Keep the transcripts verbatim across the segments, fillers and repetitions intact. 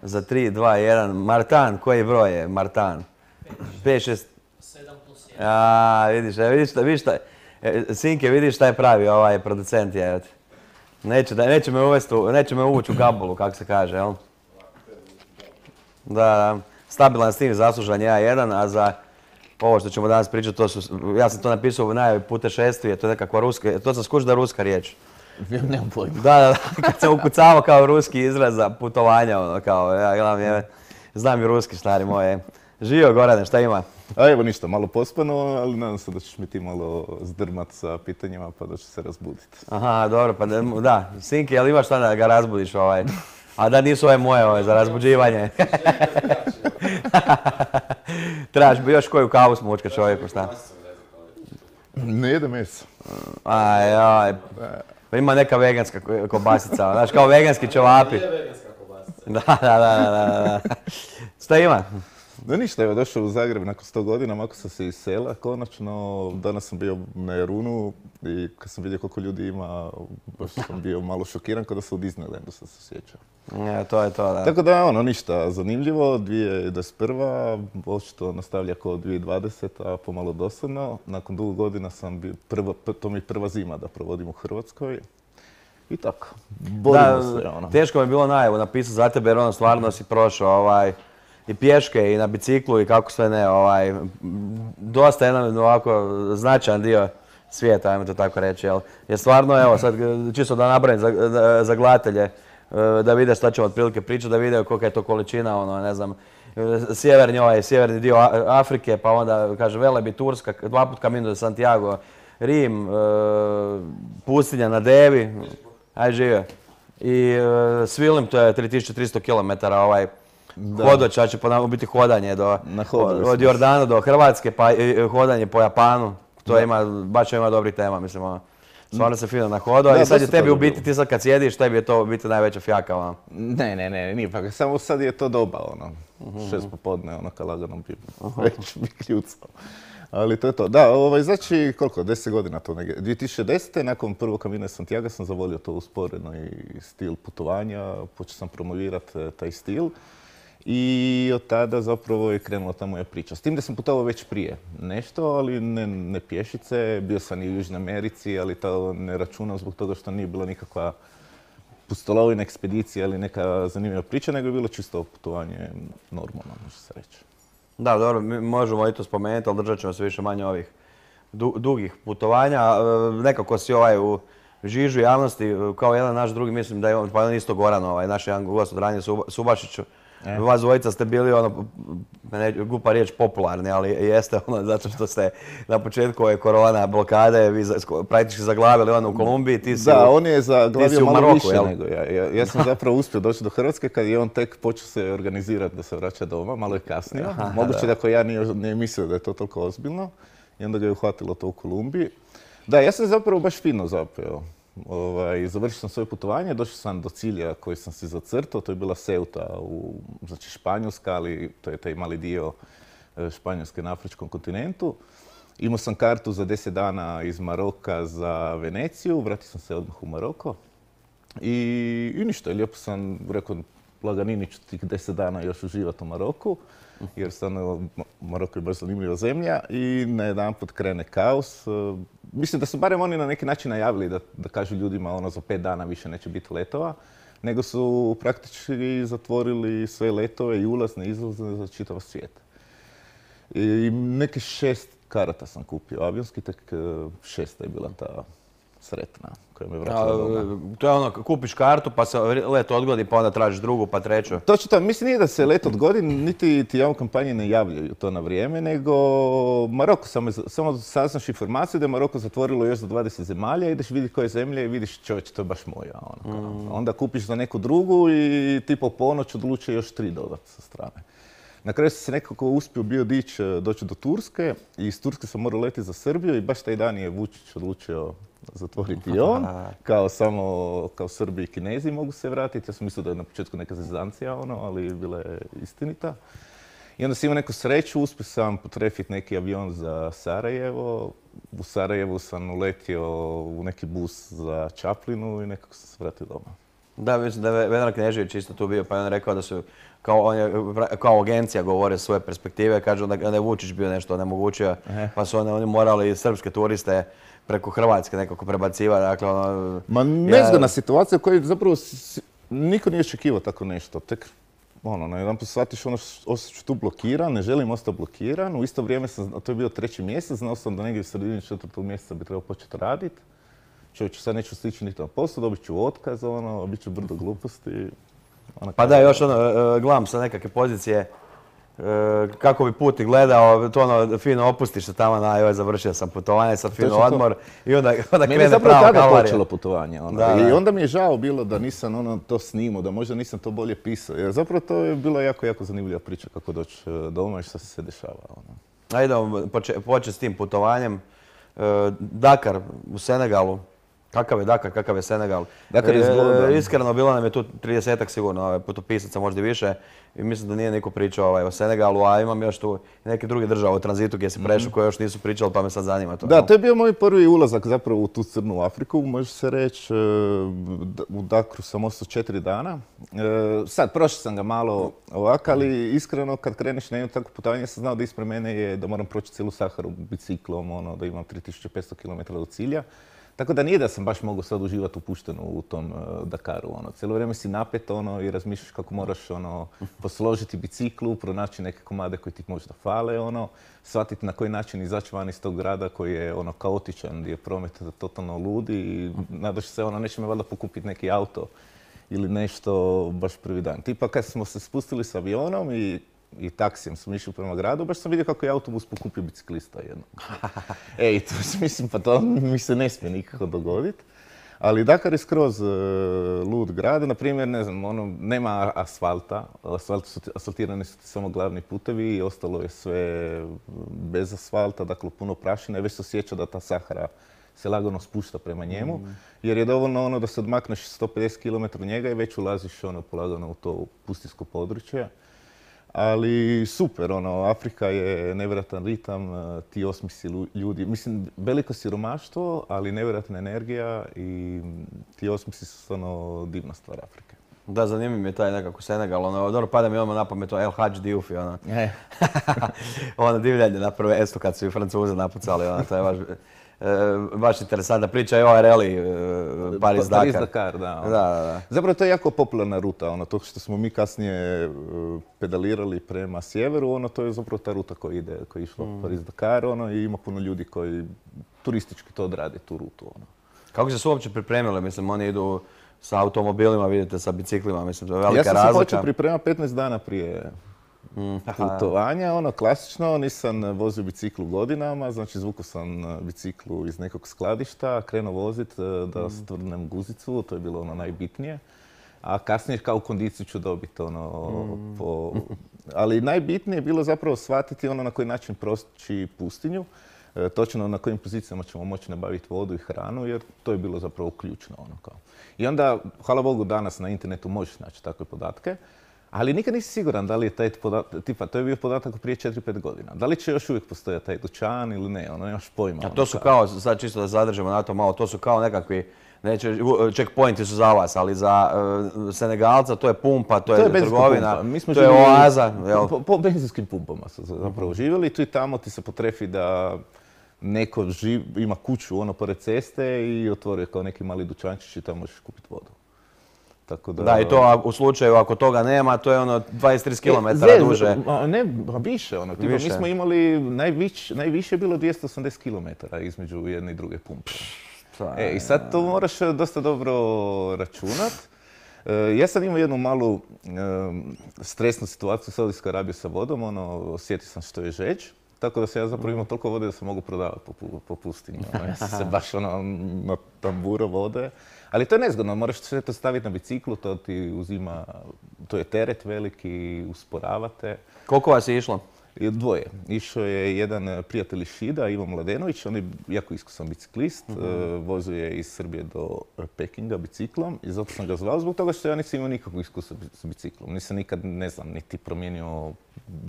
za tri, dva, jedan. Martan, koji broj je Martan? pet, šest... sedam plus jedan. A, vidiš, vidiš šta, vidiš šta, Sinke, vidiš šta je pravi ovaj producent, je. Neće, neće me uvesti, neće me uvući u gabulu, kako se kaže, jel? Da, stabilan Sting, zaslužan ja jedan, a za ovo što ćemo danas pričati, to su, ja sam to napisao u najavi putešestvije, to je nekakva ruska, to sam skužio da je ruska riječ. Nemam pojma. Da, da, da, kad sam ukucavao kao ruski izraz za putovanja, ono, kao, ja gledam, je, znam i ruski, stari moje. Živio, Gorane, šta ima? A evo ništa, malo pospano, ali nadam se da ćeš mi ti malo zdrmat sa pitanjima pa da ću se razbuditi. Aha, dobro, pa da, Sinki, jel imaš šta da ga razbudiš ovaj? A da nisu ove moje ove za razbuđivanje. Trebaš još koju kavu smučka čovjeku, šta? Ne jede meso. Aj, aj. Pa ima neka veganska kobasica, znaš, kao veganski ćevapi. Nije veganska kobasica. Da, da, da, da, da. Šta ima? Da ništa, evo došao u Zagreb nakon sto godina, mako sam se iz sela konačno. Danas sam bio na Jarunu i kad sam vidio koliko ljudi ima, baš sam bio malo šokiran kada sam u Disneylandu, sam se sjećao. Ja, to je to, da. Tako da, ono, ništa, zanimljivo, dvije tisuće dvadeset prva. Očito nastavlja kao dvije tisuće dvadeseta, pomalo dosadno. Nakon dugo godina sam bio, prva, to mi je prva zima da provodim u Hrvatskoj. I tako, borimo se, ono. Teško mi je bilo najavu napisati za tebe jer ono stvarno si prošao ovaj, i pješke i na biciklu i kako sve ne, ovaj, dosta jedan ovako značajan dio svijeta, ajmo to tako reći, jel? Jer stvarno, evo, sad čisto da nabrojim za, za, za gledatelje, da vide šta ćemo otprilike pričati, da vide kolika je to količina, ono, ne znam, sjeverni, ovaj, sjeverni dio Afrike, pa onda, kaže, Velebit, Turska, dva put Camino de Santiago, Rim, pustinja na Devi, aj živio. I Svilim, to je tri tisuće tristo kilometara, ovaj, hodoča će po biti hodanje do, od Jordana do Hrvatske, pa i hodanje po Japanu. To da. Ima, baš ima dobrih tema, mislim, ono. Stvarno se fino nahodao i sad je tebi u biti, ti sad kad sjediš, tebi je to u biti najveća fjaka, ono. Ne, ne, ne, nije pa, samo sad je to doba, ono. Uh-huh. Šest popodne, ono, kad lagano bi uh-huh. već bi kljucao. Ali to je to. Da, ovaj, znači, koliko, deset godina to negdje. dvije tisuće desete. nakon prvog Camina de Santiago sam zavolio to usporeni stil putovanja, počeo sam promovirati taj stil. I od tada zapravo je krenula ta moja priča. S tim da sam putovao već prije nešto, ali ne, ne pješice. Bio sam i u Južnoj Americi, ali to ne računam zbog toga što nije bila nikakva pustolovina, ekspedicija ili neka zanimljiva priča, nego je bilo čisto putovanje normalno, može se reći. Da, dobro, mi možemo i to spomenuti, ali držat ćemo se više manje ovih du, dugih putovanja. Nekako si ovaj u žižu javnosti, kao jedan naš drugi, mislim da je on, pa on isto Goran, ovaj, naš jedan gost od ranije Subašiću. E. Vas dvojica ste bili, ono, ne, glupa riječ, popularni, ali jeste ono, zato što ste na početku ove korona blokade, vi za, praktički zaglavili ono u Kolumbiji, ti si Da, u, on je zaglavio malo Maroku, više jel? nego ja. Ja, ja sam zapravo uspio doći do Hrvatske kad je on tek počeo se organizirati da se vraća doma, malo je kasnije. Aha, moguće da ako ja nije, nije mislio da je to toliko ozbiljno i onda ga je uhvatilo to u Kolumbiji. Da, ja sam zapravo baš fino zapeo. Ovaj, završio sam svoje putovanje, došao sam do cilja koji sam si zacrtao, to je bila Ceuta, u, znači Španjolska, ali to je taj mali dio Španjolske na afričkom kontinentu. Imao sam kartu za deset dana iz Maroka za Veneciju, vratio sam se odmah u Maroko i, i ništa, lijepo sam rekao, laganini ću tih deset dana još uživati u Maroku, jer stvarno Maroko je baš zanimljiva zemlja i najedanput krene kaos. Mislim da su barem oni na neki način najavili da, da kažu ljudima ono za pet dana više neće biti letova, nego su praktički zatvorili sve letove i ulazne i izlazne za čitav svijet. I neke šest karata sam kupio avionski, tek šesta je bila ta sretna koja me vratila doma. To je ono, kupiš kartu pa se let odgodi pa onda tražiš drugu pa treću. Točno to, mislim nije da se let odgodi, niti ti javne kampanje ne javljaju to na vrijeme, nego Maroko, samo, samo saznaš informaciju da je Maroko zatvorilo još za dvadeset zemalja, ideš vidjeti koje zemlje i vidiš čovječe, to je baš moja. Ono, mm. Onda kupiš za neku drugu i ti po ponoć odlučuje još tri dodati sa strane. Na kraju sam se nekako uspio bio dići, doći do Turske i iz Turske sam morao letiti za Srbiju i baš taj dan je Vučić odlučio zatvoriti i on, kao samo kao Srbi i Kinezi mogu se vratiti. Ja sam mislio da je na početku neka zezancija, ono, ali bila je istinita. I onda sam imao neku sreću, uspio sam potrefiti neki avion za Sarajevo. U Sarajevu sam uletio u neki bus za Čaplinu i nekako sam se vratio doma. Da, mislim da je Vedran Knežević isto tu bio, pa je on rekao da su, kao, on je, kao agencija govore svoje perspektive, kaže da je Vučić bio nešto onemogućio, pa su oni, oni morali srpske turiste preko Hrvatske nekako prebacivati, dakle ono... Ma nezgodna situacija u kojoj zapravo niko nije očekivao tako nešto, tek ono, na jedan put shvatiš ono, ostat ću tu blokiran, ne želim ostati blokiran, u isto vrijeme sam, to je bio treći mjesec, znao sam da negdje u sredini četvrtog mjeseca bi trebao početi raditi. Čovječe, sad neću stići niti na poslu, dobit ću otkaz, ono, bit ću brdo gluposti. Pa da, još ono, gledam sa nekakve pozicije, kako bi putnik gledao, to ono, fino opustiš se tamo na, joj, završio sam putovanje, sad fino odmor i onda, onda krene prava kalvarija. Meni je zapravo tada počelo putovanje, ono. Da, i onda mi je žao bilo da nisam ono, to snimao, da možda nisam to bolje pisao, jer zapravo to je bila jako, jako zanimljiva priča kako doći doma i što se se dešava. Ono. Ajde, početi s tim putovanjem. Dakar u Senegalu. Kakav je Dakar, kakav je Senegal. Dakar je zgodan. Iskreno, bilo nam je tu tridesetak sigurno putopisaca, možda i više. I mislim da nije niko pričao ovaj, o Senegalu, a imam još tu neke druge države u tranzitu gdje si prešao koje još nisu pričali, pa me sad zanima to. Da, to je bio moj prvi ulazak zapravo u tu crnu Afriku, može se reći. U Dakaru sam ostao četiri dana. Sad, prošao sam ga malo ovako, ali iskreno kad kreneš na jedno takvo putovanje, sam znao da ispred mene je da moram proći cijelu Saharu biciklom, ono, da imam tri tisuće petsto kilometara do cilja. Tako da nije da sam baš mogao sad uživati upušteno u tom uh, Dakaru. Ono. Cijelo vrijeme si napet ono, i razmišljaš kako moraš ono, posložiti biciklu, pronaći neke komade koji ti možda fale, ono, shvatiti na koji način izaći van iz tog grada koji je ono, kaotičan, gdje je promet totalno ludi i nadaš se, ono, neće me valjda pokupiti neki auto ili nešto baš prvi dan. Tipa kad smo se spustili s avionom i i taksijem smo išli prema gradu, baš sam vidio kako je autobus pokupio biciklista jednog. Ej, to mislim, pa to mi se ne smije nikako dogoditi. Ali Dakar je skroz uh, lud grad, na primjer, ne znam, ono, nema asfalta, asfalt su, asfaltirani su samo glavni putevi i ostalo je sve bez asfalta, dakle puno prašine, već se osjeća da ta Sahara se lagano spušta prema njemu, mm. jer je dovoljno ono da se odmakneš sto pedeset kilometara njega i već ulaziš ono polagano u to pustinsko područje. Ali super, ono, Afrika je nevjerojatan ritam, ti osmisli ljudi, mislim, veliko siromaštvo, ali nevjerojatna energija i ti osmisli su stvarno divna stvar Afrike. Da, zanimljiv mi je taj nekako Senegal, ono, dobro, pada mi odmah na pamet to El Hadj Diouf i ono. E. ono divljanje na prve esto kad su i Francuze napucali, ono, to je baš... baš interesantna priča je ovaj rally Paris-Dakar. Paris-Dakar, da, da, da, da. Zapravo to je jako popularna ruta, ono, to što smo mi kasnije pedalirali prema sjeveru, ono, to je zapravo ta ruta koja ide, koja je išla mm. Paris-Dakar, ono, i ima puno ljudi koji turistički to odrade, tu rutu, ono. Kako se su uopće pripremili? Mislim, oni idu sa automobilima, vidite, sa biciklima, mislim, to je velika razlika. Ja sam razlika. se počeo pripremati petnaest dana prije putovanja, ono, klasično, nisam vozio biciklu godinama, znači zvukao sam biciklu iz nekog skladišta, krenuo vozit da stvrdnem guzicu, to je bilo ono najbitnije. A kasnije kao kondiciju ću dobiti, ono, mm. po... Ali najbitnije je bilo zapravo shvatiti ono na koji način proći pustinju, e, točno na kojim pozicijama ćemo moći nabaviti vodu i hranu, jer to je bilo zapravo ključno, ono, kao. I onda, hvala Bogu, danas na internetu možeš naći takve podatke, ali nikad nisi siguran da li je taj podatak, tipa, to je bio podatak prije četiri pet godina. Da li će još uvijek postojati taj dućan ili ne, ono, nemaš pojma. A to su kao, sad čisto da zadržimo na to malo, to su kao nekakvi, neće, checkpointi su za vas, ali za uh, Senegalca to je pumpa, to, to je, je trgovina, mi smo to je oaza. Po, po, po benzinskim pumpama su zapravo živjeli, tu i tamo ti se potrefi da neko živ, ima kuću ono pored ceste i otvori kao neki mali dućančić i tamo možeš kupiti vodu. Tako da... da, i to u slučaju ako toga nema, to je ono dvadeset do trideset kilometara e, duže. Ne, više ono. Tipa, više. Mi smo imali, najviš, najviše je bilo dvjesto osamdeset kilometara između jedne i druge pumpe. E, i sad to moraš dosta dobro računat. E, ja sam imao jednu malu e, stresnu situaciju u Saudijskoj Arabiji sa vodom, ono, osjetio sam što je žeđ. Tako da se ja zapravo imao toliko vode da se mogu prodavati po, po pustinji. Ono, ja sam se baš ono, na tamburo vode. Ali to je nezgodno, moraš sve to staviti na biciklu, to ti uzima, to je teret veliki, usporavate. Koliko vas je išlo? I dvoje. Išao je jedan prijatelj iz Šida, Ivo Mladenović, on je jako iskusan biciklist, mm-hmm. vozio je iz Srbije do Pekinga biciklom i zato sam ga zvao zbog toga što ja nisam imao nikakvog iskustva s biciklom. Nisam nikad, ne znam, niti promijenio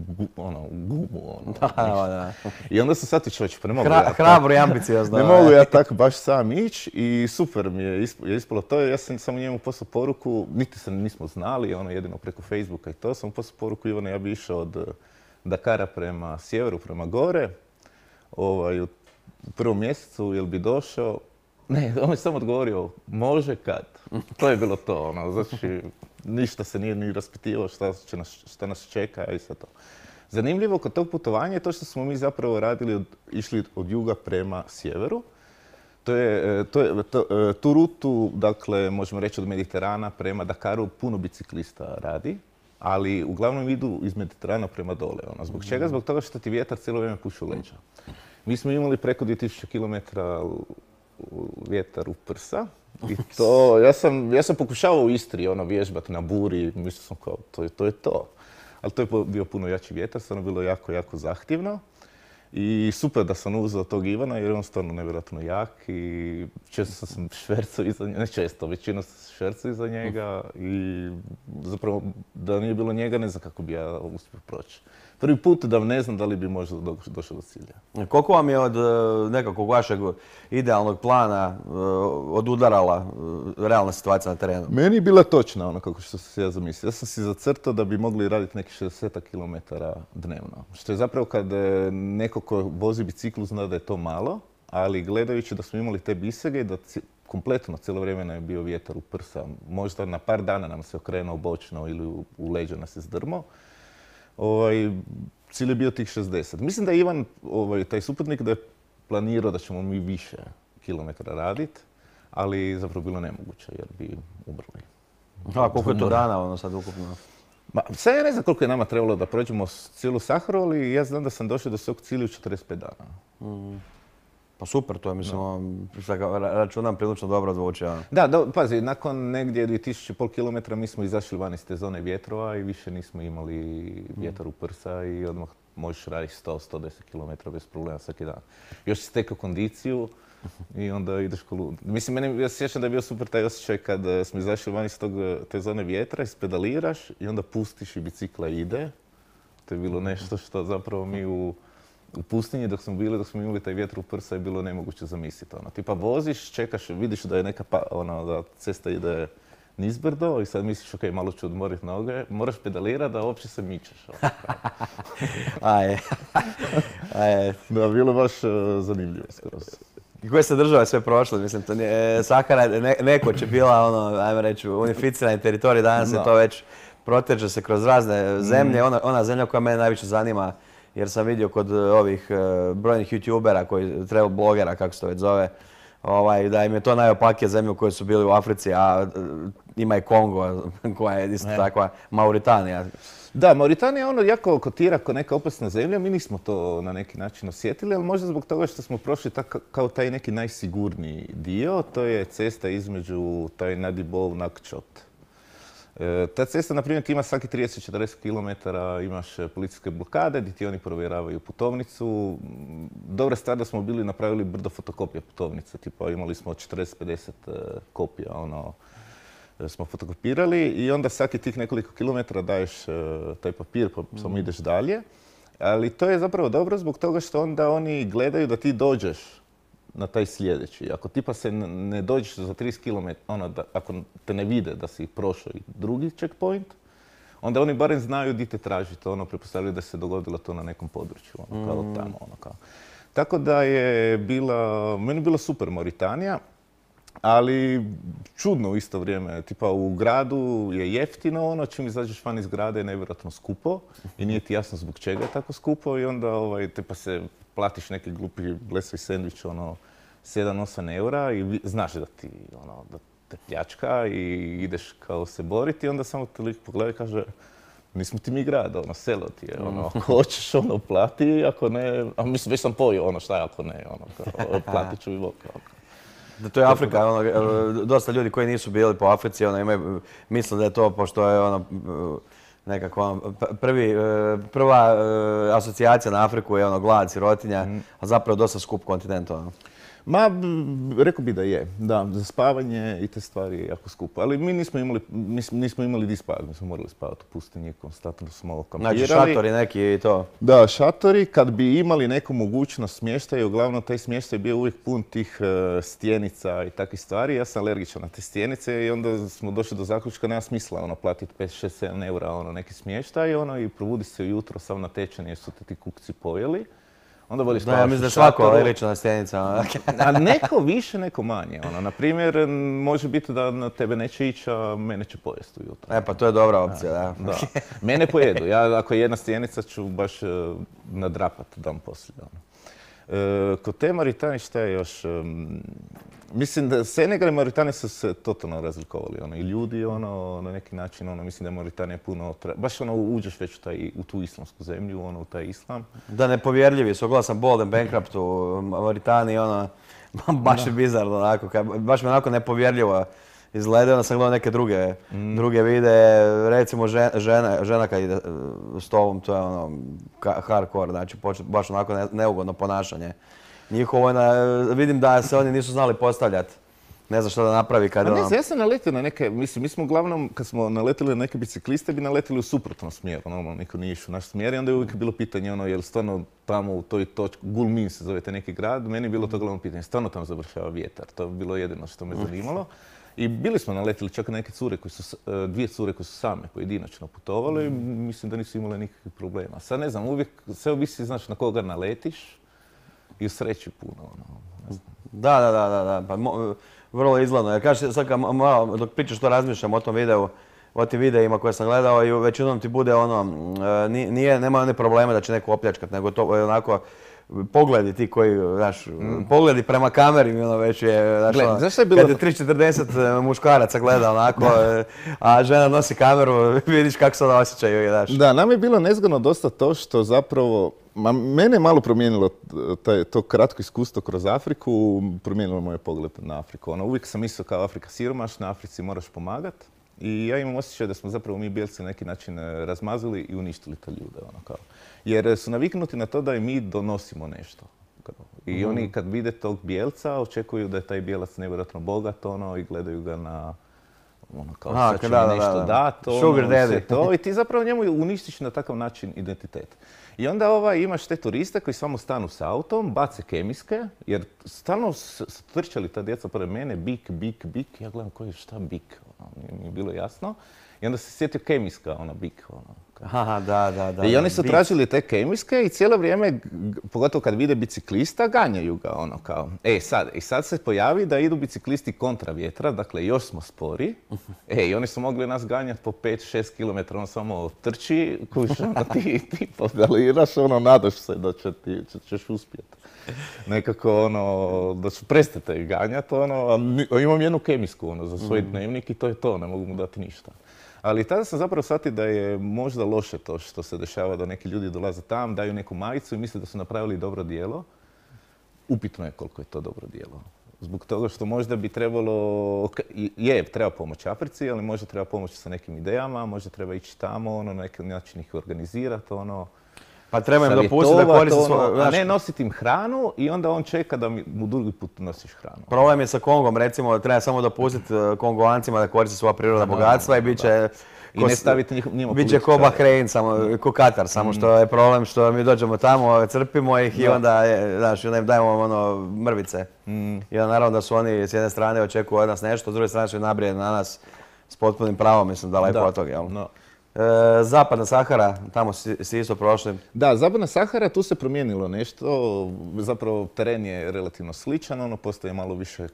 gu, ono, gumu. Ono, da, da. I onda sam sad čovječ, pa ne mogu Hra, ja hrabro i ambiciozno. Ne mogu ja tako baš sam ići i super mi je ispalo to. Ja sam samo njemu poslao poruku, niti se nismo znali, ono jedino preko Facebooka i to sam poslao poruku, Ivane, ja bi išao od Dakara prema sjeveru, prema gore, ovaj, u prvom mjesecu, jel bi došao? Ne, on je samo odgovorio, može kad. To je bilo to, ono, znači, ništa se nije ni raspitivao šta, će nas, šta nas čeka i sve to. Zanimljivo kod tog putovanja je to što smo mi zapravo radili, od, išli od juga prema sjeveru. To je, to je, to, tu rutu, dakle, možemo reći od Mediterana prema Dakaru, puno biciklista radi. Ali uglavnom idu iz Mediterana prema dole. Ono. Zbog čega? Zbog toga što ti vjetar cijelo vrijeme puše u leđa. Mi smo imali preko dvije tisuće kilometara vjetar u prsa. I to, ja sam, ja sam pokušavao u Istri ono, vježbati na buri, mislio sam kao, to je to. Je to. Ali to je bio puno jači vjetar, stvarno bilo jako, jako zahtjevno. I super da sam uzeo tog Ivana jer je on stvarno nevjerojatno jak i često sam švercao iza njega, ne često, većinu sam švercao iza njega i zapravo da nije bilo njega ne znam kako bi ja uspio proći. Prvi put da ne znam da li bi možda došao do cilja. Koliko vam je od nekakvog vašeg idealnog plana odudarala realna situacija na terenu? Meni je bila točna ono kako što sam se ja zamislio. Ja sam si zacrtao da bi mogli raditi nekih šezdeset kilometara dnevno. Što je zapravo kad neko ko vozi biciklu zna da je to malo, ali gledajući da smo imali te bisege i da kompletno cijelo vrijeme nam je bio vjetar u prsa. Možda na par dana nam se okrenuo bočno ili u, u leđa nas je zdrmo. Ovaj, cilj je bio tih šezdeset. Mislim da je Ivan, ovaj, taj suputnik, da je planirao da ćemo mi više kilometara raditi, ali zapravo bilo nemoguće jer bi umrli. A koliko je to dana ono sad ukupno? Ma, sad ja ne znam koliko je nama trebalo da prođemo cijelu Saharu, ali ja znam da sam došao do svog cilja u četrdeset pet dana. Mm. Pa super, to je, mislim, no. računam prilično dobro zvuči. Da, do, pazi, nakon negdje dvije tisuće pol kilometra mi smo izašli van iz te zone vjetrova i više nismo imali vjetar u prsa i odmah možeš raditi sto do sto deset kilometara bez problema svaki dan. Još si stekao kondiciju i onda ideš ko lud. Mislim, meni, ja se sjećam da je bio super taj osjećaj kad smo izašli van iz tog, te zone vjetra, ispedaliraš i onda pustiš i bicikla ide. To je bilo nešto što zapravo mi u U pustinji dok smo bili, dok smo imali taj vjetar u prsa je bilo nemoguće zamisliti. Ono. Tipa voziš, čekaš, vidiš da je neka pa, ono, da cesta ide nizbrdo i sad misliš ok, malo ću odmoriti noge, moraš pedalirati da uopće se mičeš. Ono, Aje. Aje. Da, bilo baš uh, zanimljivo skroz. I koje se države sve prošle, mislim, to nije, Sahara ne, nekoć je bila, ono, ajmo reći, unificirani teritorij, danas no. je to već proteže se kroz razne zemlje, mm. ona, ona zemlja koja mene najviše zanima, jer sam vidio kod ovih uh, brojnih youtubera, koji, travel blogera, kako se to već zove, ovaj, da im je to najopakije zemlje u kojoj su bili u Africi, a uh, ima i Kongo, koja je isto takva, Mauritanija. Da, Mauritanija ono jako kotira kao neka opasna zemlja, mi nismo to na neki način osjetili, ali možda zbog toga što smo prošli tak, kao taj neki najsigurniji dio, to je cesta između taj Nadibov Nakčot. E, ta cesta, na primjer, ima svaki trideset do četrdeset kilometara, imaš policijske blokade gdje ti oni provjeravaju putovnicu. Dobra stvar da smo bili napravili brdo fotokopija putovnice, tipa imali smo četrdeset do pedeset kopija, ono, smo fotokopirali i onda svaki tih nekoliko kilometara daješ taj papir pa samo ideš dalje. Ali to je zapravo dobro zbog toga što onda oni gledaju da ti dođeš na taj sljedeći. Ako tipa se ne dođeš za trideset kilometara, ono, da, ako te ne vide da si prošao i drugi checkpoint, onda oni barem znaju di te tražite, ono, pretpostavljaju da se dogodilo to na nekom području, ono, kao mm. tamo, ono, kao. Tako da je bila, meni je bila super Mauritanija, ali čudno u isto vrijeme. Tipa u gradu je jeftino, ono, čim izađeš van iz grada je nevjerojatno skupo i nije ti jasno zbog čega je tako skupo i onda, ovaj, tipa se platiš neki glupi blesavi sendvič, ono, sedam do osam eura i znaš da ti, ono, da te pljačka i ideš kao se boriti i onda samo te lik pogleda i kaže nismo ti mi grad, ono, selo ti je, ono, ako hoćeš, ono, plati, ako ne, a mislim, već sam pojio, ono, šta je ako ne, ono, kao, platit ću i voka. Da, to je Afrika, ono, dosta ljudi koji nisu bili po Africi, ono, imaju, misle da je to, pošto je, ono, nekako ono, prvi, e, prva e, asocijacija na Afriku je ono glad, sirotinja, a zapravo dosta skup kontinent. Ono. Ma, b- rekao bi da je. Da, za spavanje i te stvari je jako skupo. Ali mi nismo imali, nis- nismo imali di spavati, mi smo morali spavati u pustinji, konstantno smo kampirali. Znači šatori neki i to. Da, šatori, kad bi imali neku mogućnost smještaja, uglavnom taj smještaj je bio uvijek pun tih e, stjenica i takvih stvari. Ja sam alergičan na te stjenice i onda smo došli do zaključka, nema smisla ono, platiti pet, šest, sedam eura ono, neki smještaj ono, i probudi se ujutro sav natečen jer su te ti kukci pojeli. Onda bolje Da, spavaš ja u mislim da je svako šatoru. alergična stjenica. Ono. A neko više, neko manje. Ono, na primjer, može biti da na tebe neće ići, a mene će pojesti ujutro. E pa to je dobra opcija, da. Da. Mene pojedu. Ja ako je jedna stjenica ću baš uh, nadrapat dan poslije. Ono. E, kod te Maritane šta je još? Um, mislim da Senegal i Maritane su se totalno razlikovali. Ono, i ljudi ono, na neki način, ono, mislim da je Mauritanija puno... Tra... Baš ono, uđeš već u, taj, u tu islamsku zemlju, ono, u taj islam. Da, nepovjerljivi su. Ogledao sam Bold and Bankrupt u Mauritaniji, ono, baš je bizarno, onako, ka- baš mi onako nepovjerljivo izgleda. Onda sam gledao neke druge, Mm. druge videe, recimo žena, žena, žena kad ide s tobom, to je ono, ka- hardcore, znači počet, baš onako ne, neugodno ponašanje. Njihovo je na, vidim da se oni nisu znali postavljati. Ne znam što da napravi kad A ne ono... znam, ja sam naletio na neke, mislim, mi smo uglavnom, kad smo naletili na neke bicikliste, bi naletili u suprotnom smjeru, normalno niko nije išao u naš smjer i onda je uvijek bilo pitanje, ono, je li stvarno tamo u toj točki, Gulmin se zove taj neki grad, meni je bilo to glavno pitanje, stvarno tamo završava vjetar, to je bilo jedino što me zanimalo. I bili smo naletili čak na neke cure, koje su, e, dvije cure koje su same pojedinačno putovale i mislim da nisu imale nikakvih problema. Sad ne znam, uvijek sve ovisi, znaš, na koga naletiš i u sreći puno, ono, ne znam. Da, da, da, da, da. Pa, mo, vrlo izgledno. Jer kažeš, sad kad malo, dok pričaš to razmišljam o tom videu, o tim videima koje sam gledao i većinom ti bude ono, mm, e, nije, nema one probleme da će neko opljačkat, nego to je onako pogledi ti koji, znaš, pogledi prema kameri, ono već je, znaš, Gle, ono, znaš šta je bilo- kad je tri četrdeset muškaraca gleda onako, e, a žena nosi kameru, vidiš kako se ona osjećaju, znaš. Da, nam je bilo nezgodno dosta to što zapravo, ma mene je malo promijenilo taj, to kratko iskustvo kroz Afriku, promijenilo moj pogled na Afriku. Ono, uvijek sam mislio kao Afrika siromašna, Africi moraš pomagat. I ja imam osjećaj da smo zapravo mi bijelci na neki način eh, razmazili i uništili te ljude. Ono, kao. Jer su naviknuti na to da i mi donosimo nešto. Kao. I oni kad vide tog bijelca očekuju da je taj bijelac nevjerojatno bogat ono, i gledaju ga na ono kao A, sad će da, mi da, nešto da. dat, ono, Sugar sve daddy. to, i ti zapravo njemu uništiš na takav način identitet. I onda ovaj, imaš te turiste koji samo stanu s autom, bace kemijske, jer stalno su su trčali ta djeca pored mene, bik, bik, bik, ja gledam koji je šta bik, ono, nije mi je bilo jasno. I onda se sjetio kemijska, ona bik, ono. Aha, da, da, da. I da, oni su bit. tražili te kemijske i cijelo vrijeme, g- pogotovo kad vide biciklista, ganjaju ga ono kao. E sad, i sad se pojavi da idu biciklisti kontra vjetra, dakle još smo spori. E, i oni su mogli nas ganjati po pet šest kilometara, on samo trči, kuš, ono, ti, ti pedaliraš, ono, nadaš se da će ti, će- ćeš uspjeti. Nekako, ono, da ću prestati ih ganjati, ono, a ni- a imam jednu kemijsku, ono, za svoj dnevnik i to je to, ne mogu mu dati ništa. Ali tada sam zapravo shvatio da je možda loše to što se dešava, da neki ljudi dolaze tam, daju neku majicu i misle da su napravili dobro djelo. Upitno je koliko je to dobro djelo. Zbog toga što možda bi trebalo, ok, je, treba pomoći Africi, ali možda treba pomoći sa nekim idejama, možda treba ići tamo, ono, na neki način ih organizirati, ono, Pa treba im dopustiti da savjetovat, koriste ono, svoje, a znaš, ne nositi im hranu i onda on čeka da mi- mu drugi put nosiš hranu. problem je sa Kongom, recimo, treba samo dopustiti eh, Kongovancima da koriste svoja prirodna bogatstva i bit će... I ko ne s- staviti njih- njima Bit će ko političare. Bahrein, samo, ko Katar, samo što je problem što mi dođemo tamo, crpimo ih i Da. onda, je, znaš, i onda im dajemo ono mrvice. I onda naravno da su oni s jedne strane očekuju od nas nešto, s druge strane su nabrije na nas s potpunim pravom, mislim, daleko Da. od toga, jel? No. E, Zapadna Sahara, tamo si, si isto prošli. Da, Zapadna Sahara, tu se promijenilo nešto, zapravo teren je relativno sličan, ono postoje malo više, eh,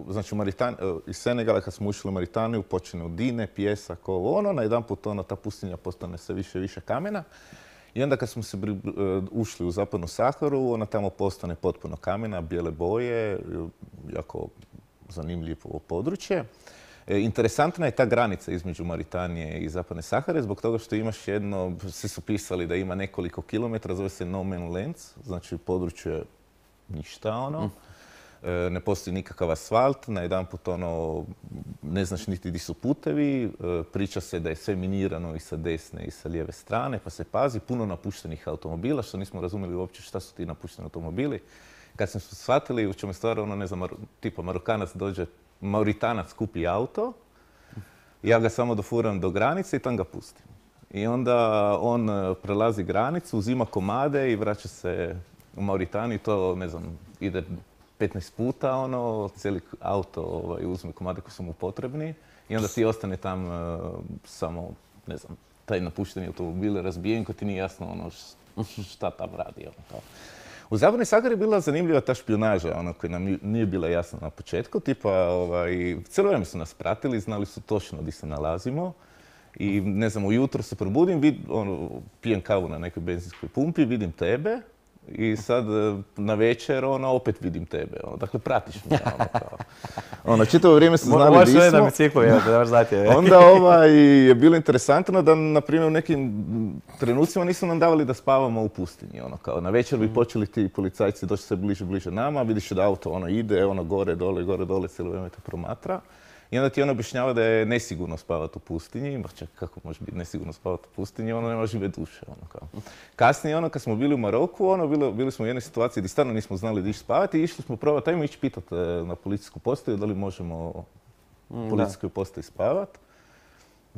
znači u Maritan, eh, iz Senegala kad smo ušli u Maritaniju počinju dine, pijesak, ovo ono, najedanput ono, ta pustinja postane sve više i više kamena. I onda kad smo se bri- eh, ušli u Zapadnu Saharu, ona tamo postane potpuno kamena, bijele boje, eh, jako zanimljivo područje. E, Interesantna je ta granica između Maritanije i Zapadne Sahare zbog toga što imaš jedno, svi su pisali da ima nekoliko kilometara, zove se no man lands, znači područje ništa ono. e, ne postoji nikakav asfalt, najedanput ono, ne znaš niti di su putevi, e, priča se da je sve minirano i sa desne i sa lijeve strane, pa se pazi, puno napuštenih automobila, što nismo razumjeli uopće šta su ti napušteni automobili. Kad smo shvatili u čemu je stvar, ono, ne znam, tipa Marokanac dođe, Mauritanac kupi auto, ja ga samo dofuram do granice i tam ga pustim. I onda on prelazi granicu, uzima komade i vraća se u Mauritaniju. To, ne znam, ide petnaest puta, ono, cijeli auto ovaj, uzme komade koji su mu potrebni. I onda ti ostane tam uh, samo, ne znam, taj napušteni automobil razbijen, ko ti nije jasno ono, šta tam radi. Ono, kao. U Zapadnoj Sahari je bila zanimljiva ta špijunaža, ono koja nam nije bila jasna na početku. Tipa, ovaj, cijelo vrijeme su nas pratili, znali su točno gdje se nalazimo. I ne znam, ujutro se probudim, vid, ono, pijem kavu na nekoj benzinskoj pumpi, vidim tebe. I sad na večer, ono, opet vidim tebe. Ono, dakle, pratiš me. Ono, kao. Ono, čitavo vrijeme su znali Možeš di smo. na biciklu, evo, da znati. Onda ovaj, je bilo interesantno da, na primjer, u nekim trenucima nisu nam davali da spavamo u pustinji. Ono, kao, na večer bi počeli ti policajci doći sve bliže, bliže nama, vidiš da auto ono, ide, ono, gore, dole, gore, dole, cijelo vrijeme te promatra. I onda ti ono objašnjava da je nesigurno spavati u pustinji. Ma čak, kako može biti nesigurno spavati u pustinji? Ono nema žive duše. Ono, kao. Kasnije, ono, kad smo bili u Maroku, ono, bilo, bili smo u jednoj situaciji gdje stvarno nismo znali gdje spavati i išli smo probati, ajmo ići pitati na policijsku postaju da li možemo u policijskoj postaji spavati.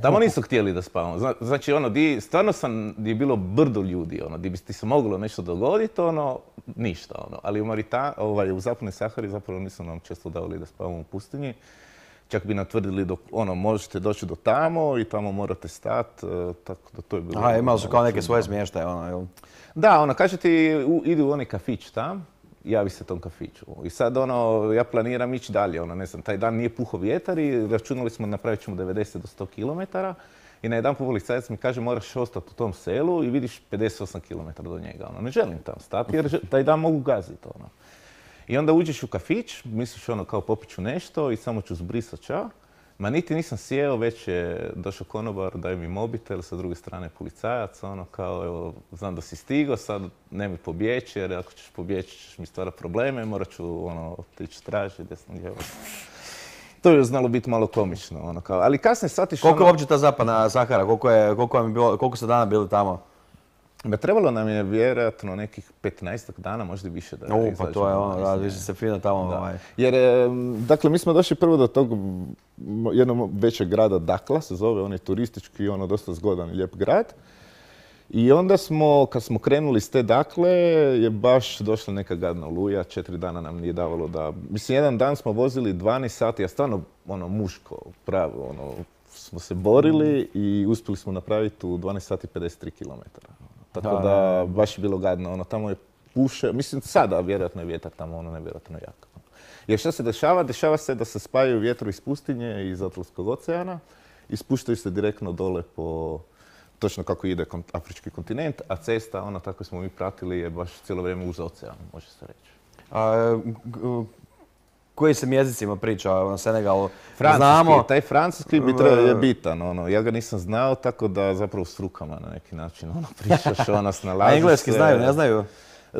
Tamo nisu htjeli da spavamo. Zna, znači, ono, di, stvarno sam, di je bilo brdo ljudi, ono, di bi ti se moglo nešto dogoditi, ono, ništa, ono. Ali u, Marita, ovaj, u Zapadnoj Sahari zapravo nisu nam često davali da spavamo u pustinji. Čak bi natvrdili da ono, možete doći do tamo i tamo morate stati, tako da to je bilo... Aha, imali su kao neke svoje smještaje, ono, jel? Da, ono, kaže ti, u, idu u onaj kafić tam, javi se tom kafiću. I sad, ono, ja planiram ići dalje, ono, ne znam, taj dan nije puho vjetar i računali smo napravit ćemo devedeset do sto kilometara i na jedan policajac mi kaže moraš ostati u tom selu i vidiš pedeset osam kilometara do njega, ono, ne želim tam stati jer taj dan mogu gaziti, ono. I onda uđeš u kafić, misliš ono kao popiću nešto i samo ću zbrisat ča. Ma niti nisam sjeo, već je došao konobar, daj mi mobitel, sa druge strane policajac, ono kao, evo, znam da si stigao, sad nemoj pobjeći, jer ako ćeš pobjeći ćeš mi stvarati probleme, morat ću, ono, tići traži, desno lijevo. To je znalo biti malo komično, ono kao, ali kasnije shvatiš Koliko ono... je uopće ta Zapadna Sahara, koliko, je, koliko, vam je bilo, koliko ste dana bili tamo? Ba, trebalo nam je vjerojatno nekih petnaestak dana, možda i više da U, pa to je ono, da, vi ste se fino tamo... Ovaj. Jer, dakle, mi smo došli prvo do tog jednog većeg grada, Dakla se zove, on je turistički, ono, dosta zgodan i lijep grad. I onda smo, kad smo krenuli s te Dakle, je baš došla neka gadna oluja, četiri dana nam nije davalo da... Mislim, jedan dan smo vozili dvanaest sati, a stvarno, ono, muško, pravo, ono, smo se borili i uspjeli smo napraviti u dvanaest sati pedeset tri kilometara. Tako da, da, baš je bilo gadno, ono, tamo je puše, mislim sada vjerojatno je vjetar tamo, ono, nevjerojatno jak. Jer što se dešava? Dešava se da se spajaju vjetro iz pustinje i iz Atlantskog oceana i spuštaju se direktno dole po, točno kako ide afrički kontinent, a cesta, ono, tako smo mi pratili, je baš cijelo vrijeme uz ocean, može se reći. A, koji se jezicima priča na Senegalu? Francuski, Znamo... taj francuski bi treba je bitan, ono, ja ga nisam znao, tako da zapravo s rukama na neki način, ono, pričaš, ono, snalaziš se. A engleski znaju, ne znaju?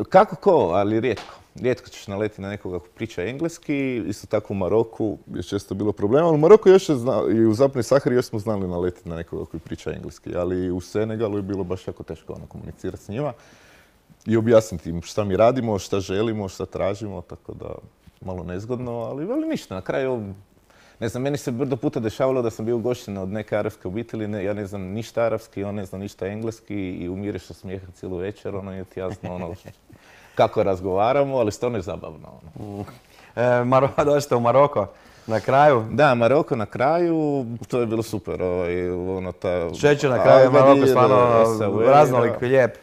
Kako ko, ali rijetko. Rijetko ćeš naleti na nekoga ko priča engleski, isto tako u Maroku je često bilo problema, ali u Maroku još je znao, i u Zapadnoj Sahari još smo znali naletiti na nekoga koji priča engleski, ali u Senegalu je bilo baš jako teško ono, komunicirati s njima i objasniti im šta mi radimo, šta želimo, šta tražimo, tako da malo nezgodno, ali veli ništa. Na kraju, ne znam, meni se brdo puta dešavalo da sam bio ugošten od neke arapske obitelji, ne, ja ne znam ništa arapski, on ne zna ništa engleski i umireš od smijeha cijelu večer, ono je ti jasno ono kako razgovaramo, ali stvarno je zabavno. Ono. E, Maro, dođete u Maroko na kraju? Da, Maroko na kraju, to je bilo super. Ovaj, ono, ta... Šećer na kraju, Maroko stvarno raznolik, lijep.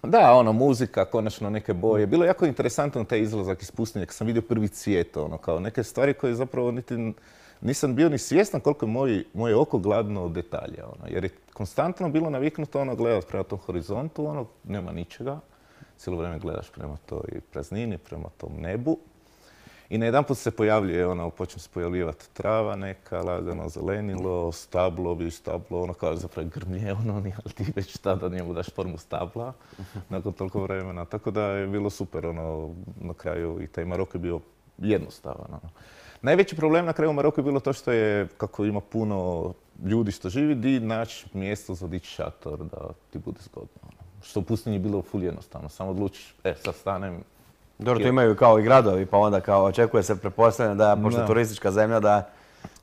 Da, ono, muzika, konačno neke boje. Bilo je jako interesantno taj izlazak iz pustinje, kad sam vidio prvi cvijet, ono, kao neke stvari koje zapravo niti nisam bio ni svjestan koliko je moj, moje oko gladno od detalja, ono, jer je konstantno bilo naviknuto ono gledati prema tom horizontu, ono, nema ničega. Cijelo vrijeme gledaš prema toj praznini, prema tom nebu. I na jedan put se pojavljuje, ono, počne se pojavljivati trava neka, lagano zelenilo, stablo, vidiš stablo, ono kao zapravo grmlje, ono, ali ti već tada njemu daš formu stabla nakon toliko vremena. Tako da je bilo super, ono, na kraju i taj Maroko je bio jednostavan. Ono. Najveći problem na kraju u Maroku je bilo to što je, kako ima puno ljudi što živi, di naći mjesto za dići šator da ti bude zgodno. Ono. Što u pustinji je bilo ful jednostavno, samo odlučiš, e sad stanem. Dobro, to imaju kao i gradovi, pa onda kao očekuje se, pretpostavljam da, pošto je turistička zemlja, da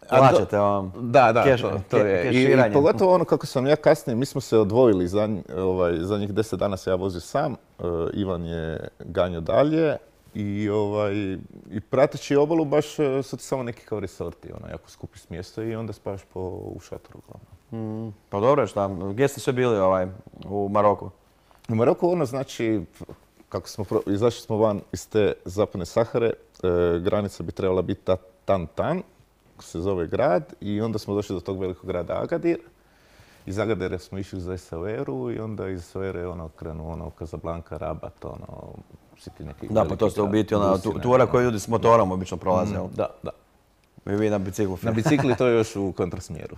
plaćate ovom Da, da, keš, to, to je. I, I pogotovo ono kako sam ja kasnije, mi smo se odvojili, za, ovaj, zadnjih deset dana se ja vozio sam, uh, Ivan je ganjao dalje i, ovaj, i prateći obalu baš uh, su ti samo neki kao resorti, ono, jako skupi smjesto i onda spavaš po, u šatoru uglavnom. Mm, pa dobro, šta, gdje ste sve bili ovaj, u Maroku? U Maroku ono znači, kako smo pro, izašli smo van iz te zapadne Sahare, e, granica bi trebala biti ta Tan-Tan, se zove grad, i onda smo došli do tog velikog grada Agadir. Iz Agadira smo išli za Essaouiru i onda iz Essaouire ono krenu ono Casablanca, Rabat, ono svi ti neki. Da, pa to ste u biti ona tura koju ljudi s motorom obično prolaze. Mm, da, da. I vi na biciklu. Na bicikli to je još u kontrasmjeru.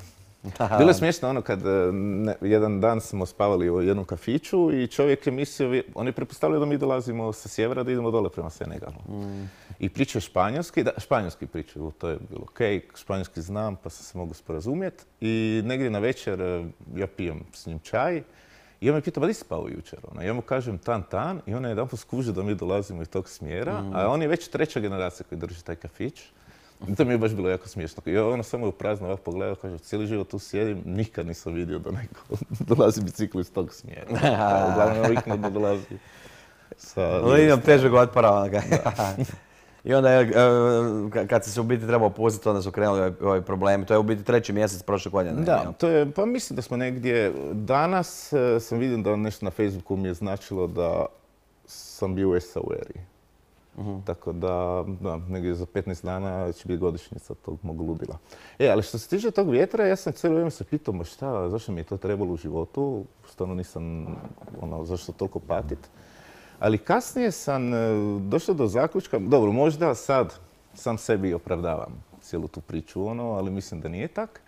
Bilo je smiješno ono kad ne, jedan dan smo spavali u jednom kafiću i čovjek je mislio, on je pretpostavljao da mi dolazimo sa sjevera da idemo dole prema Senegalu. Mm. I pričao španjolski, da, španjolski pričaju, to je bilo okej, okay, španjolski znam pa sam se mogu sporazumjeti. I negdje na večer ja pijem s njim čaj i on me pita, ba di si spao jučer? Ono, ja mu kažem tan tan i on je jedanput skužio da mi dolazimo iz tog smjera, mm. a on je već treća generacija koji drži taj kafić. I to mi je baš bilo jako smiješno. I ono samo je u prazno ovako pogledao, kaže, cijeli život tu sjedim, nikad nisam vidio da neko dolazi biciklu iz tog smjera. Uglavnom ovikno da dolazi sa... No, imam težeg otpora. I onda je, kad se u biti trebao pustiti, onda su krenuli ovi problemi. To je u biti treći mjesec prošle godine. Da, to je, pa mislim da smo negdje... Danas sam vidio da nešto na Facebooku mi je značilo da sam bio u Essaouiri. Uh-huh. Tako da, da, negdje za petnaest dana će biti godišnjica tog mog ludila. E, ali što se tiče tog vjetra, ja sam cijelo vrijeme se pitao, ma šta, zašto mi je to trebalo u životu? Stvarno nisam, ono, zašto toliko patit? Ali kasnije sam došao do zaključka, dobro, možda sad sam sebi opravdavam cijelu tu priču, ono, ali mislim da nije tak.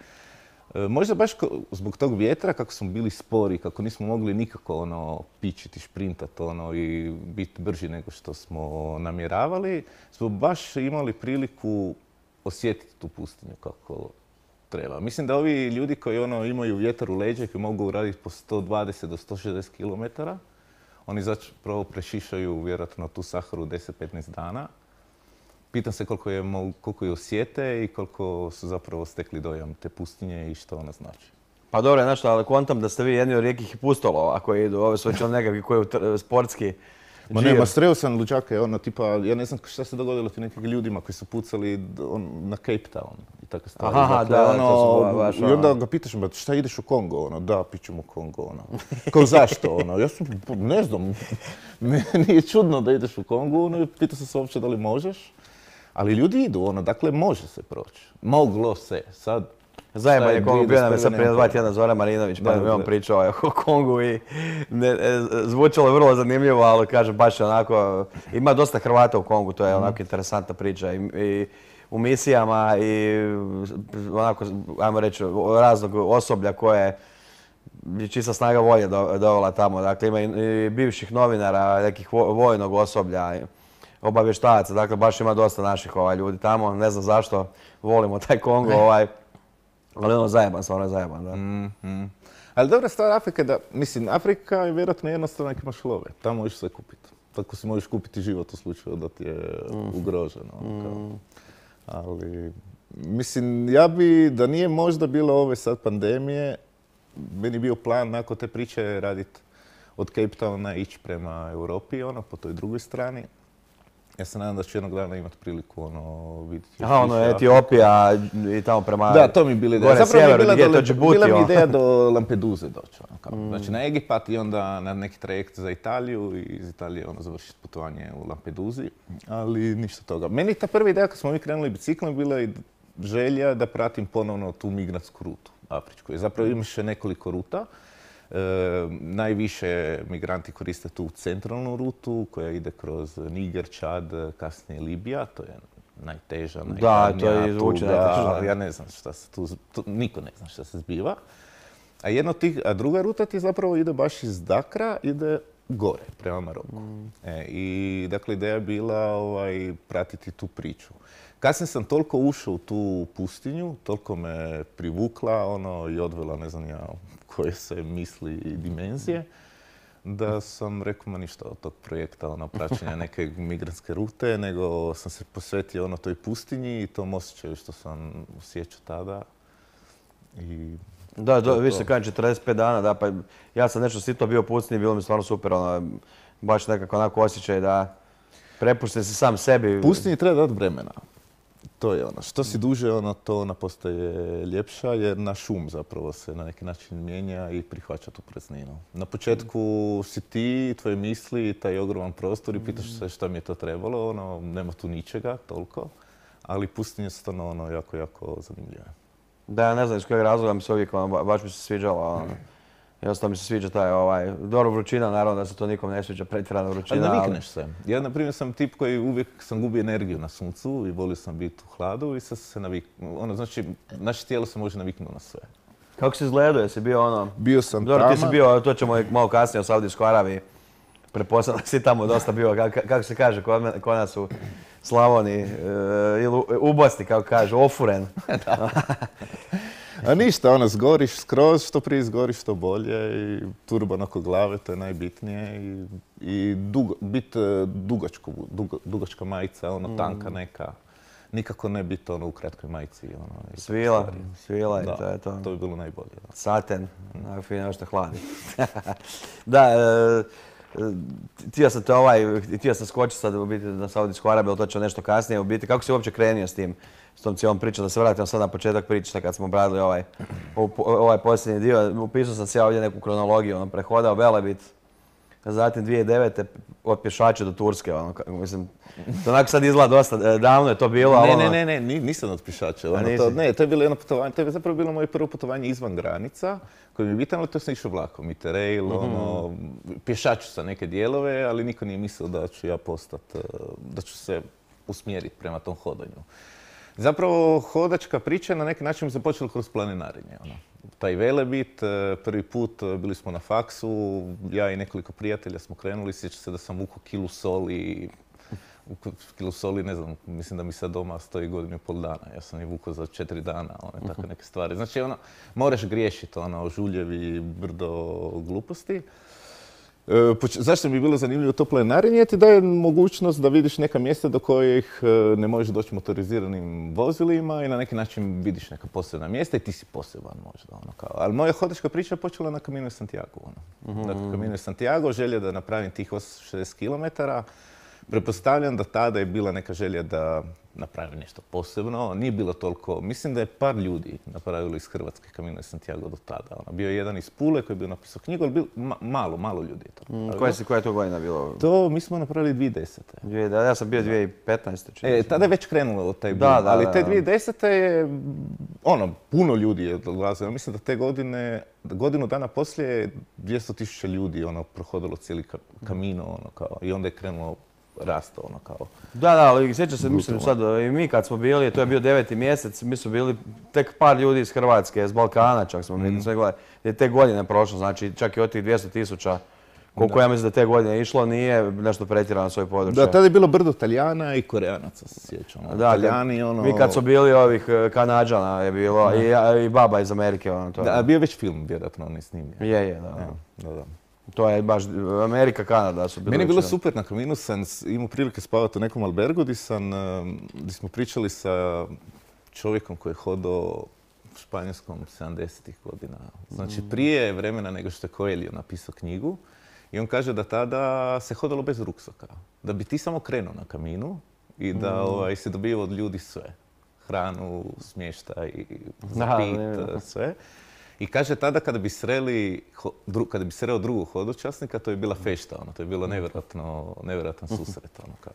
Možda baš zbog tog vjetra, kako smo bili spori, kako nismo mogli nikako ono, pičiti, šprintati ono, i biti brži nego što smo namjeravali, smo baš imali priliku osjetiti tu pustinju kako treba. Mislim da ovi ljudi koji ono, imaju vjetar u leđa i koji mogu raditi po sto dvadeset do sto šezdeset kilometara, oni zapravo prešišaju vjerojatno tu Saharu deset do petnaest dana. Pitam se koliko je, koliko je osjete i koliko su zapravo stekli dojam te pustinje i što ona znači. Pa dobro, znaš, ali kontam da ste vi jedni od rijetkih pustolova koji idu, ove su već nekakvi koji je sportski. Ma ne, ma sreo sam luđake, ono, tipa, ja ne znam šta se dogodilo ti nekim ljudima koji su pucali on, na Cape Town i tako stvari. Aha, dakle, da, ono, to su baš, i onda ga pitaš, ba, šta ideš u Kongo, ono, da, pićem u Kongo, ono. Kao zašto, ono, ja sam, ne znam, nije čudno da ideš u Kongo, ono, pitao sam se uopće da li možeš. Ali ljudi idu, ono, dakle, može se proći. Moglo se, sad... Zajeban je Kongo, bio nam je sad prije dva tjedna Zoran Marinović, pa mi on pričao o Kongu i ne, zvučalo je vrlo zanimljivo, ali kažem, baš je onako, ima dosta Hrvata u Kongu, to je onako interesantna priča i, i u misijama i onako, ajmo reći, raznog osoblja koje je čista snaga volje dovela tamo. Dakle, ima i, i bivših novinara, nekih vojnog osoblja, obavještajaca, dakle baš ima dosta naših ovaj, ljudi tamo, ne znam zašto volimo taj Kongo, ovaj, ali ono zajeban, stvarno je zajeban, da. Mm-hmm. Ali dobra stvar Afrike je da, mislim, Afrika je vjerojatno jednostavno nek imaš love, tamo možeš sve kupiti. Tako si možeš kupiti život u slučaju da ti je mm. ugroženo. Mm. Ali, mislim, ja bi, da nije možda bilo ove sad pandemije, meni bio plan nakon te priče raditi od Cape Towna ići prema Europi, ono, po toj drugoj strani. Ja se nadam da ću jednog dana imati priliku ono, vidjeti. Aha, ono, Etiopija i tamo prema... Da, to mi bila ideja. Zapravo mi je bila, do, Djibouti, bila mi ideja do Lampeduze doći. Ono, kao. Mm. Znači na Egipat i onda na neki trajekt za Italiju i iz Italije ono, završiti putovanje u Lampeduzi. Ali ništa toga. Meni ta prva ideja kad smo mi krenuli biciklom bila i želja da pratim ponovno tu migratsku rutu afričku. Zapravo imaš nekoliko ruta. E, najviše migranti koriste tu centralnu rutu koja ide kroz Niger, Čad, kasnije Libija. To je najteža, najhladnija. Da, to je zvuči najteža. Ja ne znam šta se tu, tu, niko ne zna šta se zbiva. A, jedno tih, a druga ruta ti zapravo ide baš iz Dakra, ide gore, prema Maroku. E, I dakle, ideja je bila ovaj, pratiti tu priču. Kasnije sam toliko ušao u tu pustinju, toliko me privukla ono, i odvela ne znam ja koje se misli i dimenzije, da sam rekao, ma ništa od tog projekta, ono, praćenja neke migrantske rute, nego sam se posvetio ono toj pustinji i tom osjećaju što sam osjećao tada. I Da, do, to- vi to. ste kažem četrdeset pet dana, da, pa ja sam nešto sito bio u pustinji, bilo mi stvarno super, ono, baš nekako onako osjećaj da prepušten si sam sebi. Pustinji treba dati vremena. To je ono. Što si duže, ono, to ona postaje ljepša, jer naš um zapravo se na neki način mijenja i prihvaća tu prazninu. Na početku si ti, tvoje misli, taj ogroman prostor i pitaš se šta mi je to trebalo, ono, nema tu ničega toliko, ali pustinje su stvarno ono, jako, jako zanimljive. Da, ja ne znam iz kojeg razloga mi se uvijek, ono, ba- baš mi se sviđalo, ono. Jednostavno mi se sviđa taj, ovaj, dobro vrućina, naravno da se to nikom ne sviđa, pretjerana Ali vrućina, navikneš se. Ja, na primjer, sam tip koji uvijek sam gubio energiju na suncu i volio sam biti u hladu i sad sam se naviknuo. Ono, znači, naše tijelo se može naviknuti na sve. Kako si izgledao, jesi bio ono... Bio sam Dobro, ti si taman. bio, to ćemo i malo kasnije o Saudijskoj Arabiji. Pretpostavljam da si tamo dosta bio, ka- ka- kako se kaže kod, mene- kod nas u Slavoniji, e, ili u- ubosti, kako kažu, ofuren. A ništa, ono, zgoriš skroz, što prije zgoriš, što bolje i turban oko glave, to je najbitnije i, i dugo, bit e, dugačko, dugo- dugačka majica, ono, tanka neka. Nikako ne biti ono u kratkoj majici. Ono, i Svila, stvari. svila i Da, to je to. to bi bilo najbolje. Da. Saten, onako fino još te hladi. Da, e, htio sam te ovaj, htio sam skočiti sad u biti na Saudijsku Arabiju, ali to ću nešto kasnije u biti. Kako si uopće krenio s tim, s tom cijelom pričom? Da se vratimo sad na početak priče, kad smo obradili ovaj, ovaj posljednji dio. Upisao sam se ja ovdje neku kronologiju, ono, prehodao Velebit, zatim dvije tisuće devete od Pješače do Turske, ono, kako- mislim, to onako sad izgleda dosta, e, davno je to bilo, ali Ne, ono- ne, ne, ne, ni- nisam od pješača. A Ono, nisi? to, ne, to je bilo jedno putovanje, to je zapravo bilo moje prvo putovanje izvan granica, koje mi je bitno, ali to sam išao vlakom, Interrail, ono, pješaču sa neke dijelove, ali niko nije mislio da ću ja postati, da ću se usmjeriti prema tom hodanju. Zapravo, hodačka priča na neki način mi se počela kroz planinarenje. Ono. Taj Velebit, eh, prvi put eh, bili smo na faksu, ja i nekoliko prijatelja smo krenuli, sjećam se da sam vukao kilu soli, vukao kilu soli, ne znam, mislim da mi sad doma stoji godinu i pol dana, ja sam je vukao za četiri dana, one takve neke stvari. Znači, ono, moraš griješiti, ono, žuljevi, brdo gluposti. E, poč- Zašto mi je bilo zanimljivo to planinarenje? Ti daje mogućnost da vidiš neka mjesta do kojih e, ne možeš doći motoriziranim vozilima i na neki način vidiš neka posebna mjesta i ti si poseban možda. Ono, kao. Ali moja hodačka priča je počela na Camino de Santiago. Ono. Dakle, Camino de Santiago, želja da napravim tih osamsto šezdeset kilometara. Pretpostavljam da tada je bila neka želja da napravim nešto posebno. Nije bilo toliko, mislim da je par ljudi napravilo iz Hrvatske Camino de Santiago do tada. Ono, bio je jedan iz Pule koji je bio napisao knjigu, ali bil, ma- malo, malo ljudi je to napravilo. Koja, si, koja je to godina bilo? To mi smo napravili dvije tisuće desete. Dvije- da, ja sam bio dvije tisuće petnaeste. čini mi E, se. tada je već krenulo taj Da, boom, da, ali da, te da. dvije tisuće desete je, ono, puno ljudi je dolazilo. Mislim da te godine, godinu dana poslije je dvjesto tisuća ljudi, ono, prohodilo cijeli ka- Camino, ono, kao, i onda je krenulo rasto, ono, kao. Da, da, ali sjećam se, mislim Brutalno. sad, i mi kad smo bili, to je bio deveti mjesec, mi su bili tek par ljudi iz Hrvatske, iz Balkana čak smo bili, sve gledali, je te godine prošlo, znači čak i od tih dvjesto tisuća, koliko ja mislim da te godine išlo, nije nešto pretjerano svoje područje. Da, tada je bilo brdo Talijana i Koreanaca, se sjećam. ono, Da, kad- Talijani, ono... Mi kad su bili ovih e, Kanađana je bilo, i, a, i baba iz Amerike, ono, to je. Da, a bio je već film, vjerojatno, on je snimio. Je, je, da, da. Evo, da, da. To je baš, Amerika, Kanada su bili. Meni je bilo većinom. super na Caminu, sam s- imao prilike spavati u nekom albergu gdje sam, em, gdje smo pričali sa čovjekom koji je hodao u Španjolskom sedamdesetih godina. Znači prije vremena nego što je Coelho napisao knjigu. I on kaže da tada se hodalo bez ruksaka. Da bi ti samo krenuo na Caminu i da ovaj, se dobio od ljudi sve. Hranu, smještaj, za Da, pit, ne, ne. sve. I kaže tada kada bi sreli, ho- dru- kada bi sreo drugog hodočasnika, to je bila fešta, ono, to je bilo nevjerojatno, nevjerojatan susret, ono, kao.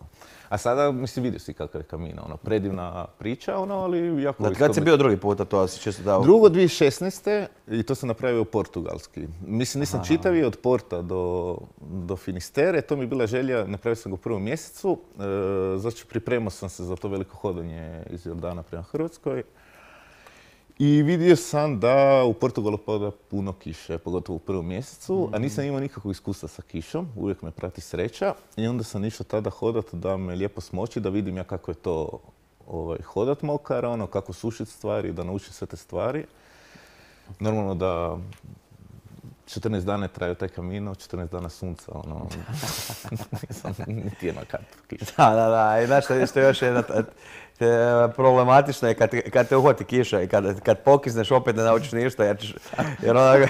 A sada, mislim, vidio si kakav je Camino, ono, predivna priča, ono, ali jako... Da, kad si isto- bio drugi puta, to si čisto dao. Drugo dvije tisuće šesnaeste i to sam napravio portugalski. Mislim, nisam čitavi od Porta do, do Finistere, to mi je bila želja, napravio sam ga u prvom mjesecu, e, znači pripremao sam se za to veliko hodanje iz Jordana prema Hrvatskoj. I vidio sam da u Portugalu pada puno kiše, pogotovo u prvom mjesecu, a nisam imao nikakvog iskustva sa kišom, uvijek me prati sreća. I onda sam išao tada hodat da me lijepo smoči, da vidim ja kako je to ovaj, hodat mokar, ono, kako sušiti stvari, da naučim sve te stvari. Normalno da četrnaest dana je trajao taj Camino, četrnaest dana sunca, ono, nisam niti jedna kap kiša. Da, da, da, i znaš što, što je još jedna, te, problematično je kad, kad te uhvati kiša i kad, kad pokisneš opet ne naučiš ništa, jer, ćeš, jer ono,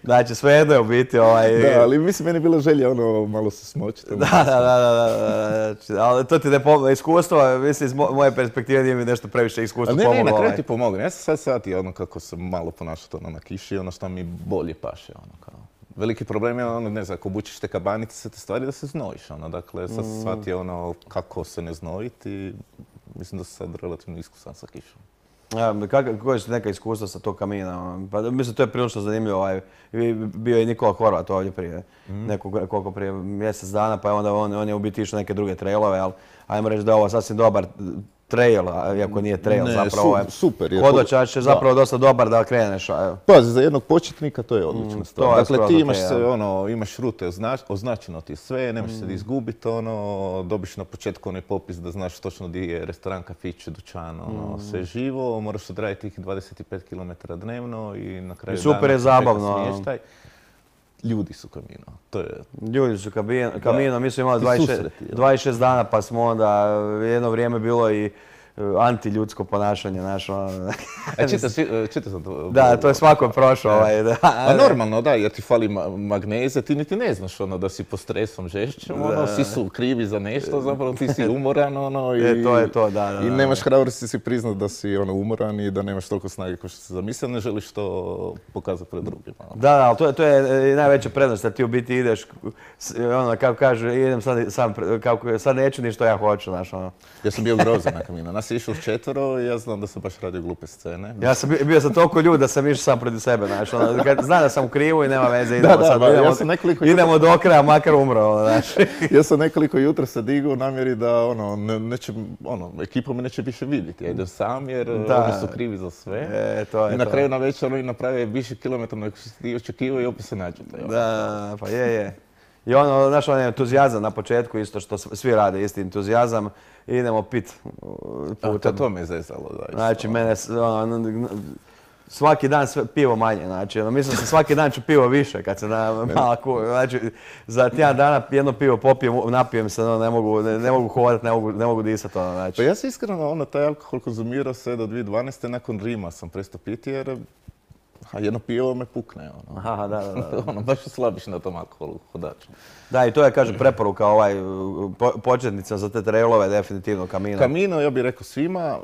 znači svejedno je u biti ovaj... Da, ali mislim, meni je bila želja ono malo se smočiti. Da, da, da, da, da, da, ali to ti ne pomogne, iskustvo, mislim, iz moje perspektive nije mi nešto previše iskustvo pomoglo. Ne, ne, na kraju ovaj. ti pomogne. Ja sam sad shvatio ono kako se malo ponašati ono na kiši, ono što mi bolje paše, ono kao. Veliki problem je ono, ne znam, ako obučiš te kabanice, sve te stvari da se znojiš, ono, dakle, sad sam shvatio ono kako se ne znojiti, mislim da sam sad relativno iskusan sa kišom. Ja, koje su neka iskustva sa tog Camina? Pa, mislim, to je prilično zanimljivo. Ovaj. Bio je Nikola Horvat ovdje prije, mm. nekog, koliko prije mjesec dana, pa onda on, on je u biti išao neke druge trailove, ali ajmo reći da je ovo sasvim dobar trail, iako nije trail, ne, zapravo je super. hodočaš je zapravo da. dosta dobar da kreneš. Pazi, za jednog početnika to je odlična stvar. Mm, dakle, ti imaš, okay, se, ja. ono, imaš rute, označ, označeno ti je sve, nemaš mm. se da izgubiti, ono, dobiš na početku onaj popis da znaš točno gdje je restoran, kafić, dućan, ono, mm. sve živo, moraš odraditi tih dvadeset pet kilometara dnevno i na kraju I super dana je zabavno. Smještaj. Ljudi su Camino, to je... Ljudi su Camino, mi smo imali dvadeset šest dana pa smo onda jedno vrijeme bilo i antiljudsko ponašanje naše. E, čita sam to. Da, to je svako prošao. Ovaj, da. A normalno, da, jer ti fali magneze, ti niti ne znaš ono da si pod stresom žešćem, ono, svi su krivi za nešto, zapravo ti si umoran, ono, i, e, to je to, da, da, i nemaš hrabrosti si priznat da si ono, umoran i da nemaš toliko snage kao što si zamislio, ne želiš to pokazati pred drugima. Da, da, ali to je, to je najveća prednost, da ti u biti ideš, ono, kako kaže, idem sad, sam, kako, sad neću ni što ja hoću, znaš, ono. Ja sam bio grozan na Camino, nas je išlo s četvoro i ja znam da sam baš radio glupe scene. Ja sam bio, bio sam toliko ljud da sam išao sam protiv sebe, znaš, ono, kad znam da sam u krivu i nema veze, idemo da, da, sad, ba, idemo, ja sam nekoliko idemo jutra... do kraja, makar umro, ono, znaš. Ja sam nekoliko jutra se digao u namjeri da, ono, ne, neće, ono, ekipa me neće više vidjeti, ja idem sam jer da. Oni su krivi za sve. E, to je I na to. kraju na večer oni naprave više kilometra nego što si ti očekivao i opet se nađete. Da, pa je, je. I ono, znaš, on je entuzijazam na početku, isto što svi rade, isti entuzijazam. Idemo pit putem. To, to me je zezalo, da. Znači, mene, ono, svaki dan sve, pivo manje, znači, ono, mislim se svaki dan ću pivo više kad se na mala ku, znači, za tjedan dana jedno pivo popijem, napijem se, ono, ne mogu, ne, ne mogu hodati, ne mogu, ne mogu disati, ono, znači. Pa ja sam iskreno, ono, taj alkohol konzumirao sve do dvije tisuće dvanaeste. Nakon Rima sam prestao piti jer a jedno pivo me pukne, ono. Aha, da, da, da. ono, baš slabiš na tom alkoholu, hodaču. Da, i to je, kažem, preporuka ovaj, po, početnica za te trailove, definitivno Camino. Camino, ja bih rekao svima.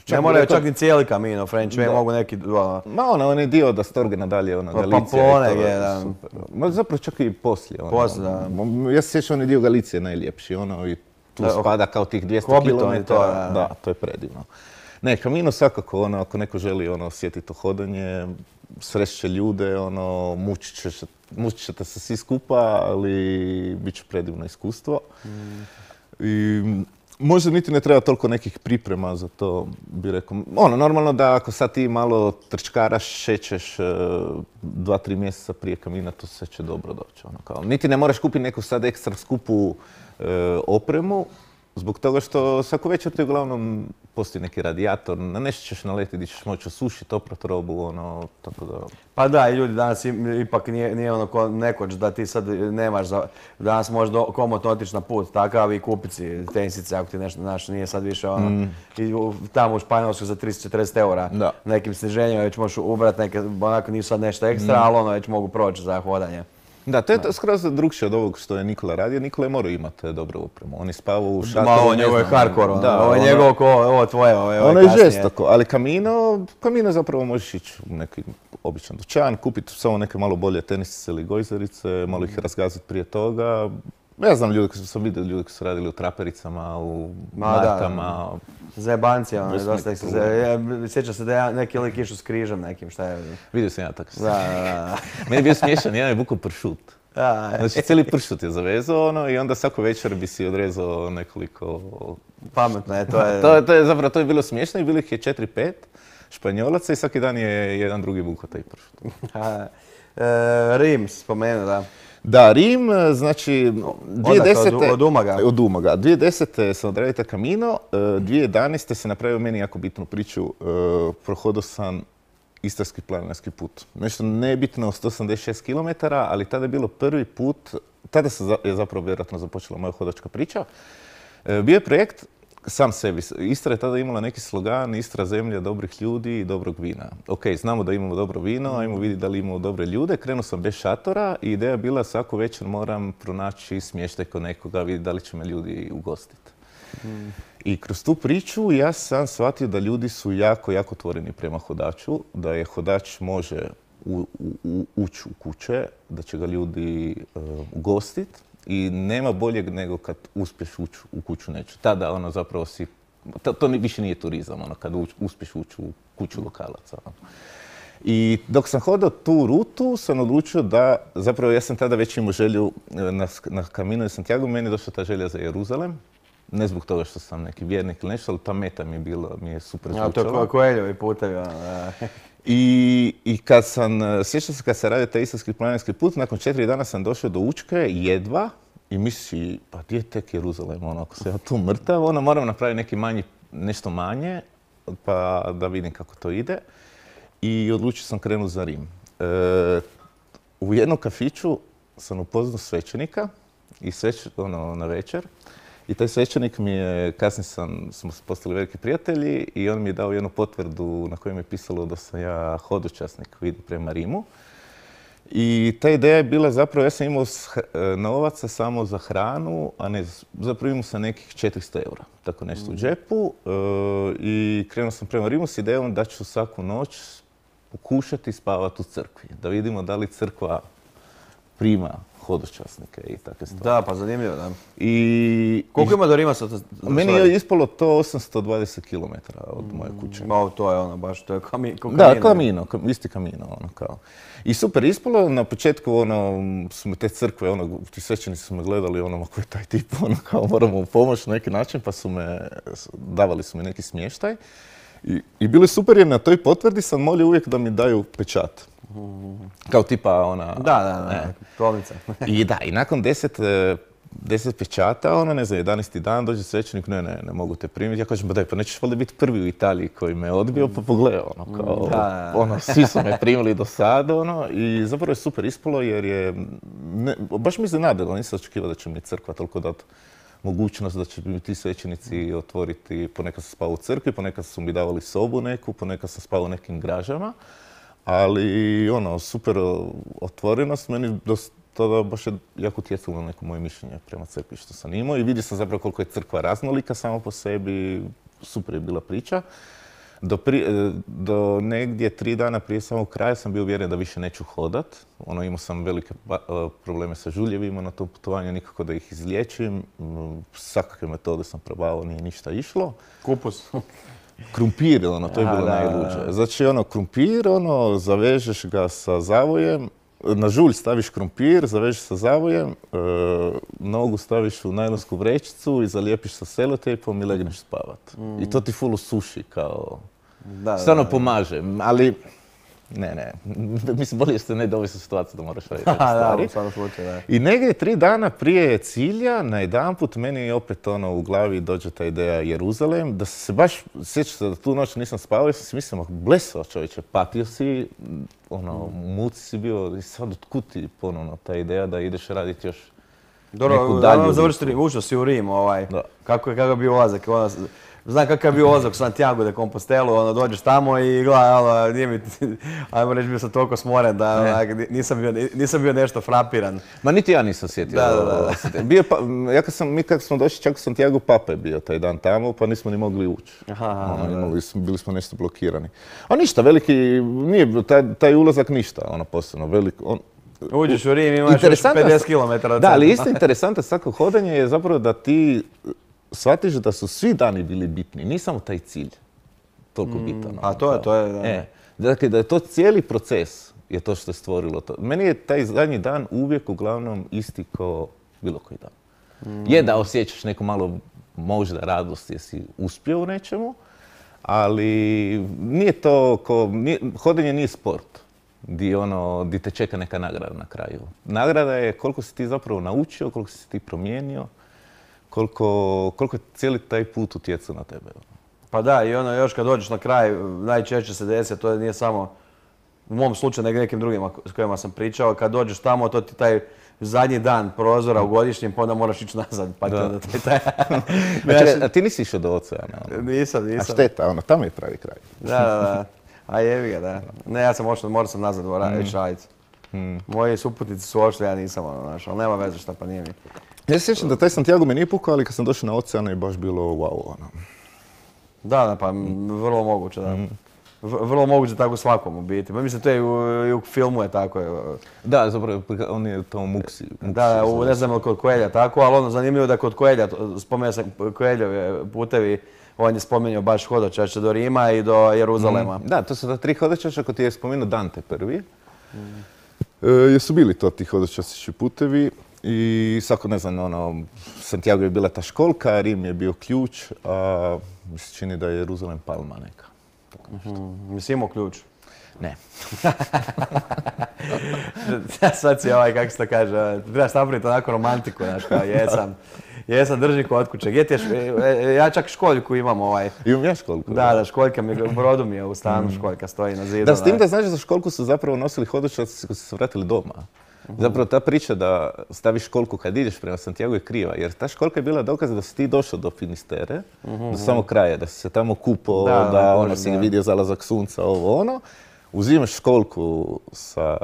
Čak ne moraju rekao... čak ni cijeli Camino, French Way, mogu neki... Ono... Ma ono, on je dio da Storge nadalje, ono, pa, Galicija. Pamplone je, da. Super. Ma zapravo čak i poslije, ono. Poslije, da. Ja se sjećam, on je dio Galicije najljepši, ono, i tu da, spada kao tih dvjesto kilometara. To, da. da, to je predivno. Ne, Camino svakako, ono, ako neko želi ono, osjetiti to hodanje, sreće ljude, ono, mučit ćeš, mučit ćete se svi skupa, ali bit će predivno iskustvo. Mm. I možda niti ne treba toliko nekih priprema za to, bi rekao. Ono, normalno da ako sad ti malo trčkaraš, šećeš dva, tri mjeseca prije Camina, to sve će dobro doći. Ono, kao. Niti ne moraš kupiti neku sad ekstra skupu e, opremu, zbog toga što svako večer ti uglavnom postoji neki radijator, na nešto ćeš naletiti gdje ćeš moći osušiti, oprati robu, ono, tako da... Pa da, i ljudi danas ipak nije, nije ono ko nekoć da ti sad nemaš za... Danas možeš komotno otići na put takav i kupiti si tenisice ako ti nešto, znaš, nije sad više ono... Mm. I tamo u Španjolsku za tristo četrdeset eura da. Nekim sniženjima već možeš ubrati neke, onako nisu sad nešto ekstra, mm. ali ono već mogu proći za hodanje. Da, to je to skroz drugčije od ovog što je Nikola radio. Nikola je morao imati dobru opremu. On je spavao u šatoru. Ma ovo njegovo je hardcore, ono. Ovo je njegovo ko, ovo tvoje, ovo je Ono je žestoko, ali Camino, Camino zapravo možeš ići u neki običan dućan, kupiti samo neke malo bolje tenisice ili gojzerice, malo ih razgaziti prije toga. Ja znam ljudi koji su sam vidio, ljudi koji su radili u trapericama, u martama. Zajebancija, ono je dosta ih se zajebancija. Sjećam se da ja neki lik išao s križem nekim, šta je? Vidio sam ja tako. Da, da, da. Meni je bio smiješan, jedan je vukao pršut. Znači cijeli pršut je zavezao ono i onda svako večer bi si odrezao nekoliko... Pametno je, to je... to, to je zapravo, to je bilo smiješno i bilo ih je četiri pet. Španjolaca i svaki dan je jedan drugi vuko taj pršut. e, Rim spomenuo, da. Da, Rim, znači, dvije tisuće desete... Od, od Umaga. Od Umaga. dvije tisuće desete sam odradio taj Camino, dvije tisuće jedanaeste se napravio meni jako bitnu priču. Prohodao sam Istarski planinarski put. Nešto nebitno, sto osamdeset šest kilometara, ali tada je bilo prvi put, tada se je zapravo vjerojatno započela moja hodačka priča. Bio je projekt sam sebi. Istra je tada imala neki slogan, Istra zemlja dobrih ljudi i dobrog vina. Ok, znamo da imamo dobro vino, ajmo vidjeti da li imamo dobre ljude. Krenuo sam bez šatora i ideja je bila svaku večer moram pronaći smještaj kod nekoga, vidjeti da li će me ljudi ugostiti. Mm. I kroz tu priču ja sam shvatio da ljudi su jako, jako otvoreni prema hodaču, da je hodač može u, u, ući u kuće, da će ga ljudi uh, ugostiti. I nema boljeg nego kad uspješ ući u kuću nečiju. Tada ono zapravo si, to, to više nije turizam, ono, kad uč, uspješ ući u kuću lokalaca. Ono. I dok sam hodao tu rutu, sam odlučio da, zapravo ja sam tada već imao želju na, na Camino de Santiago, meni je došla ta želja za Jeruzalem. Ne zbog toga što sam neki vjernik ili nešto, ali ta meta mi je bila, mi je super zvučala. Ja, to je Koeljovi putevi, ono, da. I, I kad sam, sjećam se kad sam radio taj Istarski planinarski put, nakon četiri dana sam došao do Učke, jedva, i misli, pa gdje je tek Jeruzalem, ono, ako se ja tu mrtav, ono, moram napraviti neki manji, nešto manje, pa da vidim kako to ide. I odlučio sam krenuti za Rim. E, u jednom kafiću sam upoznao svećenika, i sveć, ono, na večer. I taj svećenik mi je, kasnije sam, smo postali veliki prijatelji i on mi je dao jednu potvrdu na kojoj mi je pisalo da sam ja hodočasnik vidim prema Rimu. I ta ideja je bila zapravo, ja sam imao novaca samo za hranu, a ne, zapravo imao sam nekih četiristo eura, tako nešto u džepu. E, I krenuo sam prema Rimu s idejom da ću svaku noć pokušati spavati u crkvi, da vidimo da li crkva prima hodočasnike i takve stvari. Da, pa zanimljivo, da. I, Koliko i, ima do Rima? Sa, meni je ispalo to osamsto dvadeset kilometara od moje kuće. Mm, o, to je ono baš, to je kami, ko Camino. Da, Camino, isti Camino, ono kao. I super ispalo, na početku ono, su me te crkve, ono, ti svećenici su me gledali, ono, ko je taj tip, ono, kao moramo mu pomoći na neki način, pa su me, davali su mi neki smještaj. I, i bilo je super jer na toj potvrdi sam molio uvijek da mi daju pečat. Kao tipa ona... Da, da, da, stolnica. I da, i nakon deset, deset pečata, ono, ne znam, jedanaesti dan, dođe svećenik, ne, ne, ne mogu te primiti. Ja kažem, ba daj, pa nećeš valjda biti prvi u Italiji koji me odbio, pa pogledaj, ono, kao, da, da, da. Ono, svi su me primili do sada, ono, i zapravo je super ispalo jer je, ne, baš mi iznenadilo, nisam očekivao da će mi crkva toliko dati mogućnost da će mi ti svećenici otvoriti, ponekad sam spao u crkvi, ponekad su mi davali sobu neku, ponekad sam spao u nekim gražama. Ali, ono, super otvorenost, meni tada baš je jako utjecalo na neko moje mišljenje prema crkvi što sam imao i vidio sam zapravo koliko je crkva raznolika samo po sebi, super je bila priča. Do, pri, do negdje tri dana prije samog kraja sam bio uvjeren da više neću hodat. Ono, imao sam velike probleme sa žuljevima na tom putovanju, nikako da ih izliječim. Svakakve metode sam probao, nije ništa išlo. Kupus. Krumpir, ono, to je bilo najluđe. Znači, ono, krumpir, ono, zavežeš ga sa zavojem, na žulj staviš krumpir, zavežeš sa zavojem, e, nogu staviš u najlonsku vrećicu i zalijepiš sa selotejpom i legneš spavat. Mm. I to ti full usuši, kao, da, stvarno da, pomaže, ali... Ne, ne, mislim, bolje ste ne dovesti u situaciju da moraš raditi te stvari. Da, u slučaju, da. I negdje tri dana prije cilja, najedanput, meni opet ono u glavi dođe ta ideja Jeruzalem, da se baš, sjećam da tu noć nisam spavao, ja sam si mislio, blesao čovječe, patio si, ono, mm. muci si bio, i sad otkud ti ponovno ta ideja da ideš raditi još Dobro, neku dalju. Dobro, završiti, ušao si u Rim, ovaj, da. kako je kako bio ulazak, ono, znam kakav je bio ulazak u Santiago de Compostelu, ono, dođeš tamo i gledaj, ono, nije mi, ajmo reći, bio sam toliko smoren da ono, nisam, bio, nisam bio nešto frapiran. Ma niti ja nisam sjetio. Da, da, da. Bio pa, ja kad sam, mi kad smo došli čak u Santiago, Papa je bio taj dan tamo, pa nismo ni mogli ući. Aha, ono, imali, bili smo nešto blokirani. A ništa, veliki, nije taj, taj ulazak ništa, ono, posebno, velik, on, uđeš u Rim, imaš još pedeset kilometara. Da, ali isto interesantno svako hodanje je zapravo da ti shvatiš da su svi dani bili bitni, nije samo taj cilj toliko bitan. Mm, a to je, to je, da. E, dakle, da je to cijeli proces je to što je stvorilo to. Meni je taj zadnji dan uvijek uglavnom isti kao bilo koji dan. Mm. Je da osjećaš neku malo možda radost jer si uspio u nečemu, ali nije to ko, nije, hodenje nije sport di ono, di te čeka neka nagrada na kraju. Nagrada je koliko si ti zapravo naučio, koliko si ti promijenio, koliko, koliko je cijeli taj put utjecao na tebe. Pa da, i ono još kad dođeš na kraj, najčešće se desi, to nije samo u mom slučaju, nego nekim drugima s kojima sam pričao, kad dođeš tamo, to ti taj zadnji dan prozora u godišnjem, pa onda moraš ići nazad, pa ti onda taj... taj... a, čekaj, a ti nisi išao do oceana? Ono? Nisam, nisam. A šteta, ono, tamo je pravi kraj. Da, da, da. A jebi ga, da. Ne, ja sam ošao, morao sam nazad ići raditi. Mm. Moji suputnici su ošli, ja nisam, ono, znaš, ali nema veze šta, pa nije mi. Ja se sjećam da taj Santiago me nije pukao, ali kad sam došao na ocean je baš bilo wow, ono. Da, da, pa vrlo moguće, da. Mm. Vrlo moguće tako svakom u biti. Pa mislim, to je i u, i u filmu je tako. Da, zapravo, on je to muksi. muksi da, u, ne znam kod Coelha tako, ali ono zanimljivo da kod Coelha, spomenuo sam Coelhove putevi, on je spomenuo baš hodočašće do Rima i do Jeruzalema. Mm. Da, to su ta tri hodočašća, ako ti je spomenuo Dante prvi. Mm. E, jesu bili to ti hodočašći putevi i svako, ne znam, ono, Santiago je bila ta školka, Rim je bio ključ, a mi se čini da je Jeruzalem palma neka. Mm-hmm. Jesi imao ključ? Ne. Sad si ovaj, kako se to kaže, trebaš napraviti onako romantiku, znaš, kao jesam, jesam drži kod kuće. Gdje ti je, ja čak školjku imam ovaj. Imam ja školjku? Da, da, školjka mi, u brodu mi je u stanu, školjka stoji na zidu. Da, s tim da znaš da za školjku su zapravo nosili hodočasci koji su se vratili doma. Zapravo ta priča da staviš školjku kad ideš prema Santiago je kriva, jer ta školjka je bila dokaz da si ti došao do Finistere, mm-hmm. do samog kraja, da si se tamo kupao, da, da, da ono, si vidio zalazak sunca, ovo ono. Uzimaš školjku sa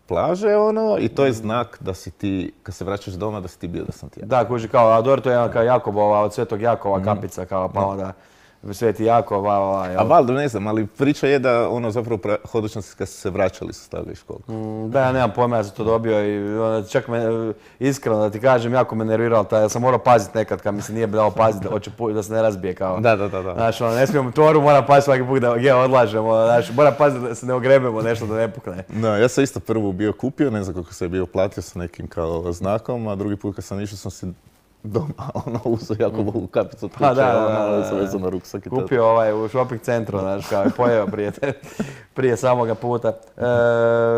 plaže, ono, i to je znak da si ti, kad se vraćaš doma, da si ti bio do Santiago. Da, kuži kao, a dobro, to je jedan kao Jakobova, od Svetog Jakova mm-hmm. kapica, kao, pa onda... Sveti Jakov, ovaj... A valjda ne znam, ali priča je da ono zapravo hodočasci kad su se vraćali su stavili školjku. Mm, da, ja nemam pojma, ja sam to dobio i ono, čak me, iskreno da ti kažem, jako me nerviralo taj, ja sam morao paziti nekad kad mi se nije dao paziti da, hoće, da se ne razbije kao... Da, da, da. da. Znaš, ono, ne smijem toru, moram paziti svaki put da gdje odlažemo, znaš, moram paziti da se ne ogrebemo nešto da ne pukne. Da, ja sam isto prvu bio kupio, ne znam kako se je bio platio sa nekim kao znakom, a drugi put kad sam išao sam si doma, ono, uzeo Jakobovu kapicu od kuće, da, da, da, ono, sam vezao na ruksak i tako. Kupio ovaj u shopping centru, znaš, kao i pojeo prije, prije samoga puta. E,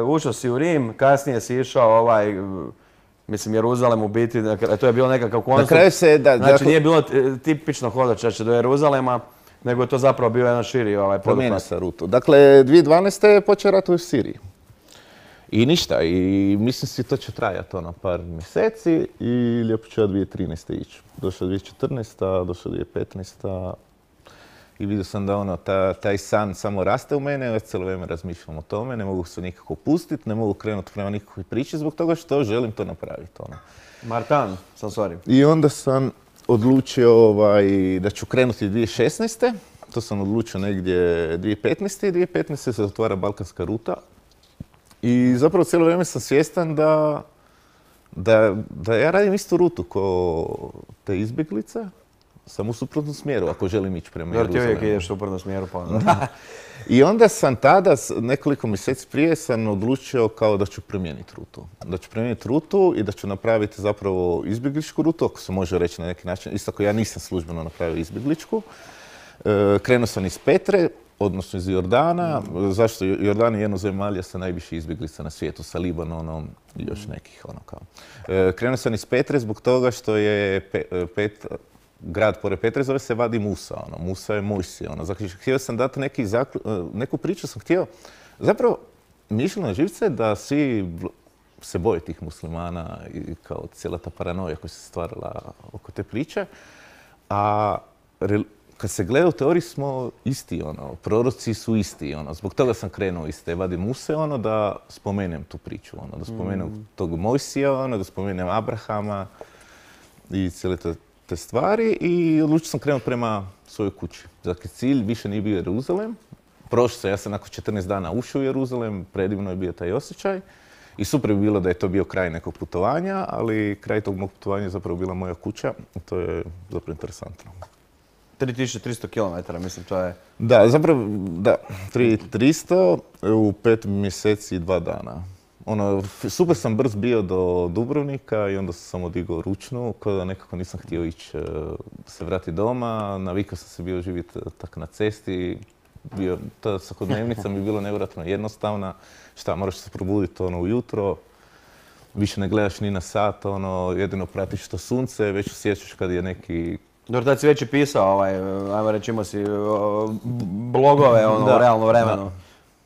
ušao si u Rim, kasnije si išao ovaj, mislim, Jeruzalem u biti, to je bilo nekakav koncept. Na kraju se, da... Znači, dakle, nije bilo tipično hodočašće do Jeruzalema, nego je to zapravo bio jedan širi ovaj poduhvat. Promijenio se rutu. Dakle, dvije tisuće dvanaeste. je počeo rat u Siriji. I ništa, i mislim si to će trajati ono par mjeseci i lijepo ću ja dvije tisuće trinaeste. ići. Došao dvije tisuće četrnaesta. došao dvije tisuće petnaesta. i vidio sam da ono, ta, taj san samo raste u mene, već cijelo vrijeme razmišljam o tome, ne mogu se nikako pustiti, ne mogu krenuti prema nikakvoj priči zbog toga što želim to napraviti. Ono. Martan, sam sorry. I onda sam odlučio ovaj, da ću krenuti dvije tisuće šesnaeste. To sam odlučio negdje dvije tisuće petnaeste. i dvije tisuće petnaeste se otvara Balkanska ruta. I zapravo cijelo vrijeme sam svjestan da, da, da ja radim istu rutu ko te izbjeglice, sam u suprotnom smjeru ako želim ići prema Jeruzalemu. Jer ti uvijek ideš u suprotnom smjeru, pa onda. I onda sam tada, nekoliko mjeseci prije, sam odlučio kao da ću promijeniti rutu. Da ću promijeniti rutu i da ću napraviti zapravo izbjegličku rutu, ako se može reći na neki način. Isto ako ja nisam službeno napravio izbjegličku. E, krenuo sam iz Petre, odnosno iz Jordana. Zašto? Jordan je jedno zemalja sa najviše izbjeglica na svijetu, sa Libanonom i još nekih ono kao. E, krenuo sam iz Petre zbog toga što je pe, pet, grad pored Petre zove se Vadi Musa. Ono. Musa je Mojsije. Ono. Znači, htio sam dati neki zakl... neku priču, sam htio... Zapravo, mi išli na živce da svi se boje tih muslimana i kao cijela ta paranoja koja se stvarala oko te priče. A kad se gleda u teoriji smo isti, ono, proroci su isti, ono, zbog toga sam krenuo iz te Vadi Muse, ono, da spomenem tu priču, ono, da spomenem mm. tog Mojsija, ono, da spomenem Abrahama i cijele te, te stvari i odlučio sam krenuti prema svojoj kući. Dakle, cilj više nije bio Jeruzalem, prošao sam, ja sam nakon četrnaest dana ušao u Jeruzalem, predivno je bio taj osjećaj i super bi bilo da je to bio kraj nekog putovanja, ali kraj tog mog putovanja je zapravo bila moja kuća i to je zapravo interesantno. tri tisuće tristo kilometara, mislim, to je... Da, zapravo, da, tri tisuće tristo u pet mjeseci i dva dana. ono, f- super sam brz bio do Dubrovnika i onda sam samo digao ručnu, kao da nekako nisam htio ići, e, se vratiti doma, navikao sam se bio živjeti tak na cesti, bio, ta svakodnevnica mi je bilo nevjerojatno jednostavna, šta, moraš se probuditi ono ujutro, više ne gledaš ni na sat, ono, jedino pratiš to sunce, već osjećaš kad je neki... Dobro, tad si već i pisao, ovaj, ajmo reći, imao si o, b- blogove ono, Da, u realnom vremenu. da.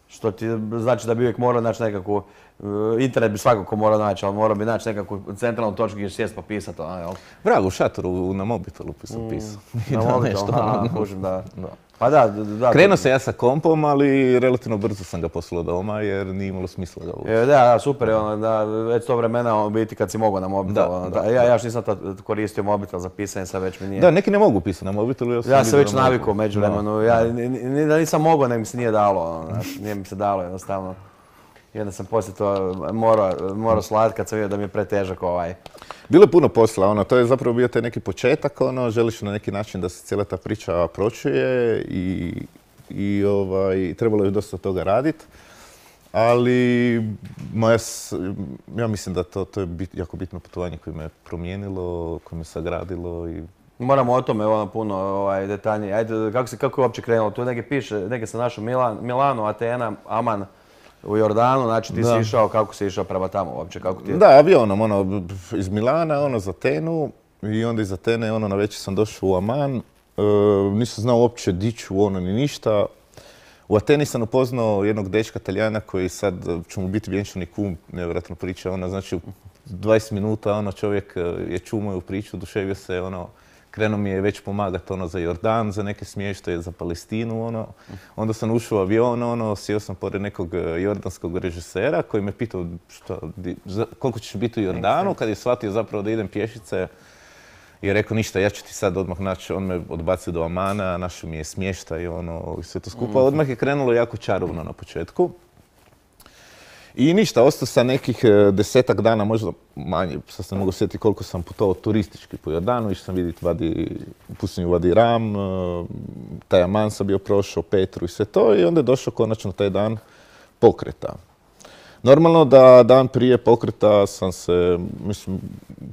Što ti znači da bi uvijek morao naći nekakvu, e, internet bi svakako morao naći, ali morao bi naći nekakvu centralnu točku gdje sjest pa pisati, ono, jel? Vrago, u šatoru na mobitelu sam pisao. I Na da, mobitel, nešto, aha, ono. kužim, da. Da. Pa da, da. Krenuo sam ja sa kompom, ali relativno brzo sam ga poslao doma jer nije imalo smisla ga uvući. E, Da, da, super je ono, da, već to vremena ono, biti kad si mogao na mobitel. Da, ono, da, da, ja, ja još nisam tad koristio mobitel za pisanje, sad već mi nije. Da, neki ne mogu pisati na mobitelu. Ja sam, Ja sam vidio već da mogu. navikao među vremenu, ja ni- ni- da nisam mogao, nego mi se nije dalo, ono, znaš, nije mi se dalo jednostavno. I onda sam poslije to morao, morao slat kad sam vidio da mi je pretežak ovaj. Bilo je puno posla, ono, to je zapravo bio taj neki početak, ono, želiš na neki način da se cijela ta priča pročuje i, i ovaj, trebalo je dosta toga raditi. Ali moja, s- ja mislim da to, to je bit, jako bitno putovanje koje me promijenilo, koje me sagradilo i Moramo o tome ono puno ovaj, detaljnije. Ajde, kako, se, kako je uopće krenulo? Tu neke piše, neke sam našao Milan, Milano, Atena, Aman u Jordanu, znači ti Da. si išao, kako si išao prema tamo uopće, kako ti je? Da, avionom, ono, iz Milana, ono, za Atenu i onda iz Atene, ono, na večer sam došao u Aman. E, nisam znao uopće di ću, ono, ni ništa. U Ateni sam upoznao jednog dečka Talijana koji sad će mu biti vjenčani kum, nevjerojatno priča, ono, znači, u dvadeset minuta, ono, čovjek e, je čuo moju priču, oduševio se, ono, krenuo mi je već pomagati, ono, za Jordan, za neke smještaje, za Palestinu, ono. Onda sam ušao u avion, ono, sjeo sam pored nekog e, jordanskog režisera koji me pitao šta, di- za- koliko ćeš biti u Jordanu, kad je shvatio zapravo da idem pješice. I je rekao ništa, ja ću ti sad odmah naći, on me odbacio do Amana, našao mi je smještaj, ono, i sve to skupa. Odmah je krenulo jako čarovno na početku. I ništa, ostao sam nekih e, desetak dana, možda manje, sad se ne mogu sjetiti koliko sam putovao turistički po Jordanu, išao sam vidjeti Vadi, pustinju Vadi Ram, e, taj Aman sam bio prošao, Petru i sve to, i onda je došao konačno taj dan pokreta. Normalno da dan prije pokreta sam se, mislim,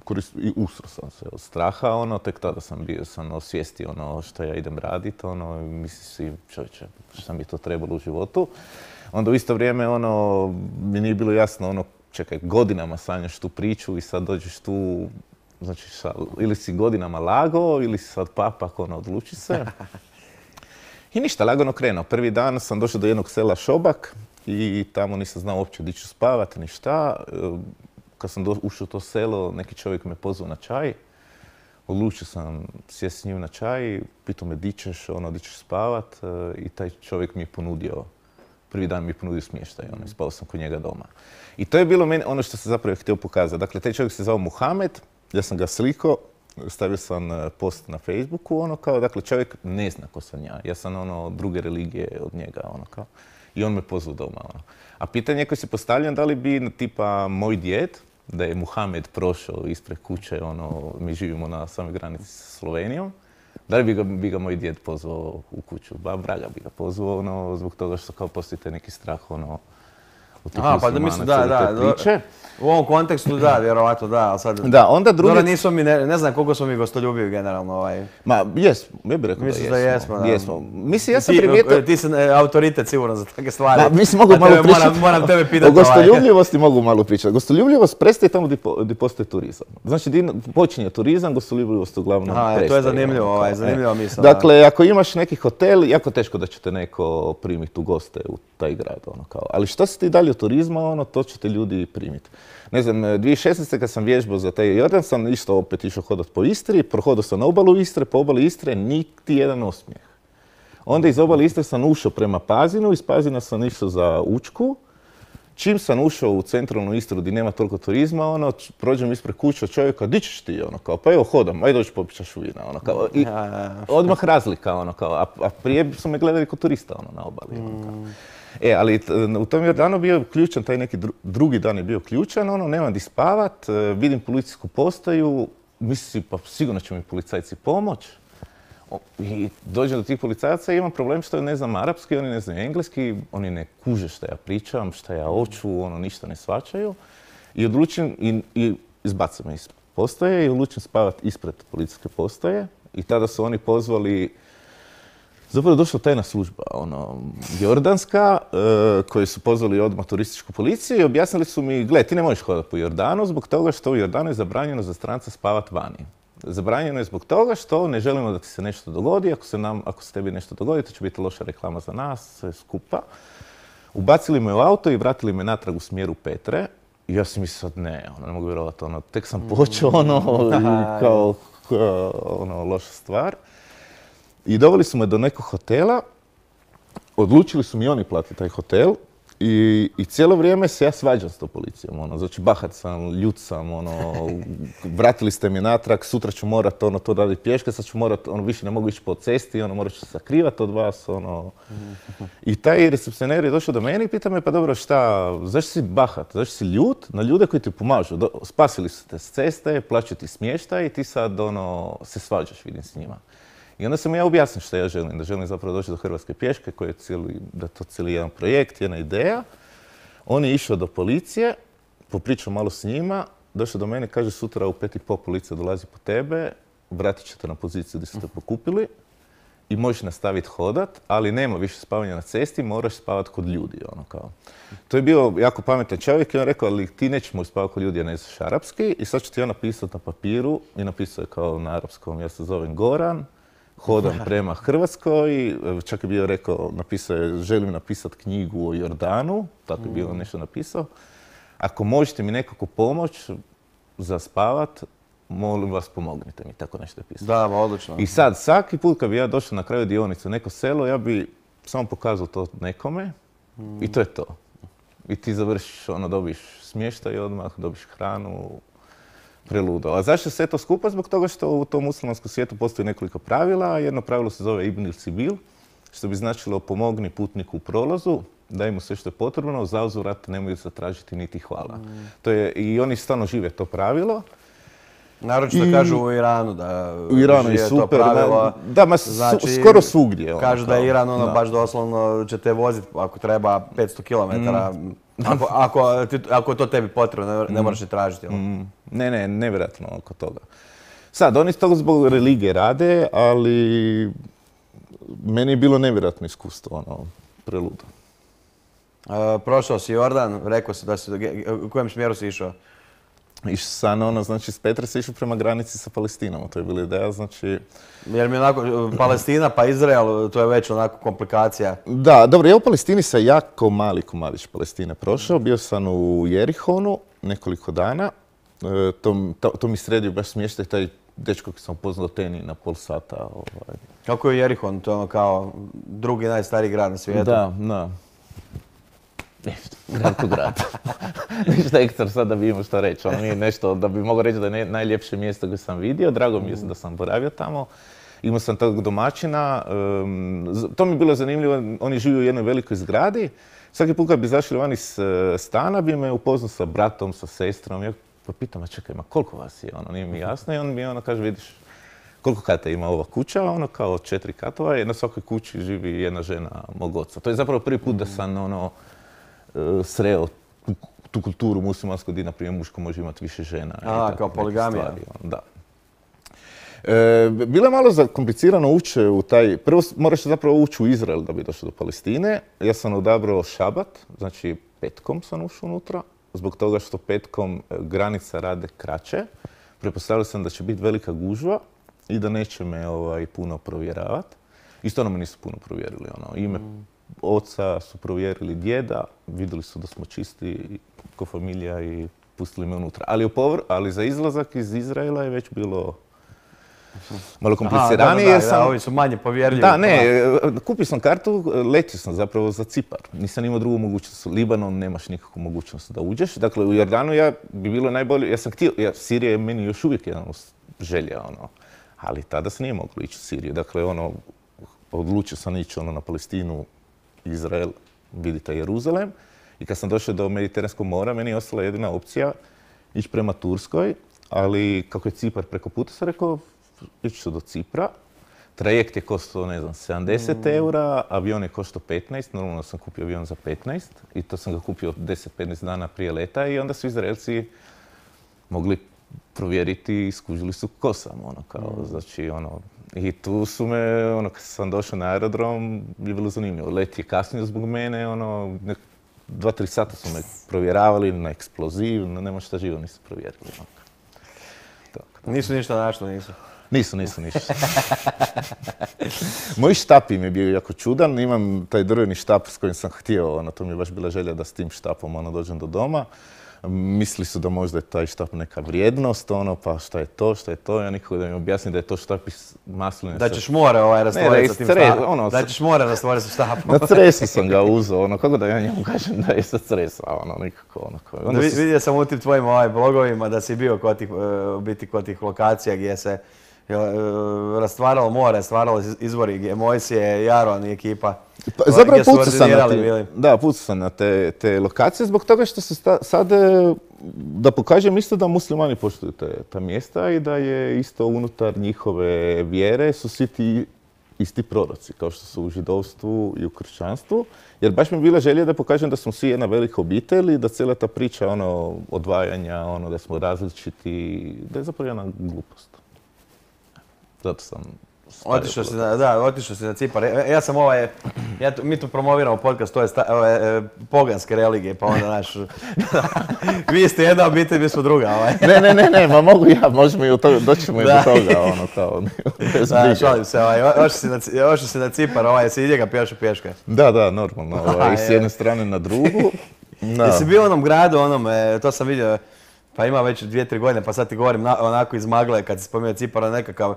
koristio, i usro sam se od straha, ono, tek tada sam bio, sam osvijestio ono što ja idem raditi, ono, i mislim si, čovječe, šta mi je to trebalo u životu. Onda u isto vrijeme, ono, mi nije bilo jasno, ono, čekaj, godinama sanjaš tu priču i sad dođeš tu, znači, šta, ili si godinama lago, ili si sad papak, ono, odluči se. I ništa, lagano krenuo. Prvi dan sam došao do jednog sela Šobak i tamo nisam znao uopće gdje ću spavat, ni šta. E, Kad sam do- ušao u to selo, neki čovjek me pozvao na čaj. Odlučio sam sjesti s njim na čaj, pitao me di ćeš, ono, di ćeš spavat, e, i taj čovjek mi je ponudio, prvi dan mi je ponudio smještaj, ono, i spao sam kod njega doma. I to je bilo meni ono što sam zapravo htio pokazati. Dakle, taj čovjek se zvao Muhamed, ja sam ga slikao, stavio sam e, post na Facebooku, ono kao, dakle, čovjek ne zna ko sam ja. Ja sam, ono, druge religije od njega, ono kao. I on me pozvao doma, ono. A pitanje koje se postavljam, da li bi, tipa, moj djed, da je Muhamed prošao ispred kuće, ono, mi živimo na samoj granici sa Slovenijom, da li bi ga, bi ga moj djed pozvao u kuću? Ba, vraga bi ga pozvao, ono, zbog toga što kao postoji taj neki strah, ono, u tih Aha, pa da mislim, da, muslimanaca, da, te priče. u ovom kontekstu da, vjerovatno da, ali sad... Da, onda drugi... Dobro, nismo mi, ne, ne znam koliko smo mi gostoljubivi generalno, ovaj. Ma, jesmo, ja bih rekao Mislim da da jesmo. jesmo, da. Jesmo. Mislim, ja sam Ti, primijetio... ti si e, autoritet sigurno za takve stvari. Ma, mislim, mogu A malo tebe pričati. Moram, moram tebe O pitati ovaj. gostoljubljivosti mogu malo pričati. Gostoljubljivost prestaje tamo gdje po- gdje postoji turizam. Znači, di počinje turizam, gostoljubljivost uglavnom Aha, prestaje. to je zanimljivo, ono, ovaj, kao, zanimljiva e. misao, da. Dakle, ako imaš neki hotel, jako teško da će te neko primiti u goste u taj grad, ono kao. Ali što se ti dalje od turizma, ono, to će te ljudi primiti. Ne znam, dvije tisuće šesnaeste. kad sam vježbao za taj Jordan, sam isto opet išao hodat po Istri, prohodao sam na obalu Istre, po obali Istre, niti jedan osmijeh. Onda iz obale Istre sam ušao prema Pazinu, iz Pazina sam išao za Učku. Čim sam ušao u centralnu Istru gdje nema toliko turizma, ono, č- prođem ispred kuće od čovjeka, di ćeš ti, ono, kao, pa evo hodam, ajde dođi popit čašu vina, ono, kao, i Ja, ja, ja. odmah razlika, ono, kao, a, a prije su me gledali kao turista, ono, na obali, ono, kao. E, ali t- u tom Jordanu bio ključan, taj neki dru- drugi dan je bio ključan, ono, nemam di spavat, e, vidim policijsku postaju, mislim si, pa sigurno će mi policajci pomoć. I dođem do tih policajaca i imam problem što ne znam arapski, oni ne znaju engleski, oni ne kuže šta ja pričam, šta ja hoću, ono, ništa ne shvaćaju. I odlučim, i, i izbace me iz postaje i odlučim spavati ispred policijske postaje. I tada su oni pozvali, zapravo je došla tajna služba, ono, jordanska, e, koji su pozvali odmah turističku policiju i objasnili su mi, gle, ti ne možeš hodati po Jordanu zbog toga što u Jordanu je zabranjeno za stranca spavati vani. Zabranjeno je zbog toga što ne želimo da ti se nešto dogodi, ako se, nam, ako se tebi nešto dogodi, to će biti loša reklama za nas, sve skupa. Ubacili me u auto i vratili me natrag u smjeru Petre. I ja sam mislio, ne, ono, ne mogu vjerovati, ono, tek sam počeo, ono, kao, kao, ono, loša stvar. I doveli su me do nekog hotela, odlučili su mi oni platiti taj hotel i, i cijelo vrijeme se ja svađam s tom policijom, ono, znači bahat sam, ljut sam, ono, vratili ste mi natrag, sutra ću morat, ono, to raditi pješke, sad ću morat, ono, više ne mogu ići po cesti, ono, morat ću se sakrivati od vas, ono. I taj recepcioner je došao do mene i pita me, pa dobro, šta, zašto si bahat, zašto si ljut na ljude koji ti pomažu, do, spasili su te s ceste, plaćaju ti smještaj i ti sad, ono, se svađaš, vidim, s njima. I onda sam ja objasnio što ja želim, da želim zapravo doći do Hrvatske pješke, koji je cijeli, da je to cijeli jedan projekt, jedna ideja. On je išao do policije, popričao malo s njima, došao do mene, kaže sutra u pet i pol policija dolazi po tebe, vratit ćete na poziciju gdje ste te pokupili i možeš nastaviti hodat, ali nema više spavanja na cesti, moraš spavati kod ljudi, ono kao. To je bio jako pametan čovjek i on rekao, ali ti nećeš moći spavati kod ljudi, ja ne znaš arapski i sad ću ti ja napisati na papiru i napisao je kao na arapskom, ja se zovem Goran, hodam prema Hrvatskoj, čak je bio rekao, napisao je, želim napisati knjigu o Jordanu, tako je bilo nešto napisao. Ako možete mi nekako pomoć za spavat, molim vas pomognite mi, tako nešto je pisao. Da, odlično. I sad, svaki put kad bi ja došao na kraju dionice u neko selo, ja bi samo pokazao to nekome mm. i to je to. I ti završiš, ono, dobiš smještaj odmah, dobiš hranu, preludo. A zašto se to skupa? Zbog toga što u tom muslimanskom svijetu postoji nekoliko pravila. Jedno pravilo se zove Ibn il-Sibil, što bi značilo pomogni putniku u prolazu, daj mu sve što je potrebno, za uzvrat nemoj zatražiti niti hvala. Mm. To je, i oni stvarno žive to pravilo. Naročito I... kažu u Iranu da u Iranu je super, to pravilo. Da, ma znači, skoro svugdje. Kažu ono, da je Iran ono, baš doslovno će te voziti ako treba petsto kilometara. Mm. Ako, ako, ti, ako je to tebi potrebno, ne, ne moraš je tražiti. Mm. Ne, ne, nevjerojatno oko toga. Sad, oni to zbog religije rade, ali meni je bilo nevjerojatno iskustvo, ono, preludo. Uh, prošao si Jordan, rekao si da si, u kojem smjeru si išao? Išao sam, ono, znači, s Petre se išao prema granici sa Palestinom, to je bila ideja, znači... Jer mi onako, Palestina pa Izrael, to je već onako komplikacija. Da, dobro, ja u Palestini sam jako mali komadić Palestine prošao, bio sam u Jerihonu nekoliko dana, e, to, to, to mi sredio baš smještaj, taj dečko koji sam upoznao Teni na pol sata. Ovaj. Kako je Jerihon, to je ono kao drugi najstariji grad na svijetu? Da, da. Grad ko grad. Ništa ekstra sad da bi imao što reći. Ono nije nešto da bi mogao reći da je najljepše mjesto koje sam vidio. Drago mi je da sam boravio tamo. Imao sam tog domaćina. Um, to mi je bilo zanimljivo. Oni žive u jednoj velikoj zgradi. Svaki put kad bi izašli van iz stana bi me upoznao sa bratom, sa sestrom. Ja pa pitam, a čekaj, ma koliko vas je? Ono, nije mi jasno. I on mi ono kaže, vidiš, koliko kata ima ova kuća? Ono kao četiri katova i na svakoj kući živi jedna žena mog oca. To je zapravo prvi put da sam ono, sreo tu, tu kulturu muslimansku gdje, na primjer, muško može imati više žena. A, kao poligamija. Stvari, ono, da. E, bilo je malo zakomplicirano ući u taj... Prvo moraš zapravo ući u Izrael da bi došao do Palestine. Ja sam odabrao šabat, znači petkom sam ušao unutra, zbog toga što petkom granica rade kraće. Pretpostavio sam da će biti velika gužva i da neće me ovaj, puno provjeravati. I stvarno me nisu puno provjerili. Ono. Ime mm. oca su provjerili djeda, vidjeli su da smo čisti ko familija i pustili me unutra. Ali, povr, ali za izlazak iz Izraela je već bilo malo kompliciranije. Da, da, da, ovi su manje povjerljivi. Da, ne, kupio sam kartu, letio sam zapravo za Cipar. Nisam imao drugu mogućnost. U Libanon nemaš nikakvu mogućnost da uđeš. Dakle, u Jordanu ja bi bilo najbolje, ja sam htio, ja, Sirija je meni još uvijek jedan želja, ono, ali tada se nije moglo ići u Siriju. Dakle, ono, odlučio sam ići ono, na Palestinu, Izrael, vidite Jeruzalem. I kad sam došao do Mediteranskog mora, meni je ostala jedina opcija ići prema Turskoj, ali kako je Cipar preko puta, sam rekao, ići ću do Cipra. trajekt je koštao, ne znam, sedamdeset eura, avion je koštao petnaest, normalno sam kupio avion za petnaest i to sam ga kupio deset do petnaest dana prije leta i onda su Izraelci mogli provjeriti i skužili su ko sam, ono, kao, znači, ono, i tu su me, ono, kad sam došao na aerodrom, je bilo zanimljivo. Let je kasnio zbog mene, ono, nek, dva, tri sata su me provjeravali na eksploziv, no nema šta živo nisu provjerili. Ono. Tako. Nisu ništa našli, nisu? Nisu, nisu ništa. Moj štap im je bio jako čudan, imam taj drveni štap s kojim sam htio, ono, to mi je baš bila želja da s tim štapom, ono, dođem do doma. Mislili su da možda je taj štap neka vrijednost, ono, pa šta je to, šta je to, ja nikako da mi objasnim da je to štap iz masline. Da ćeš more ovaj rastvoriti sa tim štapom, ono, da ćeš more rastvoriti sa štapom. Na cresu sam ga uzeo, ono, kako da ja njemu kažem da je sa cresa, ono, nikako, ono. Onda si... Vidio sam u tim tvojim ovaj, blogovima da si bio kod tih, biti kod tih lokacija gdje se rastvaralo more, stvaralo izvori gdje Mojsije, Jaron i ekipa. Pa, zapravo pucao sam na te, da, pucao sam na te, te lokacije zbog toga što se sta, sad, da pokažem isto da muslimani poštuju te, ta mjesta i da je isto unutar njihove vjere su svi ti isti proroci, kao što su u židovstvu i u kršćanstvu. Jer baš mi je bila želja da pokažem da smo svi jedna velika obitelj i da cijela ta priča ono, odvajanja, ono, da smo različiti, da je zapravo jedna glupost. Zato sam... Otišao si na, da, otišao si na Cipar. Ja, ja sam ovaj, ja, mi tu promoviramo podcast, to je sta, ove, poganske religije, pa onda naš... Vi ste jedna obitelj, mi smo druga, ovaj. Ne, ne, ne, ne, ma mogu ja, možemo i u to, doćemo i do toga, ono, kao, bez briga. Da, šalim se, ovaj, ošao si na, ošao si na Cipar, ovaj, si ide ga pješo pješke. Da, da, normalno, ovaj, s jedne strane na drugu. Da. Jesi bio u onom gradu, onom, e, to sam vidio, pa ima već dvije, tri godine, pa sad ti govorim na, onako iz magle, kad si spomenuo Cipar, nekakav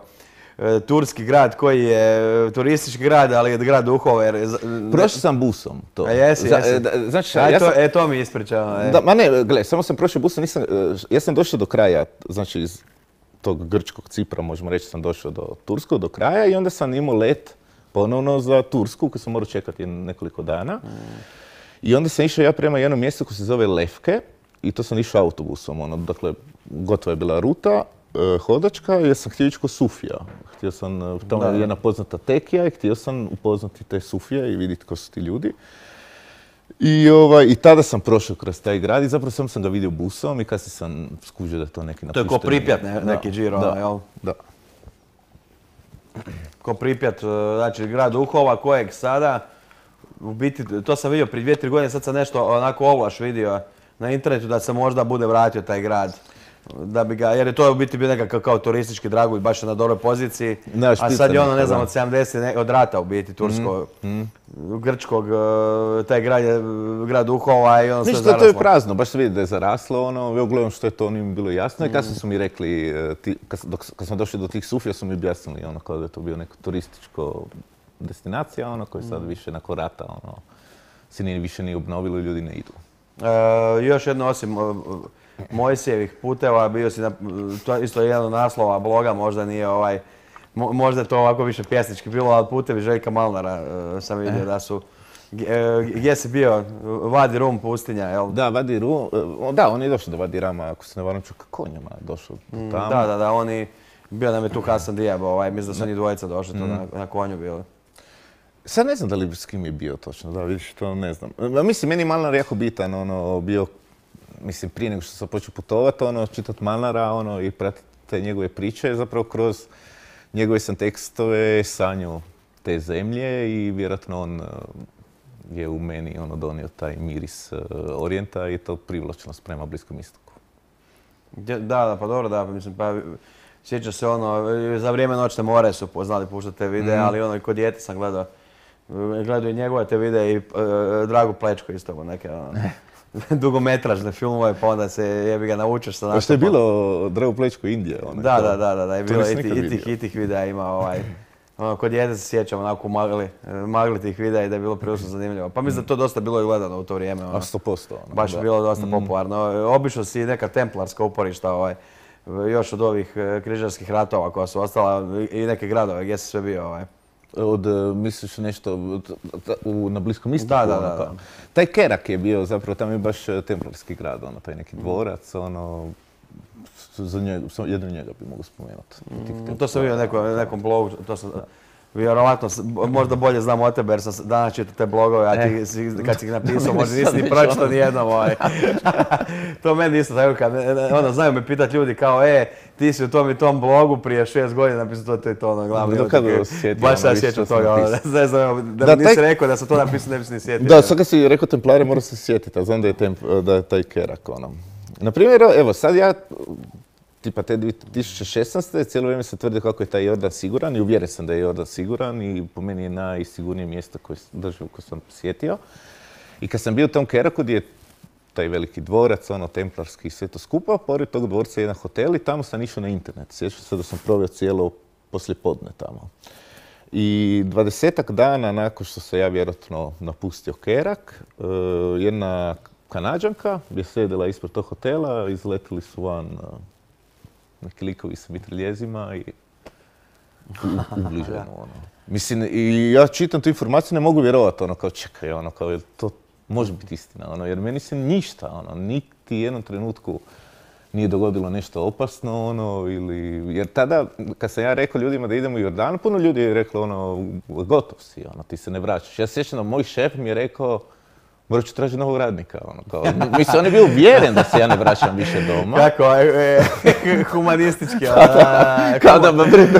turski grad koji je turistički grad, ali je grad duhova. Jer... Prošao sam busom to. A jesi, jesi. Za, znači, A, ja to, sam... E, to mi ispričao. E. Da, ma ne, gle, samo sam prošao busom, nisam, ja sam došao do kraja, znači iz tog grčkog Cipra, možemo reći, sam došao do turskog, do kraja i onda sam imao let ponovno za Tursku, koji sam morao čekati nekoliko dana. Mm. I onda sam išao ja prema jednom mjestu koji se zove Lefke i to sam išao autobusom, ono, dakle, gotova je bila ruta, hodačka, jer sam htio ići kod Sufija. Htio sam, tamo je jedna poznata tekija i htio sam upoznati te Sufije i vidjeti ko su ti ljudi. I, ovaj, i tada sam prošao kroz taj grad i zapravo sam, sam ga vidio busom i kasnije sam skužio da je to neki napušteni. To je ko Pripjat, ne, neki džiro, da, jel? Da. Ko Pripjat, znači grad duhova kojeg sada, u biti, to sam vidio prije dvije, tri godine, sad sam nešto onako ovlaš vidio na internetu da se možda bude vratio taj grad. Da bi ga, jer je to u biti bio nekakav kao turistički dragulj, baš na dobroj poziciji, ne, a sad je ono, ne znam, od sedamdeset od rata u biti, turskog, mm, mm. grčkog, taj grad je grad duhova i ono sve zaraslo. Ništa, to je prazno, baš se vidi da je zaraslo, ono, ja gledam što je to onim bilo jasno i kasnije su mi rekli, ti, kad, dok, kad smo došli do tih Sufija su mi objasnili, ono, kao da je to bio neko turističko destinacija, ono, koji sad više nakon rata, ono, se nije više nije obnovilo i ljudi ne idu. E, još jedno osim Mojsijevih puteva, bio si na, to isto jedan od naslova bloga, možda nije ovaj, mo, možda je to ovako više pjesnički bilo, ali putevi Željka Malnara uh, sam vidio da su, uh, gdje si bio, Vadi Rum pustinja, jel? Da, Vadi Rum, uh, da, on je došao do Vadi Rama, ako se ne varam, čuka konjama je došao mm, tamo. Da, da, da, oni, bio nam je tu Hasan Dijab, ovaj, mislim da su oni dvojica došli mm. tu na, na konju bili. Sad ne znam da li s kim je bio točno, da vidiš, to ne znam. Mislim, meni je Malnar jako bitan, ono, bio, mislim, prije nego što sam počeo putovati, ono, čitati Malnara, ono, i pratiti te njegove priče, zapravo kroz njegove sam tekstove sanju te zemlje i vjerojatno on je u meni, ono, donio taj miris orijenta i to privlačnost prema Bliskom istoku. Da, da, pa dobro, da, mislim, pa sjeća se ono, za vrijeme Noćne more su znali puštati te videe, mm. ali ono, i kod dijete sam gledao, gledao i njegove te videe i uh, Dragu Plečko isto, neke, ono, dugometražne filmove, pa onda se jebi ga naučiš sa nastupom. Pa što je bilo Drago Plečko Indija? Da, da, da, da, da, je bilo i tih, i tih videa ima ovaj, ono, kod dijete se sjećam onako magli, magli tih videa i da je bilo prilično zanimljivo. Pa mislim da to dosta bilo i gledano u to vrijeme. Ono. A sto posto. Ono, baš je bilo dosta mm. popularno. Obišao si neka templarska uporišta, ovaj, još od ovih križarskih ratova koja su ostala i neke gradove gdje si sve bio. Ovaj. Od, misliš nešto u, na Bliskom istoku? Da, da, da, ono, da. Taj Kerak je bio, zapravo tam je baš templarski grad, ono, taj neki dvorac, ono, za njega, jedno njega bi mogu spomenuti. Mm, to sam vidio na neko, nekom blogu, to sam, Vjerovatno, možda bolje znam o tebe jer sam danas čitao te blogove, a ti si, kad si ih napisao možda nisi ni pročitao nijednom. Ovaj. To meni isto tako, kad ono, znaju me pitati ljudi kao, e, ti si u tom i tom blogu prije šest godina napisao to, to i to, ono, glavno. Dok kada osjetio, baš se sjećam toga, ono, ne znam, da, da mi nisi taj... rekao da sam to napisao, ne bi se ni sjetio. Da, sad kad si rekao Templare, moram se sjetiti, a znam da je, temp, da je taj Kerak, ono. Naprimjer, evo, sad ja, tipa te dvije tisuće šesnaeste. cijelo vrijeme se tvrdi kako je taj Jordan siguran i uvjeren sam da je Jordan siguran i po meni je najsigurnije mjesto koje državu koju sam posjetio. I kad sam bio u tom Keraku gdje je taj veliki dvorac, ono, templarski i sve to skupa, pored tog dvorca je jedan hotel i tamo sam išao na internet. Sjećam se da sam proveo cijelo poslijepodne tamo. I dvadesetak dana nakon što se ja vjerojatno napustio Kerak, jedna Kanađanka je sjedila ispred tog hotela, izletili su van neki likovi sa mitraljezima i ubliženo, ono. Mislim, i ja čitam tu informaciju, ne mogu vjerovati, ono, kao čekaj, ono, kao, jer to može biti istina, ono, jer meni se ništa, ono, niti jednom trenutku nije dogodilo nešto opasno, ono, ili, jer tada, kad sam ja rekao ljudima da idemo u Jordanu, puno ljudi je reklo, ono, gotov si, ono, ti se ne vraćaš. Ja se sjećam da moj šef mi je rekao, morat ću tražiti novog radnika, ono, kao, mislim, on je bio uvjeren da se ja ne vraćam više doma. Kako, e, e, humanistički, ono, da, kao da,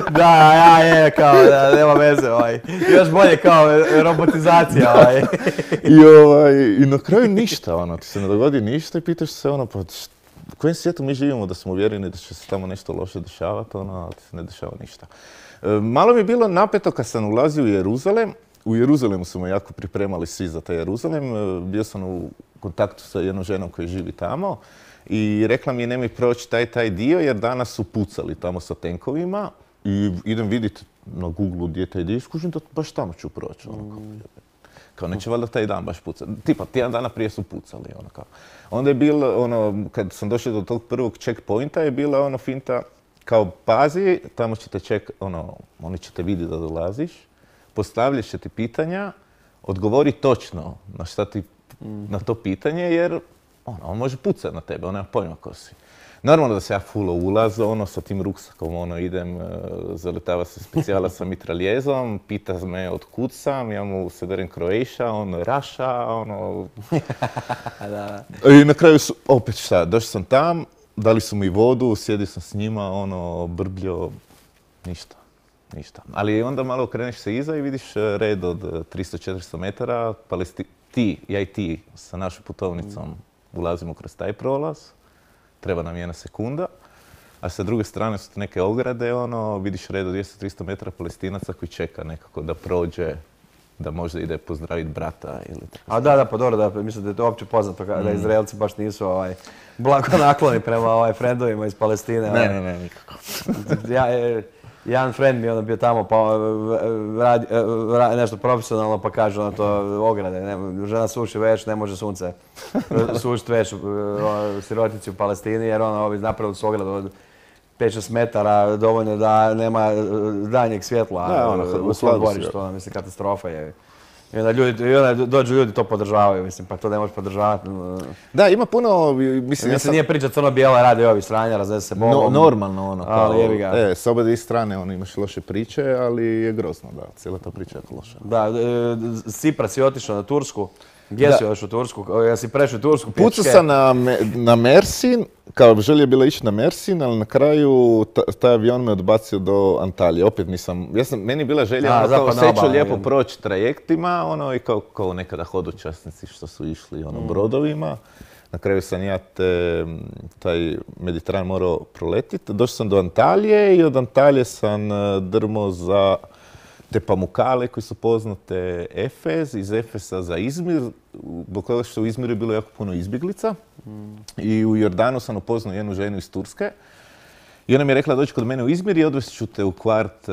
da, ja, je, kao, da, nema veze, ovaj, još bolje kao robotizacija, ovaj. I, ovaj, i na kraju ništa, ono, ti se ne dogodi ništa i pitaš se, ono, pa, u kojem svijetu mi živimo da smo uvjereni da će se tamo nešto loše dešavati, ono, ali se ne dešava ništa. E, malo mi je bilo napeto kad sam ulazio u Jeruzalem. U Jeruzalemu su me jako pripremali svi za taj Jeruzalem. Bio sam u kontaktu sa jednom ženom koja živi tamo i rekla mi je nemoj proći taj taj dio jer danas su pucali tamo sa tenkovima i idem vidjeti na Google-u gdje je taj dio i skužim da baš tamo ću proći. Ono, kao, kao neće valjda taj dan baš pucati. Tipa, tjedan dana prije su pucali. Ono, kao. Onda je bilo, ono, kad sam došao do tog prvog checkpointa je bila ono finta kao pazi, tamo ćete ček, ono, oni će te vidjeti da dolaziš. Postavljat će ti pitanja, odgovori točno na šta ti, na to pitanje, jer ono, on može pucati na tebe, on nema pojma ko si. Normalno da se ja fulo ulaz, ono, sa tim ruksakom, ono, idem, uh, zaletava se specijala sa mitraljezom, pita me od kud sam, ja mu se darim Croatia, on Russia, ono... da. I na kraju su, opet šta, došao sam tam, dali su mi vodu, sjedio sam s njima, ono, brbljo, ništa. Ništa. Ali onda malo okreneš se iza i vidiš red od tristo do četiristo metara. Palesti... Ti, ja i ti sa našom putovnicom ulazimo kroz taj prolaz. Treba nam jedna sekunda. A sa druge strane su neke ograde, ono, vidiš red od dvjesto do tristo metara Palestinaca koji čeka nekako da prođe, da možda ide pozdraviti brata ili tako. A da, da, pa dobro, da, mislim da je to opće poznato mm. da Izraelci baš nisu ovaj, blago nakloni prema ovaj, frendovima iz Palestine. Ne, ovaj. ne, ne, nikako. ja, Jedan friend mi je onda bio tamo pa radi, radi nešto profesionalno pa kaže ono to ograde, ne, žena suši veš, ne može sunce sušiti veš sirotici u Palestini jer ono ovi napravili su ogradu od pet šest metara dovoljno da nema danjeg svjetla da, ono, u svom dvorištu, ono, mislim katastrofa je. I onda, ljudi, i onda dođu ljudi to podržavaju, mislim, pa to ne možeš podržavati. Da, ima puno, mislim... Mislim, ja sam... nije priča crno-bijela, radi ovi stranja, raznese se Bogom. No, normalno ono, kao, ali jebi ga. E, s oba dvije strane ono, imaš loše priče, ali je grozno, da, cijela ta priča je loša. Da, e, Sipra si otišao na Tursku. Gdje si još u Tursku? Ja si prešao u Tursku pječke? Pucao sam na, na Mersin, kao želio je bila ići na Mersin, ali na kraju taj avion me odbacio do Antalije. Opet nisam, ja sam, meni je bila želja, A, ono, kao seću lijepo proći trajektima, ono, i kao, kao nekada hodočasnici što su išli, ono, mm. brodovima. Na kraju sam ja te, taj Mediteran morao proletiti. Došao sam do Antalije i od Antalije sam drmo za te Pamukale koji su poznate Efez, iz Efesa za Izmir, zbog toga što u Izmiru je bilo jako puno izbjeglica. Mm. I u Jordanu sam upoznao jednu ženu iz Turske. I ona mi je rekla dođi kod mene u Izmir i odvest ću te u kvart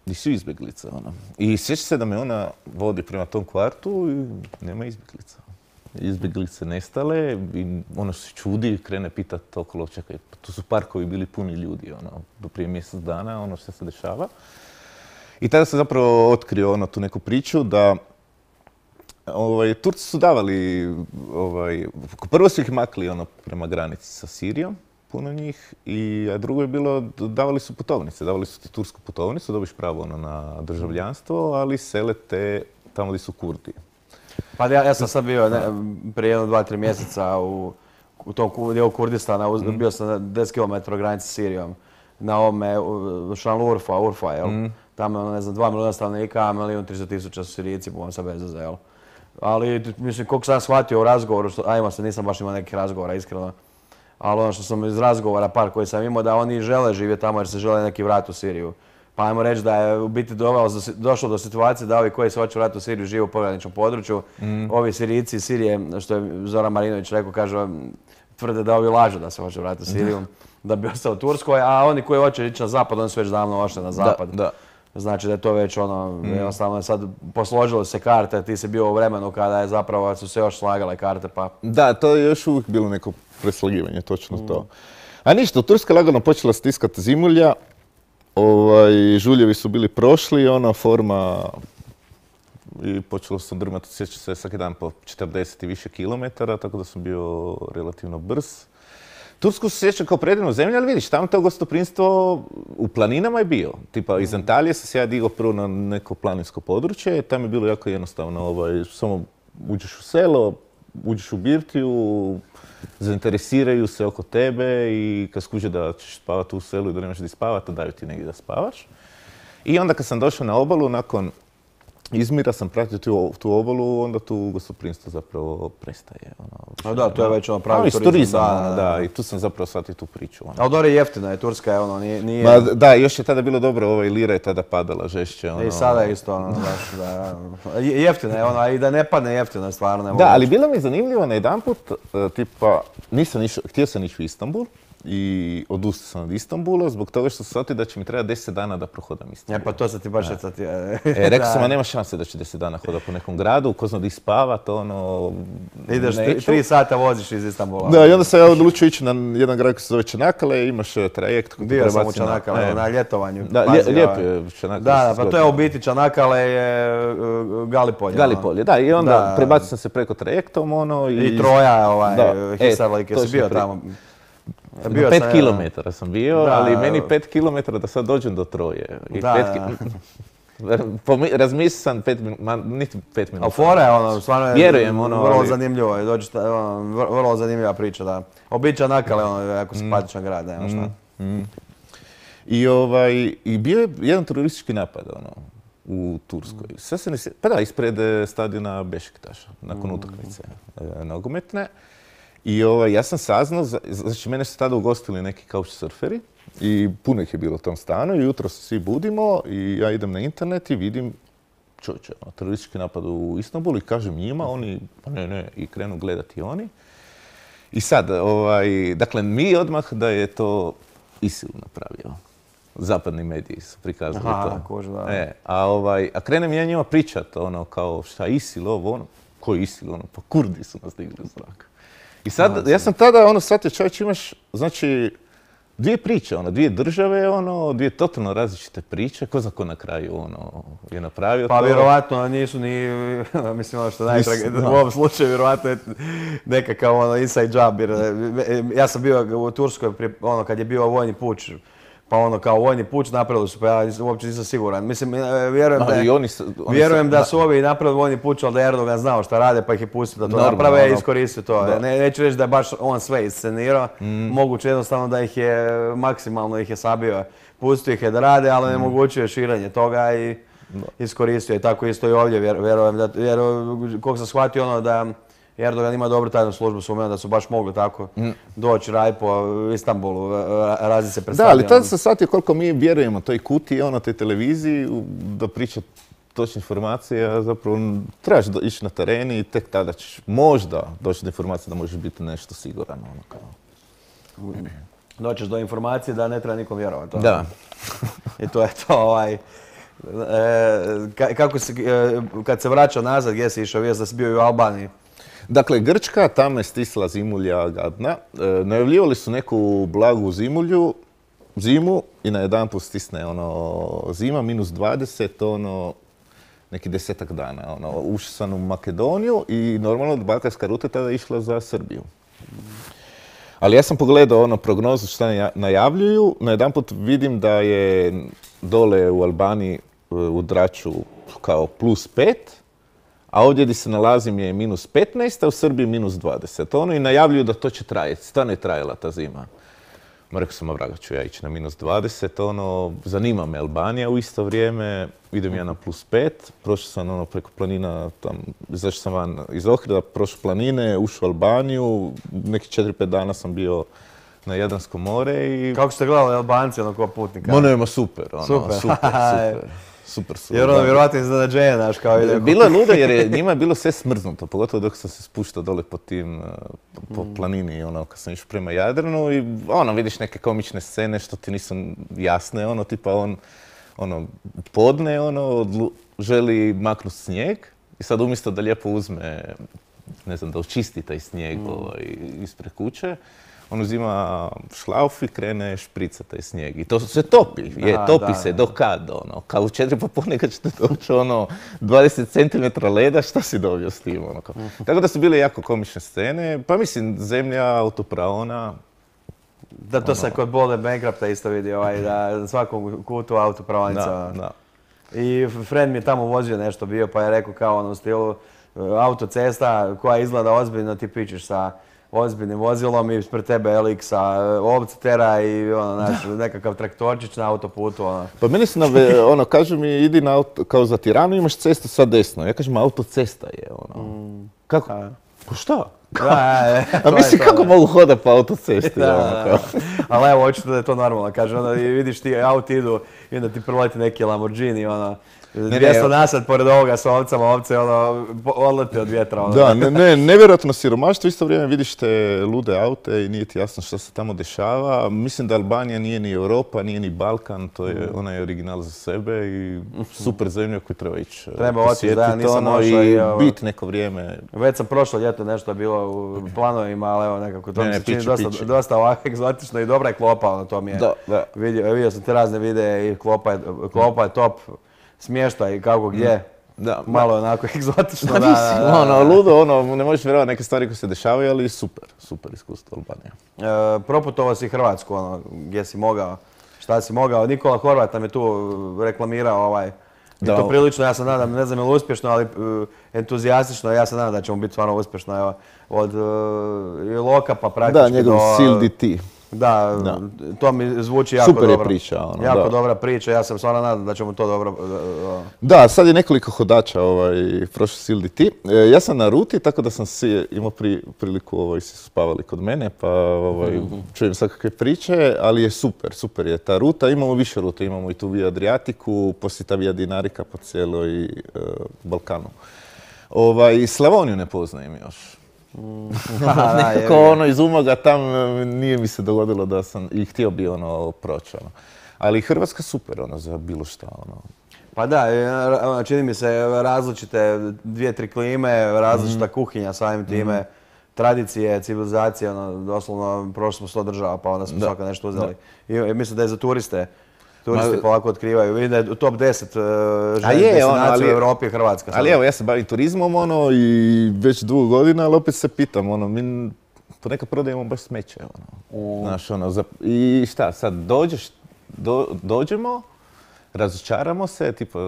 gdje su izbjeglice. Ono. I sjeća se da me ona vodi prema tom kvartu i nema izbjeglica. Izbjeglice nestale i ono se čudi, krene pitati okolo, čekaj, tu su parkovi bili puni ljudi, ono, do prije mjesec dana, ono što se dešava. I tada sam zapravo otkrio ono, tu neku priču da ovaj, Turci su davali, ovaj, prvo su ih makli ono, prema granici sa Sirijom puno njih. I, a drugo je bilo, davali su putovnice, davali su ti tursku putovnicu, dobiš pravo ono, na državljanstvo, ali sele te tamo gdje su Kurdi. Pa ja, ja sam sad bio ne, prije jedno, dva, tri mjeseca u, u tom ku- dijelu Kurdistana, uz, bio sam na deset kilometara granice s Sirijom, na ovome u- Šanlu Urfa, Urfa, jel? Tamo je, ono, ne znam, dva milijuna stanovnika, a milijun tristo tisuća su Sirijci, po sa bez veze, jel? Ali, mislim, koliko sam ja shvatio u razgovoru, što, a imao sam, nisam baš imao nekih razgovora, iskreno, ali ono što sam iz razgovora par koji sam imao, da oni žele živjeti tamo jer se žele neki vrat u Siriju. Pa ajmo reći da je u biti dovelo, došlo do situacije da ovi koji se hoće vratiti u Siriju žive u pograničnom području. Ovi Sirijci iz Sirije, što je Zoran Marinović rekao, kaže, tvrde da ovi lažu da se hoće vratiti u Siriju, da bi ostao u Turskoj, a oni koji hoće ići na zapad, oni su već davno ošli na zapad. Da, da. Znači da je to već ono, jednostavno sad posložilo se karte, ti si bio u vremenu kada je zapravo su se još slagale karte, pa... Da, to je još uvijek bilo neko preslagivanje, točno to. A ništa, Turska lagano počela stiskati zimulja, ovaj, žuljevi su bili prošli, ona forma i počelo sam drmati, sjećam se svaki dan po četrdeset i više kilometara, tako da sam bio relativno brz. Tursku se sjećam kao predivnu zemlju, ali vidiš, tamo to gostoprinstvo u planinama je bio. Tipa, iz Antalije sam se ja digao prvo na neko planinsko područje, tam je bilo jako jednostavno, ovaj, samo uđeš u selo, uđeš u birtiju, zainteresiraju se oko tebe i kad skuže da ćeš spavati u selu i da nemaš gdje spavati, daju ti negdje da spavaš. I onda kad sam došao na obalu, nakon Izmira sam pratio tu, tu obalu, onda tu gostoprinstvo zapravo prestaje. Ono, No da, to je već ono pravi ali turizam. turizam, Da, ono, da, da, i tu sam zapravo shvatio tu priču. Ono. Ali dobro je jeftino je, Turska je ono, nije... nije... Ma, da, još je tada bilo dobro, ovaj lira je tada padala žešće. Ono. I sada je isto ono, baš, da, je- jeftino je ono, a i da ne padne jeftino je stvarno. Ne mogu Da, ali reći. bilo mi je zanimljivo na jedanput, e, tipa, nisam išao, htio sam ići u Istanbul i odustao sam od Istanbula zbog toga što sam shvatio da će mi trebati deset dana da prohodam E Istanbul. pa to se ti baš sad ti... E, rekao sam, a nema šanse da će deset dana hodati po nekom gradu, ko zna di spavat, ono... Ideš tri, neću. tri sata voziš iz Istanbula. Da, i onda sam ja odlučio ići na jedan grad koji se zove Čanakkale, imaš e, trajekt koji te Bio sam u prebaci na- Čanakkale, e, na ljetovanju. Da, Pazi, lije- lijepo ovaj. je Čanakkale. Da, da, se pa to je u zgodno. biti Čanakkale je uh, Galipolje. ono. Galipolje, da, i onda Da. prebacio sam se preko trajektom, ono, i... I Troja, ovaj, Da, e, Hisarlik, jesi točno bio pri- tamo? Na Bio pet sam, ja. kilometara sam bio, Da. ali meni pet kilometara da sad dođem do Troje. I Da, pet da. ki- Pomi- Razmislio sam pet minuta, ma niti pet minuta. A fora je ono, stvarno je Vjerujem, ono, vrlo ali- zanimljivo, je, dođete, ono, vr- vrlo zanimljiva priča, da. Običan Čanakkale, ono, jako simpatičan grad, nema šta. I, ovaj, I bio je jedan teroristički napad ono, u Turskoj. Sve se ne sje- Pa da, ispred e, stadiona Bešiktaša, nakon utakmice e, nogometne. I ovaj, ja sam saznao, za- znači mene su tada ugostili neki couchsurferi i puno ih je bilo u tom stanu i jutro se svi budimo i ja idem na internet i vidim čovječe, ono, teroristički napad u Istanbulu i kažem njima, oni, pa ne, ne, i krenu gledati oni. I sad, ovaj, dakle, mi odmah da je to ISIL napravio. Zapadni mediji su prikazali Aha, to. kuži, da. E, a, ovaj, a krenem ja njima pričat, ono, kao šta ISIL, ovo, ono, ko je ISIL, ono, pa Kurdi su nas digli u zrak. I sad, ja sam tada, ono, shvatio, čovječ, imaš, znači, dvije priče, ono, dvije države, ono, dvije totalno različite priče, ko zna ko na kraju, ono, je napravio Pa to. vjerovatno nisu ni, mislim ono što je najtrage, u ovom slučaju vjerovatno je nekakav ono inside job, jer e, ja sam bio u Turskoj prije, ono kad je bio vojni puč, pa ono kao vojni puč napravili su, pa ja nisam- uopće nisam siguran. Mislim, e, vjerujem da, Ali je- i oni su- oni vjerujem su- da da. su ovi napravili vojni puč, ali da je Erdogan znao šta rade, pa ih je pustio da to Normalno, naprave i ono, iskoristio to. da. Ne, neću reći da je baš on sve iscenirao, Mm. moguće jednostavno da ih je, maksimalno ih je sabio, pustio ih je da rade, ali ne omogućio je širenje toga i iskoristio je. Tako isto i ovdje, vjer- vjerujem da, jer koliko sam shvatio ono da Erdogan ima dobru tajnu službu, sumnjam da su baš mogli tako doći raditi po Istanbulu, raziti se pred Da, ali stadionom. tada sam shvatio koliko mi vjerujemo toj kutiji, ono, toj televiziji, u- da priča točne informacije, a zapravo trebaš do- ići na teren i tek tada ćeš možda doći do informacije da možeš biti nešto siguran. Ono, kao. Doćeš do informacije da ne treba nikom vjerovati. ono. Da. I to je to, ovaj, e, ka- kako si, e, kad se vraćao nazad, gdje si išao, vijest da si bio i u Albaniji? Dakle, Grčka, tamo je stisla zimulja gadna. E, najavljivali su neku blagu zimulju, zimu i najedanput stisne ono, zima, minus dvadeset, ono, neki desetak dana. Ono, ušao sam u Makedoniju i normalno balkanska ruta tada je išla za Srbiju. Ali ja sam pogledao ono prognozu šta naja- najavljuju, najedanput vidim da je dole u Albaniji u Draču kao plus pet, a ovdje gdje se nalazim je minus petnaest, a u Srbiji minus dvadeset. Ono i najavljuju da to će trajati, stvarno je trajala ta zima. Ma rekao sam, a vraga ću ja ići na minus dvadeset, ono, zanima me Albanija u isto vrijeme, idem ja na plus pet, prošao sam ono preko planina, tam, izašao sam van iz Ohrida, prošao planine, ušao u Albaniju, neki četiri pet dana sam bio na Jadransko more i... Kako ste gledali Albanci, ono, kao putnika? Ono ima super, ono, Super. super, super, super, super. Jer ono, da. vjerojatno iznenađenje, znaš, kao ide. Bilo je ludo jer je njima je bilo sve smrznuto, pogotovo dok sam se spuštao dole po tim, po planini, ono, kad sam išao prema Jadranu i ono, vidiš neke komične scene što ti nisu jasne, ono, tipa on, ono, podne, ono, odlu- želi maknuti snijeg i sad umjesto da lijepo uzme, ne znam, da očisti taj snijeg ovaj, ispred kuće, on uzima šlauf i krene šprica taj snijeg. I to se topi, je, Da, topi da, se da. do kad, ono. Kao u četiri popodne kad ćete doći, ono, dvadeset centimetara leda, šta si dobio s tim, ono. Kao. Tako da su bile jako komične scene. Pa mislim, zemlja, autopraona. Da, to se kod Bolde Bankrupta isto vidi, ovaj, da na svakom kutu autopravnica. Da, da. I friend mi je tamo vozio nešto bio, pa je rekao kao ono u stilu e, autocesta koja izgleda ozbiljno, ti pičeš sa ozbiljnim vozilom i ispred tebe L X-a ovce tera i ono, znaš, nekakav traktorčić na autoputu, ono. Pa meni su, nave, ono, kažu mi, idi na auto, kao za Tiranu imaš cestu sad desno. Ja kažem, autocesta je, ono. Kako? A. Ko šta? Da, da, da, A to je mislim, to, kako da. mogu hodati po autocesti, Da, ono, da, kao. da. Ali evo, očito da je to normalno, kaže, onda i vidiš ti auti idu i onda ti proleti neki Lamborghini, ono, dvjesto nasad pored ovoga s ovcama, ovce, ono, po- odlete od vjetra, ono. Da, ne, ne, nevjerojatno siromaštvo, isto vrijeme vidiš te lude aute i nije ti jasno što se tamo dešava. Mislim da Albanija nije ni Europa, nije ni Balkan, to je onaj original za sebe i super zemlja koju treba ići Treba otići, da, posjetiti, nisam ono, došao i i, evo, bit neko vrijeme. Već sam prošlo ljeto nešto je bilo u planovima, ali evo nekako to Ne, mi ne, se čini pići, dosta, pići. dosta ovako egzotično i dobra je klopa, ono, to mi je. Da, da. Vidio, vidio sam te razne videe i klopa je, klopa je top, smještaj i kako gdje. Da, Malo je onako egzotično, Da, da, mislim, da, da. ono, ludo, ono, ne možeš vjerovati neke stvari koje se dešavaju, ali super, super iskustvo Albanija. E, proputovao si Hrvatsku, ono, gdje si mogao, šta si mogao. Nikola Horvat nam je tu reklamirao ovaj, i Da. to prilično, ja se nadam, ne znam je li uspješno, ali e, entuzijastično, ja se nadam da ćemo biti stvarno uspješno. Evo, od e, Iloka pa praktički Da, njegov do... Sil D T. Da, Da. to mi zvuči jako Super je dobro. priča, ono, Jako da. dobra priča, ja sam stvarno nadam da ćemo to dobro... e, Da, sad je nekoliko hodača ovaj, prošao Sil D T. E, ja sam na ruti, tako da sam si imao pri, priliku, ovaj, si spavali kod mene, pa ovaj, čujem svakakve priče, ali je super, super je ta ruta. Imamo više rute, imamo i tu Via Adriatiku, poslije ta Via Dinarica po cijeloj e, Balkanu. Ovaj, Slavoniju ne poznajem još. da, Nekako jebi ga. ono iz Umaga tam e, nije mi se dogodilo da sam i htio bi ono proći. Ono. Ali Hrvatska super ono za bilo šta. Ono. Pa da, e, ra- čini mi se različite dvije, tri klime, različita kuhinja samim time, tradicije, civilizacije, ono, doslovno prošli smo sto država pa onda smo Da. svaka nešto uzeli. I, i mislim da je za turiste, turisti Ma- polako otkrivaju. Vidim da je u top deset uh, A je, ono, destinacija ali- u Europi je Hrvatska. sad. Ali evo, ja se bavim turizmom ono i već dugo godina, ali opet se pitam, ono, mi ponekad prodajemo baš smeće, ono. Znaš, ono, za- i šta, sad dođeš, do- dođemo, razočaramo se, tipa,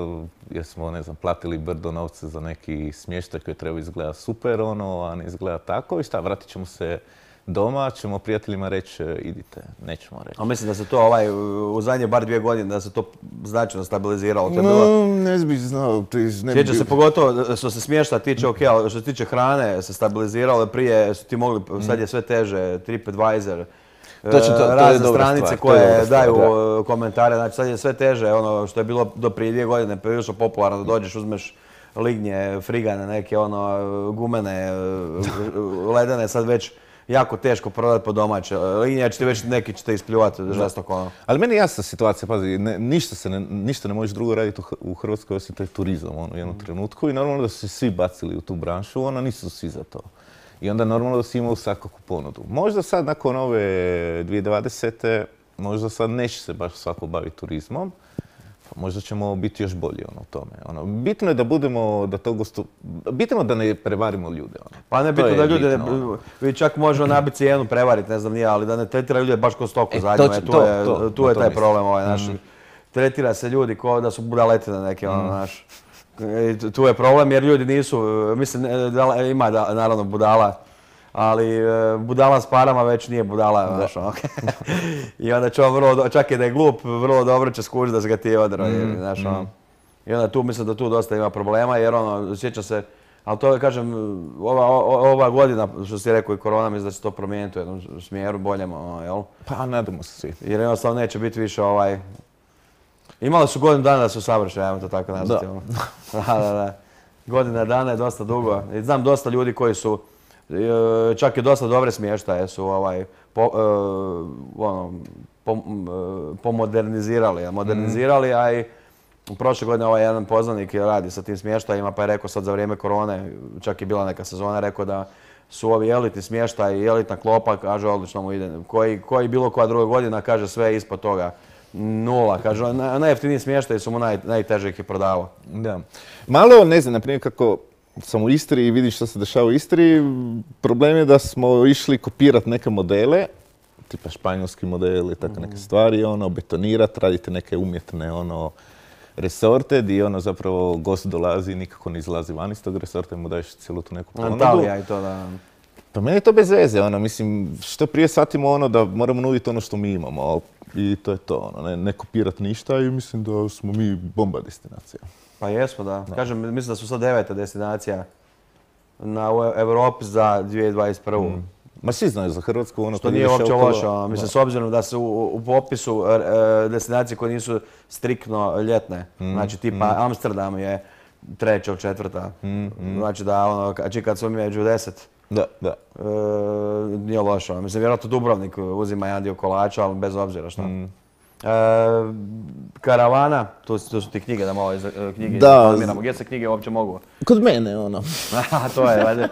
jer smo, ne znam, platili brdo novce za neki smještaj koji treba izgledati super, ono, a ne izgleda tako i šta, vratit ćemo se doma, ćemo prijateljima reći, idite, nećemo reći. A mislim da se to ovaj, u u zadnje bar dvije godine da se to značajno stabiliziralo. To je bilo, No, ne bih znao, ti ne bi sjeća se bio- pogotovo što se smješta tiče, ok, ali što se tiče hrane se stabiliziralo, prije su ti mogli, sad je sve teže, TripAdvisor, Točno, to- to je razne dobra stranice stvar, to je koje dobra stvar, daju da. uh, komentare, znači sad je sve teže, ono što je bilo do prije dvije godine prilično popularno, da dođeš, uzmeš lignje, frigane, neke ono gumene, uh, ledene, sad već jako teško prodati po domaće. Lignje će ti već neki će te ispljuvati žestoko ono. Ali meni je jasna situacija, pazi, ne, ništa, se ne, ništa ne možeš drugo raditi u, H- u Hrvatskoj osim taj turizam ono, u jednom trenutku i normalno da su se svi bacili u tu branšu, ono nisu svi za to. I onda normalno da si imao svakakvu ponudu. Možda sad nakon ove dvije tisuće dvadesete možda sad neće se baš svako baviti turizmom, možda ćemo biti još bolji ono, u tome. Ono, bitno je da budemo, da to gostu... Bitno je da ne prevarimo ljude. Ono. Pa ne To bitno je da ljude, bitno, vi čak možemo nabiti cijenu, prevariti, ne znam nije, ali da ne tretira ljude baš ko stoku E, zadnju. to će- E, tu to, je, to, tu na je to taj mislim. problem ovaj naš. Tretira se ljudi kao da su budaletine neke, ono, naš. I tu je problem jer ljudi nisu, mislim, da, ima da, naravno budala, ali e, budala s parama već nije budala, znaš, ono. I onda će on vrlo, do- čak i da je glup, vrlo dobro će skužiti da se ga ti odro, znaš, ono. I onda tu mislim da tu dosta ima problema jer ono, sjeća se, ali to kažem, ova, o- ova godina, što si rekao i korona, mislim da će to promijeniti u jednom smjeru boljem, ono, jel? Pa nadamo se svi. Jer jednostavno neće biti više ovaj... Imali su godinu dana da su savršeni, ajmo to tako nazvati. Da. ono. Da, da, da. Godina dana je dosta dugo. I znam dosta ljudi koji su, e, čak i dosta dobre smještaje su ovaj, po, e, ono, po- m, e, pomodernizirali, a modernizirali, a i prošle godine ovaj jedan poznanik je radi sa tim smještajima, pa je rekao sad za vrijeme korone, čak je bila neka sezona, rekao da su ovi elitni smještaj i elitna klopa, kaže odlično mu ide. Koji, koji bilo koja druga godina, kaže sve ispod toga. Nula, kaže, na- najjeftiniji smještaj su mu naj, najteže ih je prodavao. Da. Malo, ne znam, na primjer kako sam u Istri i vidim što se dešava u Istri, problem je da smo išli kopirati neke modele, tipa španjolski model i tako neke stvari, ono, betonirati, radite neke umjetne, ono, resorte gdje ono zapravo gost dolazi i nikako ne izlazi van iz tog resorta i mu daješ cijelu tu neku ponudu. Antalija i to da... Pa meni je to bez veze, ono, mislim, što prije shvatimo ono da moramo nuditi ono što mi imamo, ali i to je to, ono, ne, ne kopirati ništa i mislim da smo mi bomba destinacija. Pa jesmo, da. Kažem, mislim da su sad deveta destinacija na u Europi za dvije tisuće dvadeset prvu. Ma svi znaju za Hrvatsku, ono, Što kad nije ideš uopće okolo- loše, ono. Mislim, s obzirom da su u, u popisu e, destinacije koje nisu striktno ljetne. Znači, tipa Amsterdam je treća od četvrta. Znači da, ono, znači kad su među deset, Da, da. e, nije loše. ono. Mislim, vjerojatno Dubrovnik uzima jedan dio kolača, ali bez obzira što. E, karavana, tu, su- tu su ti knjige, da malo iz, e, knjige Da. informiramo. Gdje se knjige uopće mogu? Kod mene, ono. Aha, to je, valjda.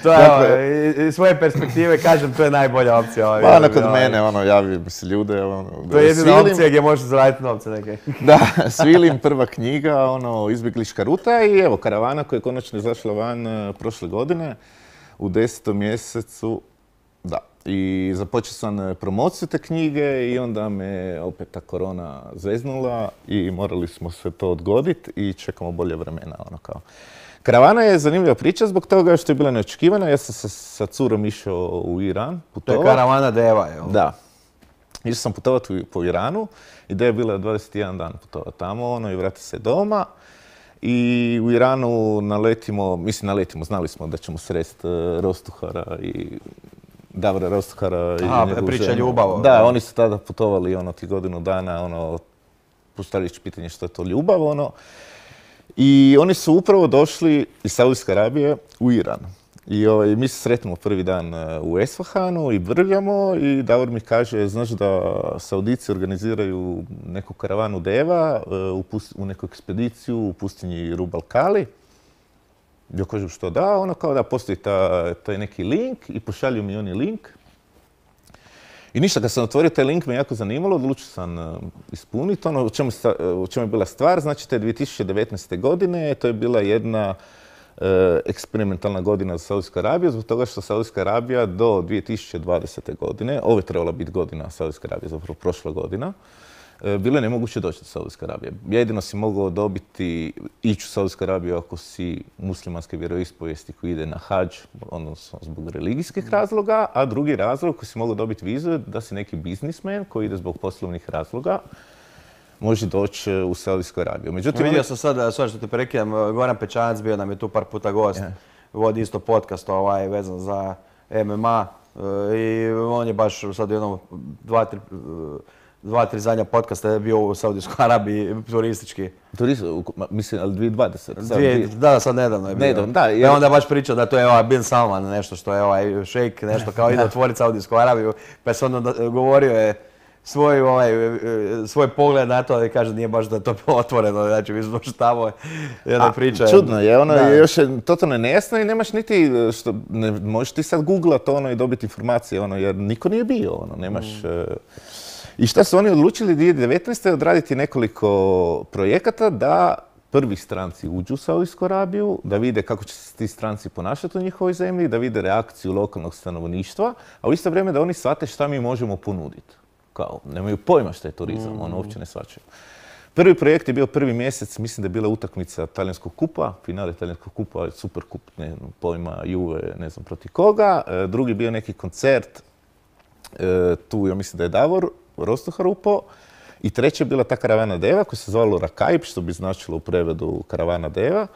To je, Dakle- ovo, iz svoje perspektive, kažem, to je najbolja opcija. Ovaj, Pa, ono, kod ovaj, mene, ono, javi mi se ljude, ono, To je jedina svilim- opcija gdje možeš zaraditi novce neke. Da, Svilim, prva knjiga, ono, izbjeglička ruta i evo, karavana koja je konačno izašla van e, prošle godine u desetom mjesecu, da. I započeo sam e, promociju te knjige i onda me opet ta korona zeznula i morali smo sve to odgoditi i čekamo bolje vremena, ono kao. Karavana je zanimljiva priča zbog toga što je bila neočekivana. Ja sam sa, sa curom išao u Iran, To je putovao. karavana deva, jel? Da. Išao sam putovati u- po Iranu. Ideja je bila dvadeset jedan dan putovati tamo, ono, i vratiti se doma. I u Iranu naletimo, mislim naletimo, znali smo da ćemo sresti uh, Rostuhara i Davora Rostuhara i Aha, njegovu priča ženu. ljubav. Da, oni su tada putovali ono ti godinu dana, ono, postavljajući pitanje što je to ljubav, ono. I oni su upravo došli iz Saudijske Arabije u Iran. I ovaj, mi se sretnemo prvi dan e, u Esfahanu i brljamo i Davor mi kaže, znaš da Saudici organiziraju neku karavanu deva e, u, pust- u neku ekspediciju u pustinji Rub Kali. Ja kažem što da, ono kao da postoji ta, taj neki link i pošalju mi oni link. I ništa, kad sam otvorio taj link me jako zanimalo, odlučio sam uh, ispuniti ono u čemu, sta- u čemu je bila stvar. Znači, te dvije tisuće devetnaeste. godine, to je bila jedna uh, eksperimentalna godina za Saudijsku Arabiju, zbog toga što Saudijska Arabija do dvije tisuće dvadesete. godine, ovo je trebala biti godina Saudijske Arabije, zapravo prošla godina, uh, bilo je nemoguće doći do Saudijske Arabije. Jedino si mogao dobiti, ići u Saudijsku Arabiju ako si muslimanske vjeroispovijesti koji ide na hadž, odnosno zbog religijskih razloga, a drugi razlog koji si mogao dobiti vizu je da si neki biznismen koji ide zbog poslovnih razloga, može doći u Saudijsku Arabiju. Međutim, Vidio oni- sam sad, sorry što te prekidam, Goran Pečanac bio nam je tu par puta gost. Ja. Vodi isto podcast ovaj, vezan za M M A e, i on je baš sad u jednom dva, tri, e, dva, tri zadnja podcasta je bio u Saudijskoj Arabiji turistički. Turist, u- ma, mislim, ali dvije tisuće dvadesete. sad Dvije, dvije- da, sad nedavno je bio. Nedavno, da, I jer- onda baš pričao da to je ovaj Bin Salman, nešto što je ovaj šejk, nešto kao ide otvoriti Saudijsku Arabiju, pa se onda da- govorio je svoj, ovaj, e, svoj pogled na to i kaže nije baš da je to bilo otvoreno, znači mi smo što tamo jedna A, priča. Čudno je, ono Da. je još je totalno nejasno i nemaš niti, što, ne, možeš ti sad googlat ono i dobiti informacije, ono, jer niko nije bio, ono, nemaš... Mm. e, I šta su oni odlučili dvije tisuće devetnaeste. odraditi nekoliko projekata da prvi stranci uđu u Saudijsku Arabiju, da vide kako će se ti stranci ponašati u njihovoj zemlji, da vide reakciju lokalnog stanovništva, a u isto vrijeme da oni shvate šta mi možemo ponuditi. Kao, nemaju pojma šta je turizam, mm. ono uopće ne shvaćaju. Prvi projekt je bio prvi mjesec, mislim da je bila utakmica talijanskog kupa, finale talijanskog kupa, super kup, ne znam, pojma Juve, ne znam protiv koga. E, drugi bio neki koncert, e, tu ja mislim da je Davor Rostohar upao. I treće je bila ta karavana deva koja se zvalo Rakaib, što bi značilo u prevedu karavana deva.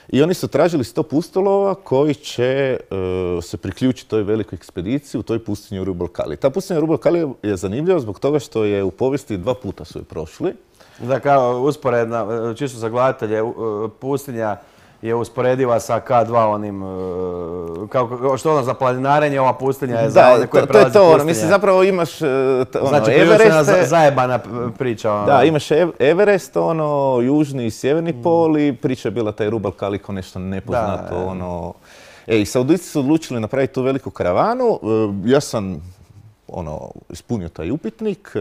I oni su tražili sto pustolova koji će uh, se priključiti toj velikoj ekspediciji u toj pustinji u Rub al Khali. Ta pustinja u Rub al Khali je zanimljiva zbog toga što je u povijesti dva puta su je prošli. Da, kao usporedna, čisto za gledatelje, pustinja je usporediva sa K dva onim, kao što ono za planinarenje, ova pustinja je za one koje prelazi pustinje. Da, to je to, mislim zapravo imaš ono, znači, Everest. Znači, zajebana priča. Ono. Da, imaš Everest, ono, južni i sjeverni mm. pol i priča je bila taj Rub al Khali kao nešto nepoznato, da, ono. E, i Saudijci su odlučili napraviti tu veliku karavanu. Ja sam ono, ispunio taj upitnik,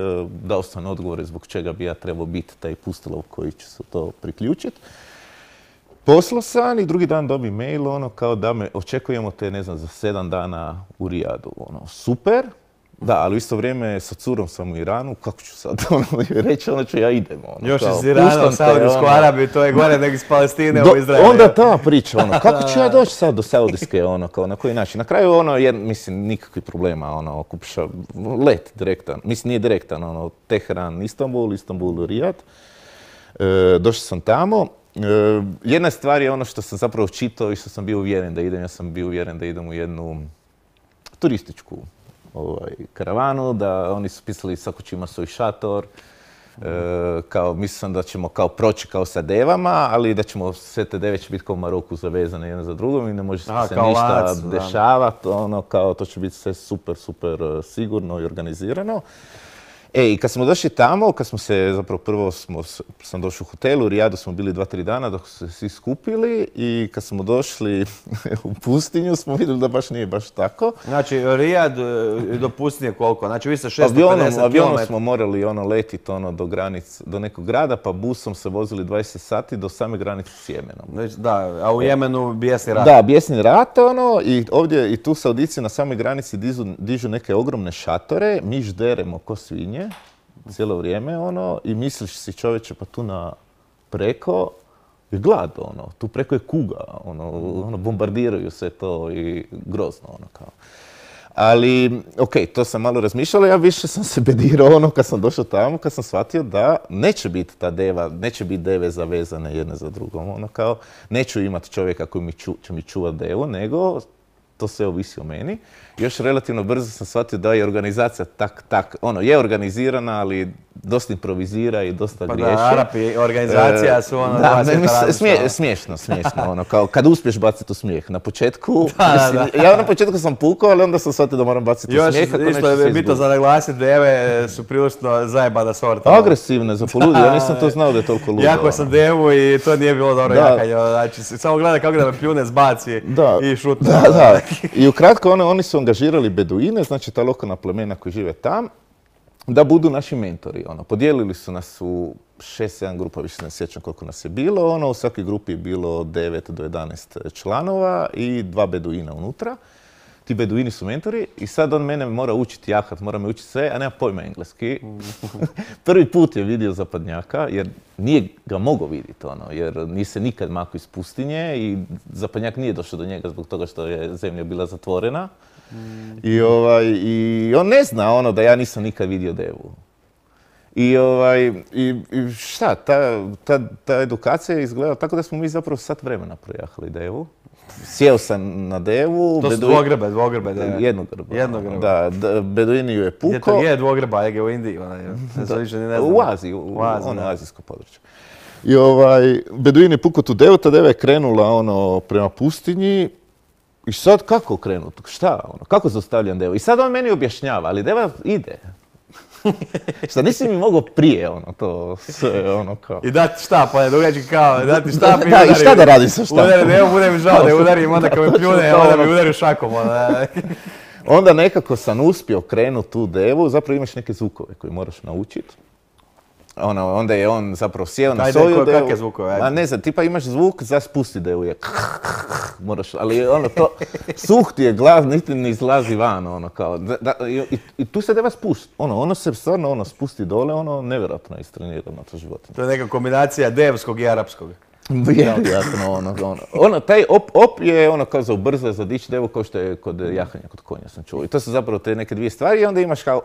dao sam odgovore zbog čega bi ja trebao biti taj pustolov koji će se to priključiti. Poslao sam i drugi dan dobi mail, ono, kao da me očekujemo te, ne znam, za sedam dana u Rijadu. Ono, super, da, ali u isto vrijeme sa curom sam u Iranu, kako ću sad ono, reći, ono ću ja idem. Ono, još iz Irana u Saudijsku Arabiju, to je gore nego iz Palestine do, u Izraelu. Onda ta priča, ono, kako ću ja doći sad do Saudijske, ono, kao na koji način. Na kraju, ono, jer, mislim, nikakvih problema, ono, kupiš let direktan, mislim, nije direktan, ono, Teheran, Istanbul, Istanbul, Rijad. E, došao sam tamo. Uh, jedna stvar je ono što sam zapravo čitao i što sam bio uvjeren da idem. Ja sam bio uvjeren da idem u jednu turističku ovaj, karavanu, da oni su pisali svako će ima svoj šator. Uh, kao, mislim da ćemo kao proći kao sa devama, ali da ćemo sve te deve će biti kao u Maroku zavezane jedna za drugom i ne može se Aha, ništa lac, dešavati. Ono, kao, to će biti sve super, super sigurno i organizirano. E, i kad smo došli tamo, kad smo se, zapravo prvo smo, sam došao u hotelu, u Rijadu smo bili dva, tri dana dok su se svi skupili i kad smo došli u pustinju smo vidjeli da baš nije baš tako. Znači, Rijad do pustinje koliko? Znači, vi ste šesto pedeset kilometara. Avionom smo morali ono, letiti ono, do granic, do nekog grada, pa busom se vozili dvadeset sati do same granice s Jemenom. Da, a u Jemenu bijesni rat. Da, bijesni rat, ono, i ovdje i tu Saudici na samoj granici dižu, dižu neke ogromne šatore, mi žderemo ko svinje cijelo vrijeme, ono, i misliš si čovječe, pa tu na preko je glad, ono, tu preko je kuga, ono, ono bombardiraju se to i grozno, ono, kao. Ali, ok, to sam malo razmišljala, ja više sam se bedirao, ono, kad sam došao tamo, kad sam shvatio da neće biti ta deva, neće biti deve zavezane jedne za drugom, ono, kao, neću imati čovjeka koji mi ču, će mi čuvati devu, nego to sve ovisi o meni. Još relativno brzo sam shvatio da je organizacija tak, tak, ono, je organizirana, ali dosta improvizira i dosta pa griješi. Da, Arapi, organizacija su ono... Da, ne, mi, smije, smiješno, smiješno, ono, kao kad uspiješ baciti u smijeh. Na početku, da, mislim, da. ja na početku sam pukao, ali onda sam shvatio da moram baciti u smijeh. Još isto je bitno za naglasiti, deve su prilično zajebana sorta. Agresivne, za poludi, ja nisam to znao da je toliko ludo. Jako sam devu i to nije bilo dobro jakanje, znači samo gleda kako da me pljune, zbaci da. I šutne. Da, da. I ukratko, one, oni su angažirali beduine, znači ta lokalna plemena koji žive tam, da budu naši mentori. Ono. Podijelili su nas u šest sedam grupa, više ne sjećam koliko nas je bilo. Ono, u svakoj grupi je bilo devet do jedanaest članova i dva beduina unutra. Ti beduini su mentori i sad on mene mora učiti jahat, mora me učiti sve, a nema pojma engleski. Prvi put je vidio zapadnjaka, jer nije ga mogao vidjeti, ono, jer nije se nikad makao iz pustinje i zapadnjak nije došao do njega zbog toga što je zemlja bila zatvorena. Mm. I, ovaj, I on ne zna ono da ja nisam nikad vidio devu. I, ovaj, i, i šta, ta, ta, ta edukacija je izgledala tako da smo mi zapravo sat vremena projahali devu. Sjeo sam na devu. To su beduini, dvogrbe, dvogrbe deve. Jednogrba. Jednogrba. Da, da, beduini ju je puko. Gdje to je dvogrba, je u Indiji, ona je. Ne u Aziji, u, u Aziji, ono azijsko područje. I ovaj, beduini je puko tu devu, ta deva je krenula ono, prema pustinji. I sad kako krenuti? Šta? Ono, kako zaustavljam devu? I sad on meni objašnjava, ali deva ide. Šta nisi mi mogao prije, ono, to sve, ono, kao... I dati štap, on je dugački kao, dati štap i da, udari. I šta da radiš sa štapom? Udari, ne bude mi žao da udarim, onda kad me pljune, onda mi udari šakom, onda. Onda nekako sam uspio krenuti tu devu, zapravo imaš neke zvukove koje moraš naučiti. Ono, onda je on zapravo sjeo na Ajde, svoju ko- devu. kakve zvukove, ajde. A ne znam, tipa imaš zvuk za spusti devu je moraš, ali ono to, suh ti je glas, niti ne izlazi van, ono kao, da, da, i, i tu se deva spust, ono, ono se stvarno ono spusti dole, ono nevjerojatno je istrenirano to životinje. To je neka kombinacija devskog i arapskog. Vjerojatno, ono, ono, ono, taj op, op je ono kao za ubrza, za dić devu kao što je kod jahanja, kod konja sam čuo. I to su zapravo te neke dvije stvari i onda imaš kao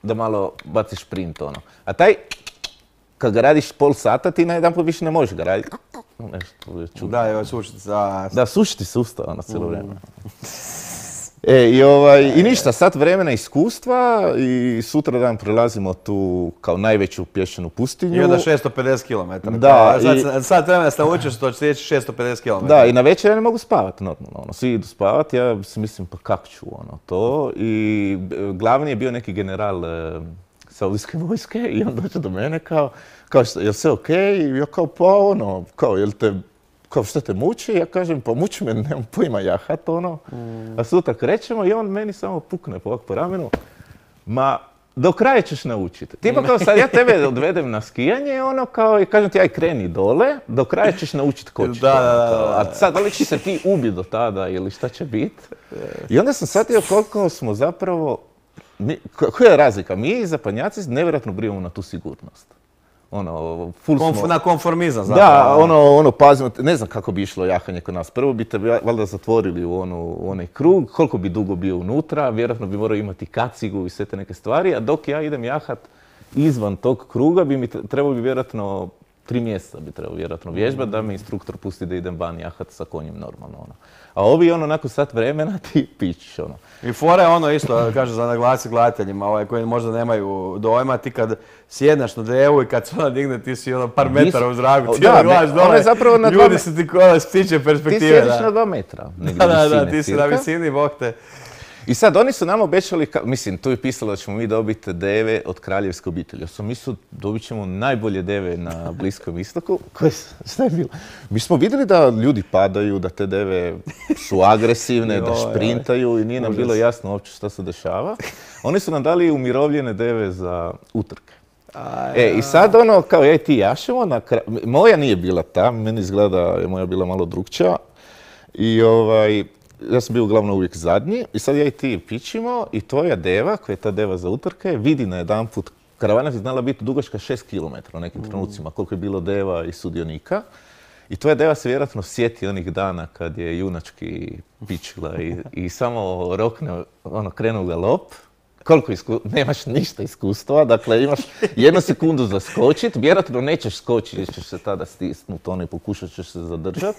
da malo baciš sprint, ono. A taj, kad ga radiš pol sata, ti na jedan put više ne možeš ga raditi. Nešto je čudno. Da, evo sušiti za... Da, sušiti sustav, ono, cijelo vrijeme. E, i, ovaj, i ništa, sat vremena iskustva i sutra dan prelazimo tu kao najveću pješčanu pustinju. I onda šesto pedeset kilometara. Da, sad, i- sad, sad vremena ste naučio što će sjeći šesto pedeset kilometara. Da, i na večer ja ne mogu spavati normalno, ono, svi idu spavati, ja si mislim pa kak ću ono to i e, glavni je bio neki general e, saudijske vojske i on dođe do mene kao, kao što, jel sve okej? I ja kao pa ono, kao jel te, kao što te muči? Ja kažem pa muči me, nemam pojma jahat ono, a sutra krećemo i on meni samo pukne po, ovak po ramenu, ma do kraja ćeš naučiti. Tipa kao sad ja tebe odvedem na skijanje, ono kao i kažem ti aj kreni dole, do kraja ćeš naučiti kočiti. Da, da, ono, da, kao, da. A sad da li će se ti ubiti do tada ili šta će biti? I onda sam shvatio koliko smo zapravo, mi, ko- koja je razlika? Mi zapadnjaci nevjerojatno brinemo na tu sigurnost. Ono, full Konf- smo... na konformizam Da, zapravo. ono, ono, pazimo, ne znam kako bi išlo jahanje kod nas. Prvo bi te valjda zatvorili u, onu, u onaj krug, koliko bi dugo bio unutra, vjerojatno bi morao imati kacigu i sve te neke stvari, a dok ja idem jahat izvan tog kruga, bi mi tre- trebalo bi vjerojatno tri mjeseca bi trebalo vjerojatno vježbati da me instruktor pusti da idem van jahat sa konjem normalno, ono. A ovi, ono, nakon sat vremena ti pičiš, ono. I fora je ono isto, kaže za naglasi gledateljima, ovaj, koji možda nemaju dojma, ti kad sjedneš na devu i kad se ona digne, ti si ono par metara u zraku, Da, ti ono gledaš ne, dole, ona je zapravo na dva ljudi me- su ti kola s ptičje Ti perspektive. sjediš da. na dva metra, negdje Da, da, da, visine ti si na cirka. visini, bog te. I sad, oni su nam obećali, ka- mislim, tu je pisalo da ćemo mi dobiti deve od kraljevske obitelji. Ja sam mislio, dobit ćemo najbolje deve na Bliskom istoku. Koje, s- šta je bilo? Mi smo vidjeli da ljudi padaju, da te deve su agresivne, da Joj, joj. šprintaju i nije nam Užas. bilo jasno uopće šta se dešava. Oni su nam dali umirovljene deve za utrke. E, i sad ono, kao ja i ti jašemo, na kra- moja nije bila ta, meni izgleda da je moja bila malo drugčija. I ovaj, ja sam bio uglavnom uvijek zadnji i sad ja i ti pičimo i tvoja deva, koja je ta deva za utrke, vidi na jedan put, karavana je znala biti dugačka šest kilometara u nekim trenucima, koliko je bilo deva i sudionika. I tvoja deva se vjerojatno sjeti onih dana kad je junački pičila i, i samo rokne, ono, krenu u galop. Koliko isku... nemaš ništa iskustva, dakle imaš jednu sekundu za skočit, vjerojatno nećeš skočiti jer ćeš se tada stisnuti ono i pokušat ćeš se zadržati.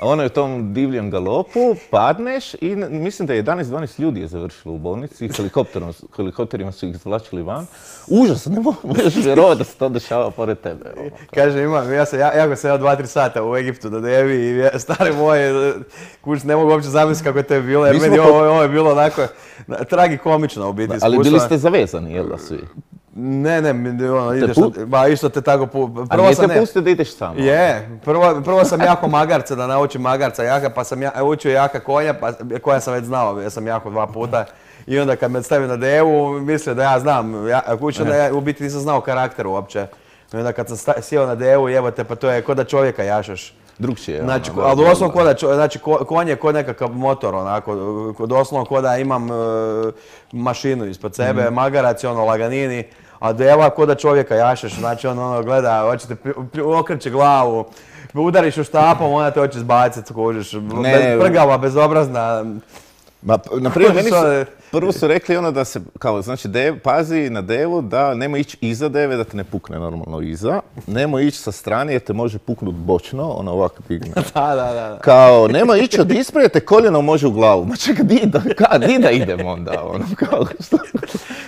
A ono je u tom divljem galopu, padneš i n- mislim da je jedanaest dvanaest ljudi je završilo u bolnici, helikopterom, helikopterima su ih izvlačili van. Užasno, ne mogu možeš vjerovati da se to dešava pored tebe. ono, kao. Kaže, imam, ja sam ja, jako sam dva tri sata u Egiptu na devi i ja- stare moje, kuć, ne mogu uopće zamisliti kako je to bilo, jer Mi meni smo ovo, ovo je bilo onako na- tragikomično u biti Ali iskustvo. bili ste zavezani, jel da svi? Ne, ne, mi- ono, ideš, pu- na- ba isto te tako, pu- A prvo nije sam te ne, pustio da ideš samo? je, prvo, prvo sam jako magarca, da naučim magarca jaka, pa sam ja, učio jaka konja, pa, koja sam već znao, ja sam jako dva puta. I onda kad me stavio na devu, mislio da ja znam, ja, kuća da ja u biti nisam znao karakter uopće. I onda kad sam sta, sjeo na devu, jebote, pa to je ko da čovjeka jašaš. Drugčije je. Znači, ono, ali da, doslovno da. ko da, čo- znači, ko- konj je ko nekakav motor, onako, ko- doslovno ko da imam e, mašinu ispod sebe, Mhm. magarac je ono laganini, a deva ko da čovjeka jašeš, znači on ono gleda, hoćete, pri- pri- okreće glavu, udariš u štapom, ona te hoće zbaciti, kužiš, Ne. bez, prgava, bezobrazna. Ma, p- na primjer, meni su, Što- prvo su rekli ono da se, kao, znači, dev, pazi na devu da nemoj ići iza deve, da te ne pukne normalno iza. Nemoj ići sa strane jer te može puknut bočno, ono ovako digne. Da, da, da. da. Kao, nemoj ići od ispred, te koljeno može u glavu. Ma čekaj, di da, ka, di da idem onda, ono, kao, što?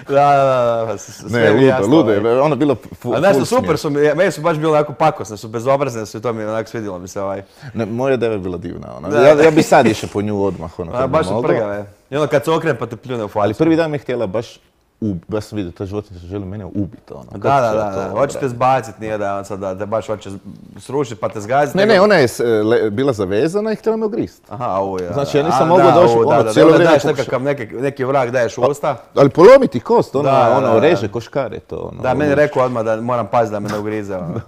Da, da, da, da, s- s- sve Ne, mi je ludo, jasno, ludo ovaj. je, ono bilo fu, A znaš full što, super smijeh. su mi, meni su baš bile onako pakosne, su bezobrazne su i to mi je onako svidjelo mi se ovaj. Ne, moja deva je bila divna, ono. Da. Ja, ja bi sad išao po nju odmah, ono, A, kad bi baš su mogao. prgave. I onda kad se okrene pa te pljune u facu. Ali prvi dan mi je htjela baš ub- ja sam vidio, ta životinja želi mene ubiti, ono. Da, Kako da, ću ja da, to da. odraditi? Hoćete zbaciti, nije da on sad da te baš hoće srušiti pa te zgaziti. Ne, nego- ne, ona je s- le- bila zavezana i htjela me ogrist. Aha, au, ja. Znači, ja nisam A, mogao da, doći, au, ono, da, da, cijelo onda vrijeme daješ pokuša- nekakav, neki, neki vrag daješ u usta. Ali polomiti kost, ona, Da, da, ono, da. reže koškare to, ono. Da, meni je rekao odmah da moram paziti da me ne ugrize. ono.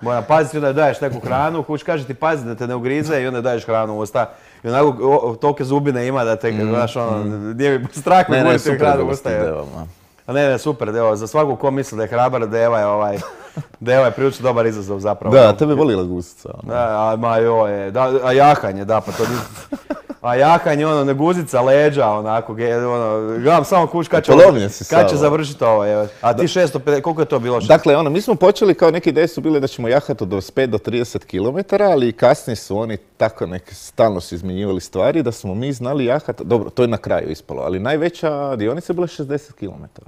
Moram paziti, onda daješ neku hranu, kuć kaže ti pazi da te ne ugrize i onda daješ hranu u usta. I onako o, tolike zubine ima da te, znaš, ono, nije mi strah me Ne, ne, guriti super hranu je u bilo s usta. tim je. devama. A ne, ne, super, evo, za svakog ko misli da je hrabar, Deva je ovaj, Deva je prilično dobar izazov zapravo. Da, tebe volila guzica, ono. Da, a, ma joj, da, a jahanje, da, pa to ni- A jahanje, ono, ne guzica, leđa, onako, ge- ono, gledam samo kuć kad će, Polomljen si kad će sav. završiti ovo, evo. A ti šesto pedeset, koliko je to bilo? Dakle, ono, mi smo počeli kao neke ideje su bile da ćemo jahati od dvadeset pet do trideset kilometara, ali kasnije su oni tako neke, stalno su izmjenjivali stvari da smo mi znali jahati, dobro, to je na kraju ispalo, ali najveća dionica je bila šezdeset kilometara.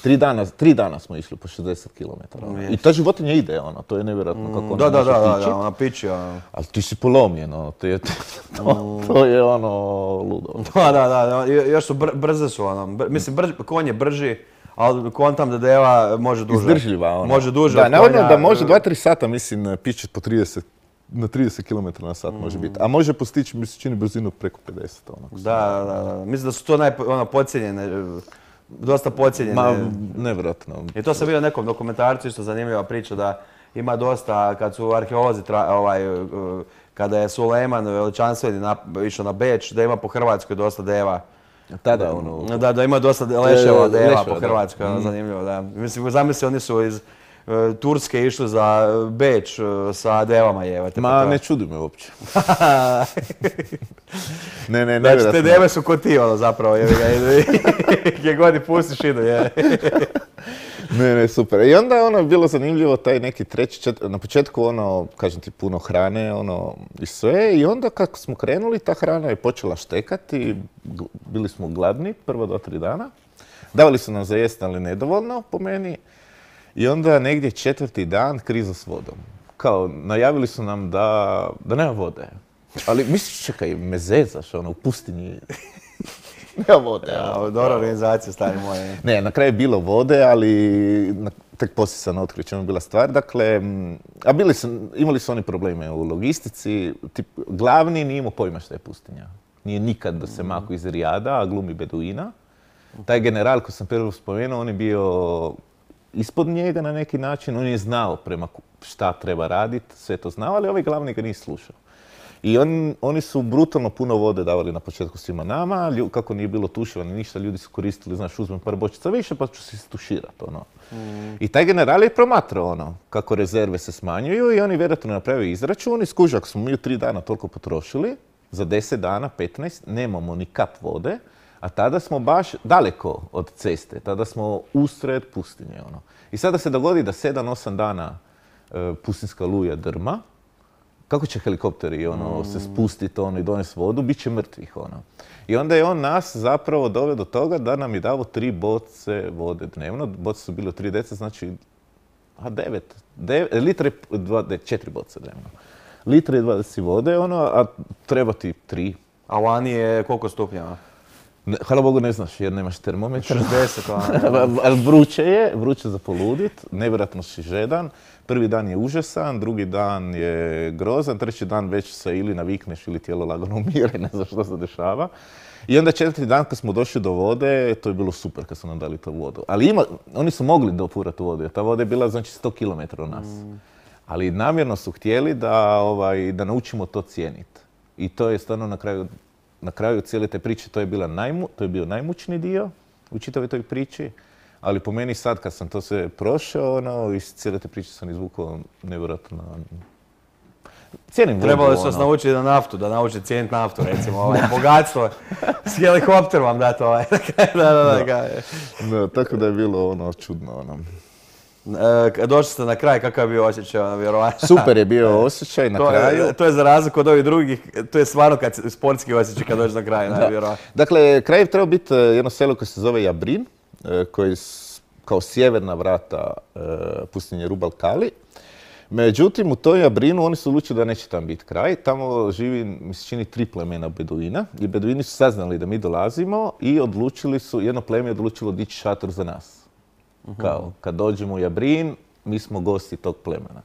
Tri dana, tri dana smo išli po šezdeset kilometara. ono. I ta životinja ide, ono, to je nevjerojatno kako ona Da, da, može da, da, tići. da, ona piči, ono. Ali ti si polomljen, ono, to je, to, to je ono ludo. Da, da, da, jo- još su br- brze su, ono, br- mislim, brž, konj je brži, ali kontam da Deva može duže. Izdržljiva, ono. Može duže Da, od navodno konja, da može e, dva tri sata, mislim, pići po trideset, na trideset kilometara na sat može biti. A može postići, mi se čini, brzinu preko pedeset, ono. Da, da, da, mislim da su to naj, ono, podcijenjene, e, dosta podcijenjene. Ma, nevjerojatno. I to sam vidio u nekom dokumentarcu, isto zanimljiva priča da ima dosta, kad su arheolozi, tra, ovaj, e, kada je Sulejman veličanstveni nap- išao na Beč, da ima po Hrvatskoj dosta deva. Tada, ono, Da, da ima dosta leševa deva leševa, po da. Hrvatskoj, ono, zanimljivo, da. Mislim, zamisli, oni su iz e, Turske išli za Beč e, sa devama jevate. ma ne čudi me uopće. Ne, ne, Znači, te nevjerojatno. deve su ko ti, ono, zapravo, jevi ga, gdje god ih pustiš idu, je. Ne, ne, super. I onda je ono bilo zanimljivo taj neki treći, čet... na početku ono, kažem ti, puno hrane, ono, i sve. I onda kako smo krenuli, ta hrana je počela štekati, g- bili smo gladni prvo do tri dana. Davali su nam za jest, ali nedovoljno, po meni. I onda negdje četvrti dan kriza s vodom. Kao, najavili su nam da, da nema vode. Ali misliš, čekaj, me zezaš, ono, u pustinji. Nema vode. Ja, ono. dobra organizacija, stari moje. Ne, na kraju je bilo vode, ali na- tek poslije sam otkrio čemu je bila stvar. Dakle, m, a bili su, imali su oni probleme u logistici. Tip, glavni nije imao pojma šta je pustinja. Nije nikad da se mako iz Rijada, a glumi Beduina. Taj general koji sam prvo spomenuo, on je bio ispod njega na neki način. On je znao prema ku- šta treba raditi, sve to znao, ali ovaj glavni ga nije slušao. I on, oni su brutalno puno vode davali na početku svima nama, lju- kako nije bilo tušivano ništa, ljudi su koristili, znaš, uzmem par bočica više pa ću se istuširati, ono. I taj general je promatrao, ono, kako rezerve se smanjuju i oni vjerojatno napravio izračun i skuži, ako smo mi u tri dana toliko potrošili, za deset dana, petnaest, nemamo ni kap vode, a tada smo baš daleko od ceste, tada smo usred pustinje, ono. I sada se dogodi da sedam osam dana e, pustinska luja drma, kako će helikopteri ono, se spustiti ono, i donesti vodu, bit će mrtvih. Ono. I onda je on nas zapravo doveo do toga da nam je davo tri boce vode dnevno. Boce su bile u tri deca, znači a devet, devet litre, dva, de, četiri boce dnevno. Litre i dvadeset vode, ono, a treba ti tri. A vani je koliko stupnjeva? Ne, hvala Bogu ne znaš jer nemaš termometra. šezdeset, ono. Ali vruće je, vruće za poludit, nevjerojatno si žedan. Prvi dan je užasan, drugi dan je grozan, treći dan već se ili navikneš ili tijelo lagano umire, ne znaš što se dešava. I onda četvrti dan kad smo došli do vode, to je bilo super kad su nam dali tu vodu. Ali ima, oni su mogli dopurati vodu jer ta voda je bila znači sto kilometara od nas. Ali namjerno su htjeli da, ovaj, da naučimo to cijeniti. I to je stvarno na kraju, na kraju cijele te priče, to je, bila najmu, to je bio najmučniji dio u čitavoj toj priči. Ali po meni sad kad sam to sve prošao, ono, iz cijele te priče sam izvukao nevjerojatno. Cijenim vodu, Trebali su vas ono. naučiti na naftu, da naučite cijeniti naftu, recimo, ovaj, bogatstvo. S helikopterom vam dati ovaj. da, da, da, da. Da, tako da je bilo ono čudno. Ono. E, došli ste na kraj, kakav je bio osjećaj, ono, vjerovatno. Super je bio osjećaj na To kraju. je, to je za razliku od ovih drugih, to je stvarno kad, se- sportski osjećaj kad dođeš na kraj, ne, vjerovatno. Dakle, kraj je trebao biti eh, jedno selo koje se zove Jabrin, eh, koje je s- kao sjeverna vrata eh, pustinje Rubal Kali. Međutim, u toj Jabrinu oni su odlučili da neće tam biti kraj. Tamo živi, mi se čini, tri plemena Beduina. I Beduini su saznali da mi dolazimo i odlučili su, jedno pleme je odlučilo dići šator za nas. Kao, kad dođemo u Jabrin, mi smo gosti tog plemena.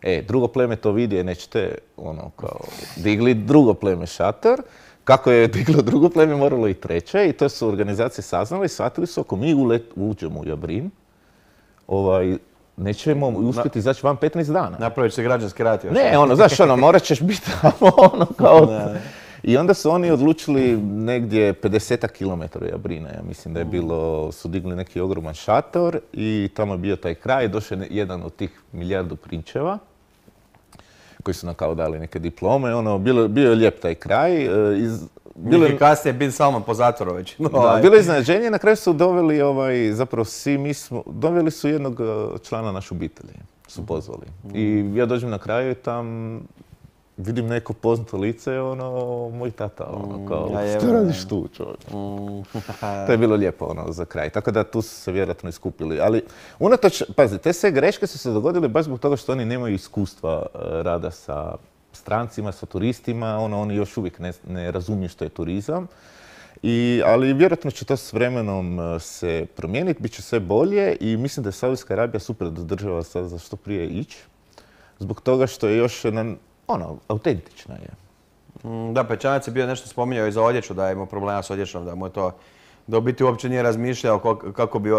E, drugo pleme to vidi, je nećete, ono, kao, digli drugo pleme šator. Kako je diglo drugo pleme, moralo i treće. I to su organizacije saznali i shvatili su, ako mi ulet, uđemo u Jabrin, ovaj, nećemo uspjeti izaći van petnaest dana. Napravit će građanski rat još. Ne, ono, znaš, ono, morat ćeš biti tamo, ono, kao... I onda su oni odlučili negdje pedeset kilometara Jabrina, ja mislim da je bilo, su digli neki ogroman šator i tamo je bio taj kraj, došao je jedan od tih milijardu prinčeva koji su nam kao dali neke diplome, ono, bilo, bio je lijep taj kraj. Iz, bilo je kasnije Bin Salman po zatvoru već. No, da, bilo je iznenađenje, na kraju su doveli, ovaj, zapravo svi mi smo, doveli su jednog člana naše obitelji, su pozvali. I ja dođem na kraju i tam vidim neko poznato lice, ono, moj tata, ono, kao, ja, što radiš tu, čovječe? To je bilo lijepo, ono, za kraj. Tako da tu su se vjerojatno iskupili. Ali, unatoč, pazi, te sve greške su se dogodile baš zbog toga što oni nemaju iskustva rada sa strancima, sa turistima, ono, oni još uvijek ne, ne razumiju što je turizam. I, ali vjerojatno će to s vremenom se promijeniti, bit će sve bolje i mislim da je Saudijska Arabija super država sad za što prije ići. Zbog toga što je još na, ono, autentična je. Da, Pečanac je bio nešto spominjao i za odjeću, da je imao problema s odjećom, da mu je to, da u biti uopće nije razmišljao kako bi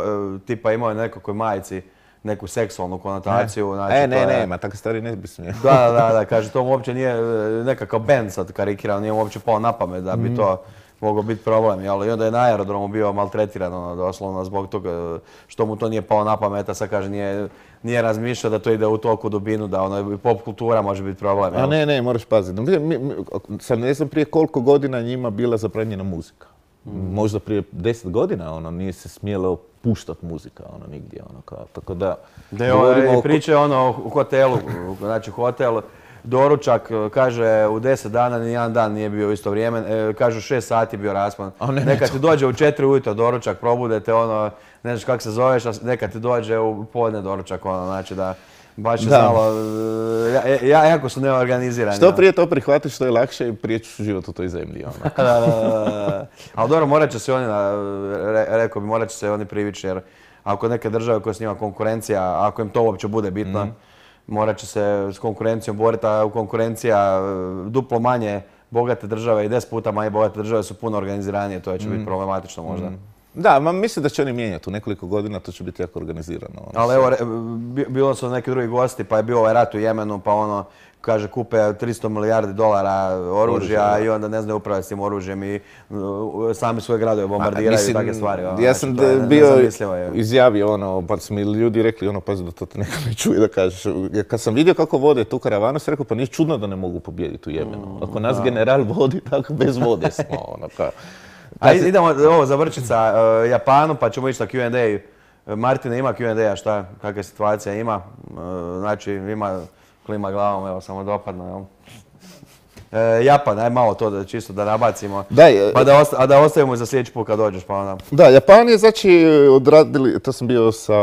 tipa imao nekakvoj majici neku seksualnu konotaciju. Ne, znači, e, ne, je... ne, ma takve stvari ne bi smio. Da, da, da, kaže, to mu uopće nije nekakav band sad karikirao, nije mu uopće pao na pamet da bi mm. to mogao biti problem. Jel? I onda je na aerodromu bio maltretiran, ono, doslovno, zbog toga što mu to nije pao na pamet, a sad kaže, nije, nije razmišljao da to ide u toliku dubinu, da ono, pop kultura može biti problem. Jel? A ne, ne, moraš paziti. Mi, mi, sad ne znam prije koliko godina njima bila zabranjena muzika. Mm. Možda prije deset godina, ono, nije se smjelo puštati muzika, ono, nigdje, ono, kao, tako da... Da je ovaj, priče, ono, u hotelu, znači hotel, doručak, kaže, u deset dana ni jedan dan nije bio u isto vrijeme, e, kaže, šest sati bio raspon. Ne, neka ti dođe u četiri ujutro doručak, probudete, ono, ne znaš kako se zoveš, a neka ti dođe u podne doručak, ono, znači da... Baš je znalo, ja, ja, jako su neorganizirani. Što prije to prihvatiš, što je lakše i prije ćeš život u toj zemlji. Ono. da, da, da. Ali dobro, morat će se oni, re, rekao bi, morat će se oni privići, jer ako neke države koje s njima konkurencija, ako im to uopće bude bitno, mm. morat će se s konkurencijom boriti, a konkurencija duplo manje bogate države i deset puta manje bogate države su puno organiziranije, to će mm. biti problematično možda. Mm. Da, ma mislim da će oni mijenjati. U nekoliko godina to će biti jako organizirano. Ono. Ali evo, bilo su neki drugi gosti, pa je bio ovaj rat u Jemenu, pa ono, kaže, kupe tristo milijardi dolara oružja Oružje, i onda ne znaju upravljati s tim oružjem i uh, sami svoje gradove bombardiraju mislim, i takve stvari. Ono, ja sam znači, bio izjavio, ono, pa su mi ljudi rekli, ono, pazi da to te neko ne čuje da kažeš. Kad sam vidio kako vode tu karavanu, sam rekao, pa nije čudno da ne mogu pobijediti u Jemenu. Ako nas da. general vodi, tako bez vode smo, ono, kao. A idemo ovo za vrčica uh, Japanu, pa ćemo ići na Q and A. Martina ima Q and A, šta, kakva situacija ima? Uh, znači, ima klima glavom, evo, samo dopadno, jel? E, Japan, aj malo to da čisto da nabacimo, Daj, pa da, osta, a da ostavimo za sljedeći put kad dođeš, pa onda... Da, Japan je, znači, odradili, to sam bio sa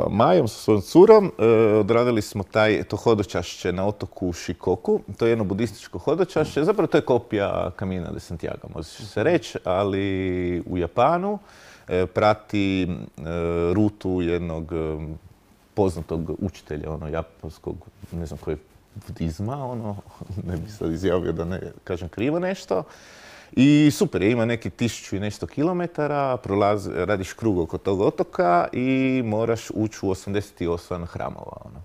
Majom, sa svojom curom, e, odradili smo taj, to hodočašće na otoku Shikoku, to je jedno budističko hodočašće, zapravo to je kopija Camina de Santiago, može se reći, ali u Japanu e, prati e, rutu jednog e, poznatog učitelja, ono, japanskog, ne znam koji budizma, ono, ne bi sad izjavio da ne kažem krivo nešto. I super je, ima neki tisuću i nešto kilometara, prolazi, radiš krug oko tog otoka i moraš ući u osamdeset osam hramova. Ono.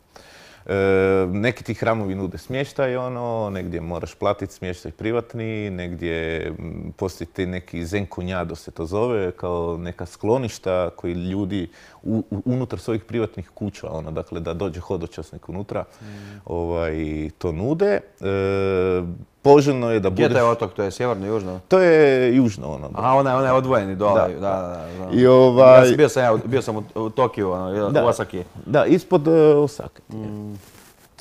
E, neki ti hramovi nude smještaj, ono, negdje moraš platiti smještaj privatni, negdje postoji ti neki zenkunjado se to zove, kao neka skloništa koji ljudi u, unutar svojih privatnih kuća, ono, dakle da dođe hodočasnik unutra, mm. ovaj, to nude. E, poželjno je da budeš... Gdje je taj otok? To je sjeverno, južno? To je južno, ono. A ona je, ona je odvojeni dole. Da, da, da. da, da. I ovaj... Ja sam bio sam, ja, bio sam u, u Tokiju, ono, da, u Osaki. Da, ispod uh, Osake. Mm.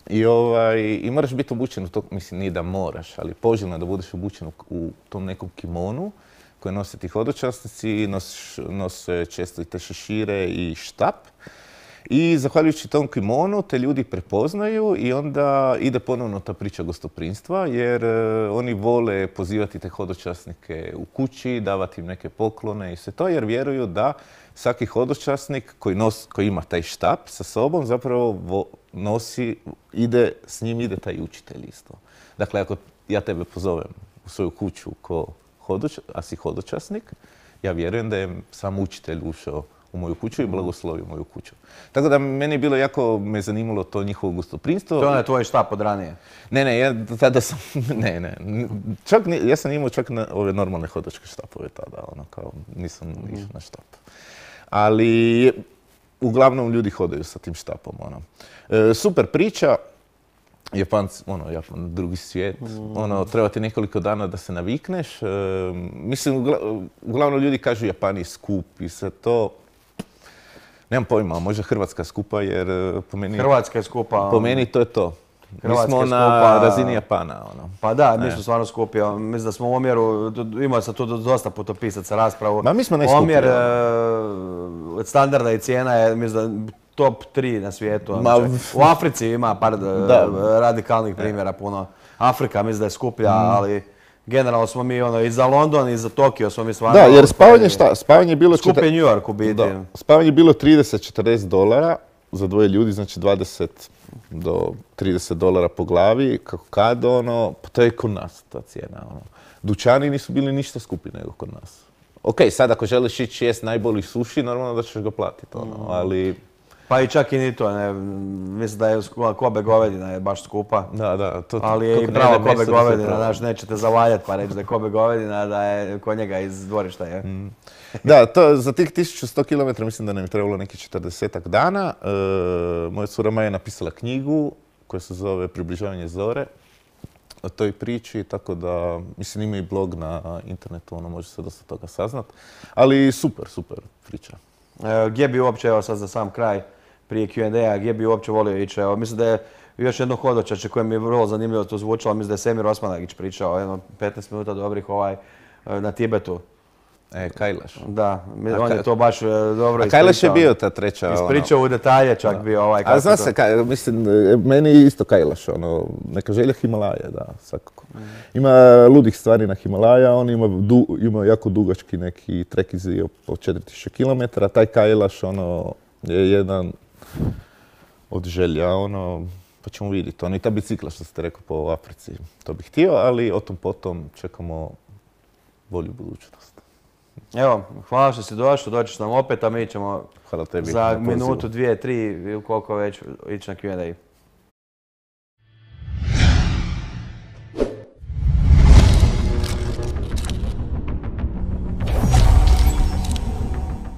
I, ovaj, I moraš biti obučen u to, mislim, nije da moraš, ali poželjno je da budeš obučen u, u tom nekom kimonu koje nose ti hodočasnici, nosiš, nose često i te šešire i štap. I zahvaljujući tom kimonu te ljudi prepoznaju i onda ide ponovno ta priča gostoprimstva jer e, oni vole pozivati te hodočasnike u kući, davati im neke poklone i sve to jer vjeruju da svaki hodočasnik koji, nos, koji ima taj štap sa sobom zapravo vo, nosi, ide, s njim ide taj učitelj isto. Dakle, ako ja tebe pozovem u svoju kuću ko hodoč, a si hodočasnik, ja vjerujem da je sam učitelj ušao u moju kuću i blagoslovio moju kuću. Tako da meni je bilo jako, me zanimalo to njihovo gostoprimstvo. To je tvoj štap od ranije? Ne, ne, ja tada sam, ne, ne, čak, ja sam imao čak na ove normalne hodačke štapove tada, ono, kao, nisam mm. išao na štap. Ali, uglavnom ljudi hodaju sa tim štapom, ono. E, super priča, Japanci, ono, Japan, drugi svijet, mm. ono, treba ti nekoliko dana da se navikneš. E, mislim, ugla, uglavnom ljudi kažu Japan je skup i sve to. Nemam pojma, možda Hrvatska skupa jer po meni... Hrvatska je skupa. Po meni to je to. Hrvatska mi smo na skupa, razini Japana. Ono. Pa da, mi smo stvarno skupi. Mislim da smo u omjeru, imao sam tu dosta putopisaca raspravu. Ma mi smo najskuplji. Omjer uh, standarda i cijena je, mislim da top tri na svijetu. Ma, u Africi ima par da. radikalnih primjera puno. Afrika mislim da je skuplja, mm. ali generalno smo mi ono, i za London i za Tokio smo mi stvarno... Da, jer spavanje šta? Spavanje je bilo... Skupi New York u biti. Da. Spavanje je bilo trideset do četrdeset dolara za dvoje ljudi, znači dvadeset do trideset dolara po glavi, kako kad, ono, pa to je kod nas ta cijena, ono. Dućani nisu bili ništa skupi nego kod nas. Ok, sad ako želiš ići jest najbolji sushi, normalno da ćeš ga platiti, ono, mm. ali... Pa i čak i ni to, ne, mislim da je Kobe govedina je baš skupa. Da, da. To, ali je i pravo Kobe govedina, znaš, nećete zavaljati pa reći da je Kobe govedina, da je kod njega iz dvorišta je. Mm. Da, to, za tih tisuću sto kilometara mislim da nam je trebalo neki četrdesetak dana. E, moja cura Maja je napisala knjigu koja se zove Približavanje zore o toj priči, tako da, mislim, ima i blog na internetu, ono može se dosta toga saznat. Ali super, super priča. E, gdje bi uopće, evo sad za sam kraj, prije Q and A, gdje bi uopće volio ići? Evo, mislim da je još jedno hodočače koje mi je vrlo zanimljivo to zvučalo, mislim da je Semir Osmanagić pričao, jedno petnaest minuta dobrih ovaj, na Tibetu. E, Kailaš. Da, on je to baš dobro ispričao. A Kailaš je bio ta treća, ono... Ispričao u detalje čak bio ovaj... A zna se, ka, mislim, meni je isto Kailaš, ono, neka želja Himalaje, da, svakako. Mm. Ima ludih stvari na Himalaja, on ima, du, ima jako dugački neki trekizi od četiri tisuće kilometara, taj Kailaš, ono, je jedan od želja, ono, pa ćemo vidjeti. Ono, i ta bicikla što ste rekao po Africi, to bih htio, ali o tom potom čekamo bolju budućnost. Evo, hvala što si došao, doćeš nam opet, a mi ćemo tebi, za minutu, dvije, tri ili koliko već ići na Q and A.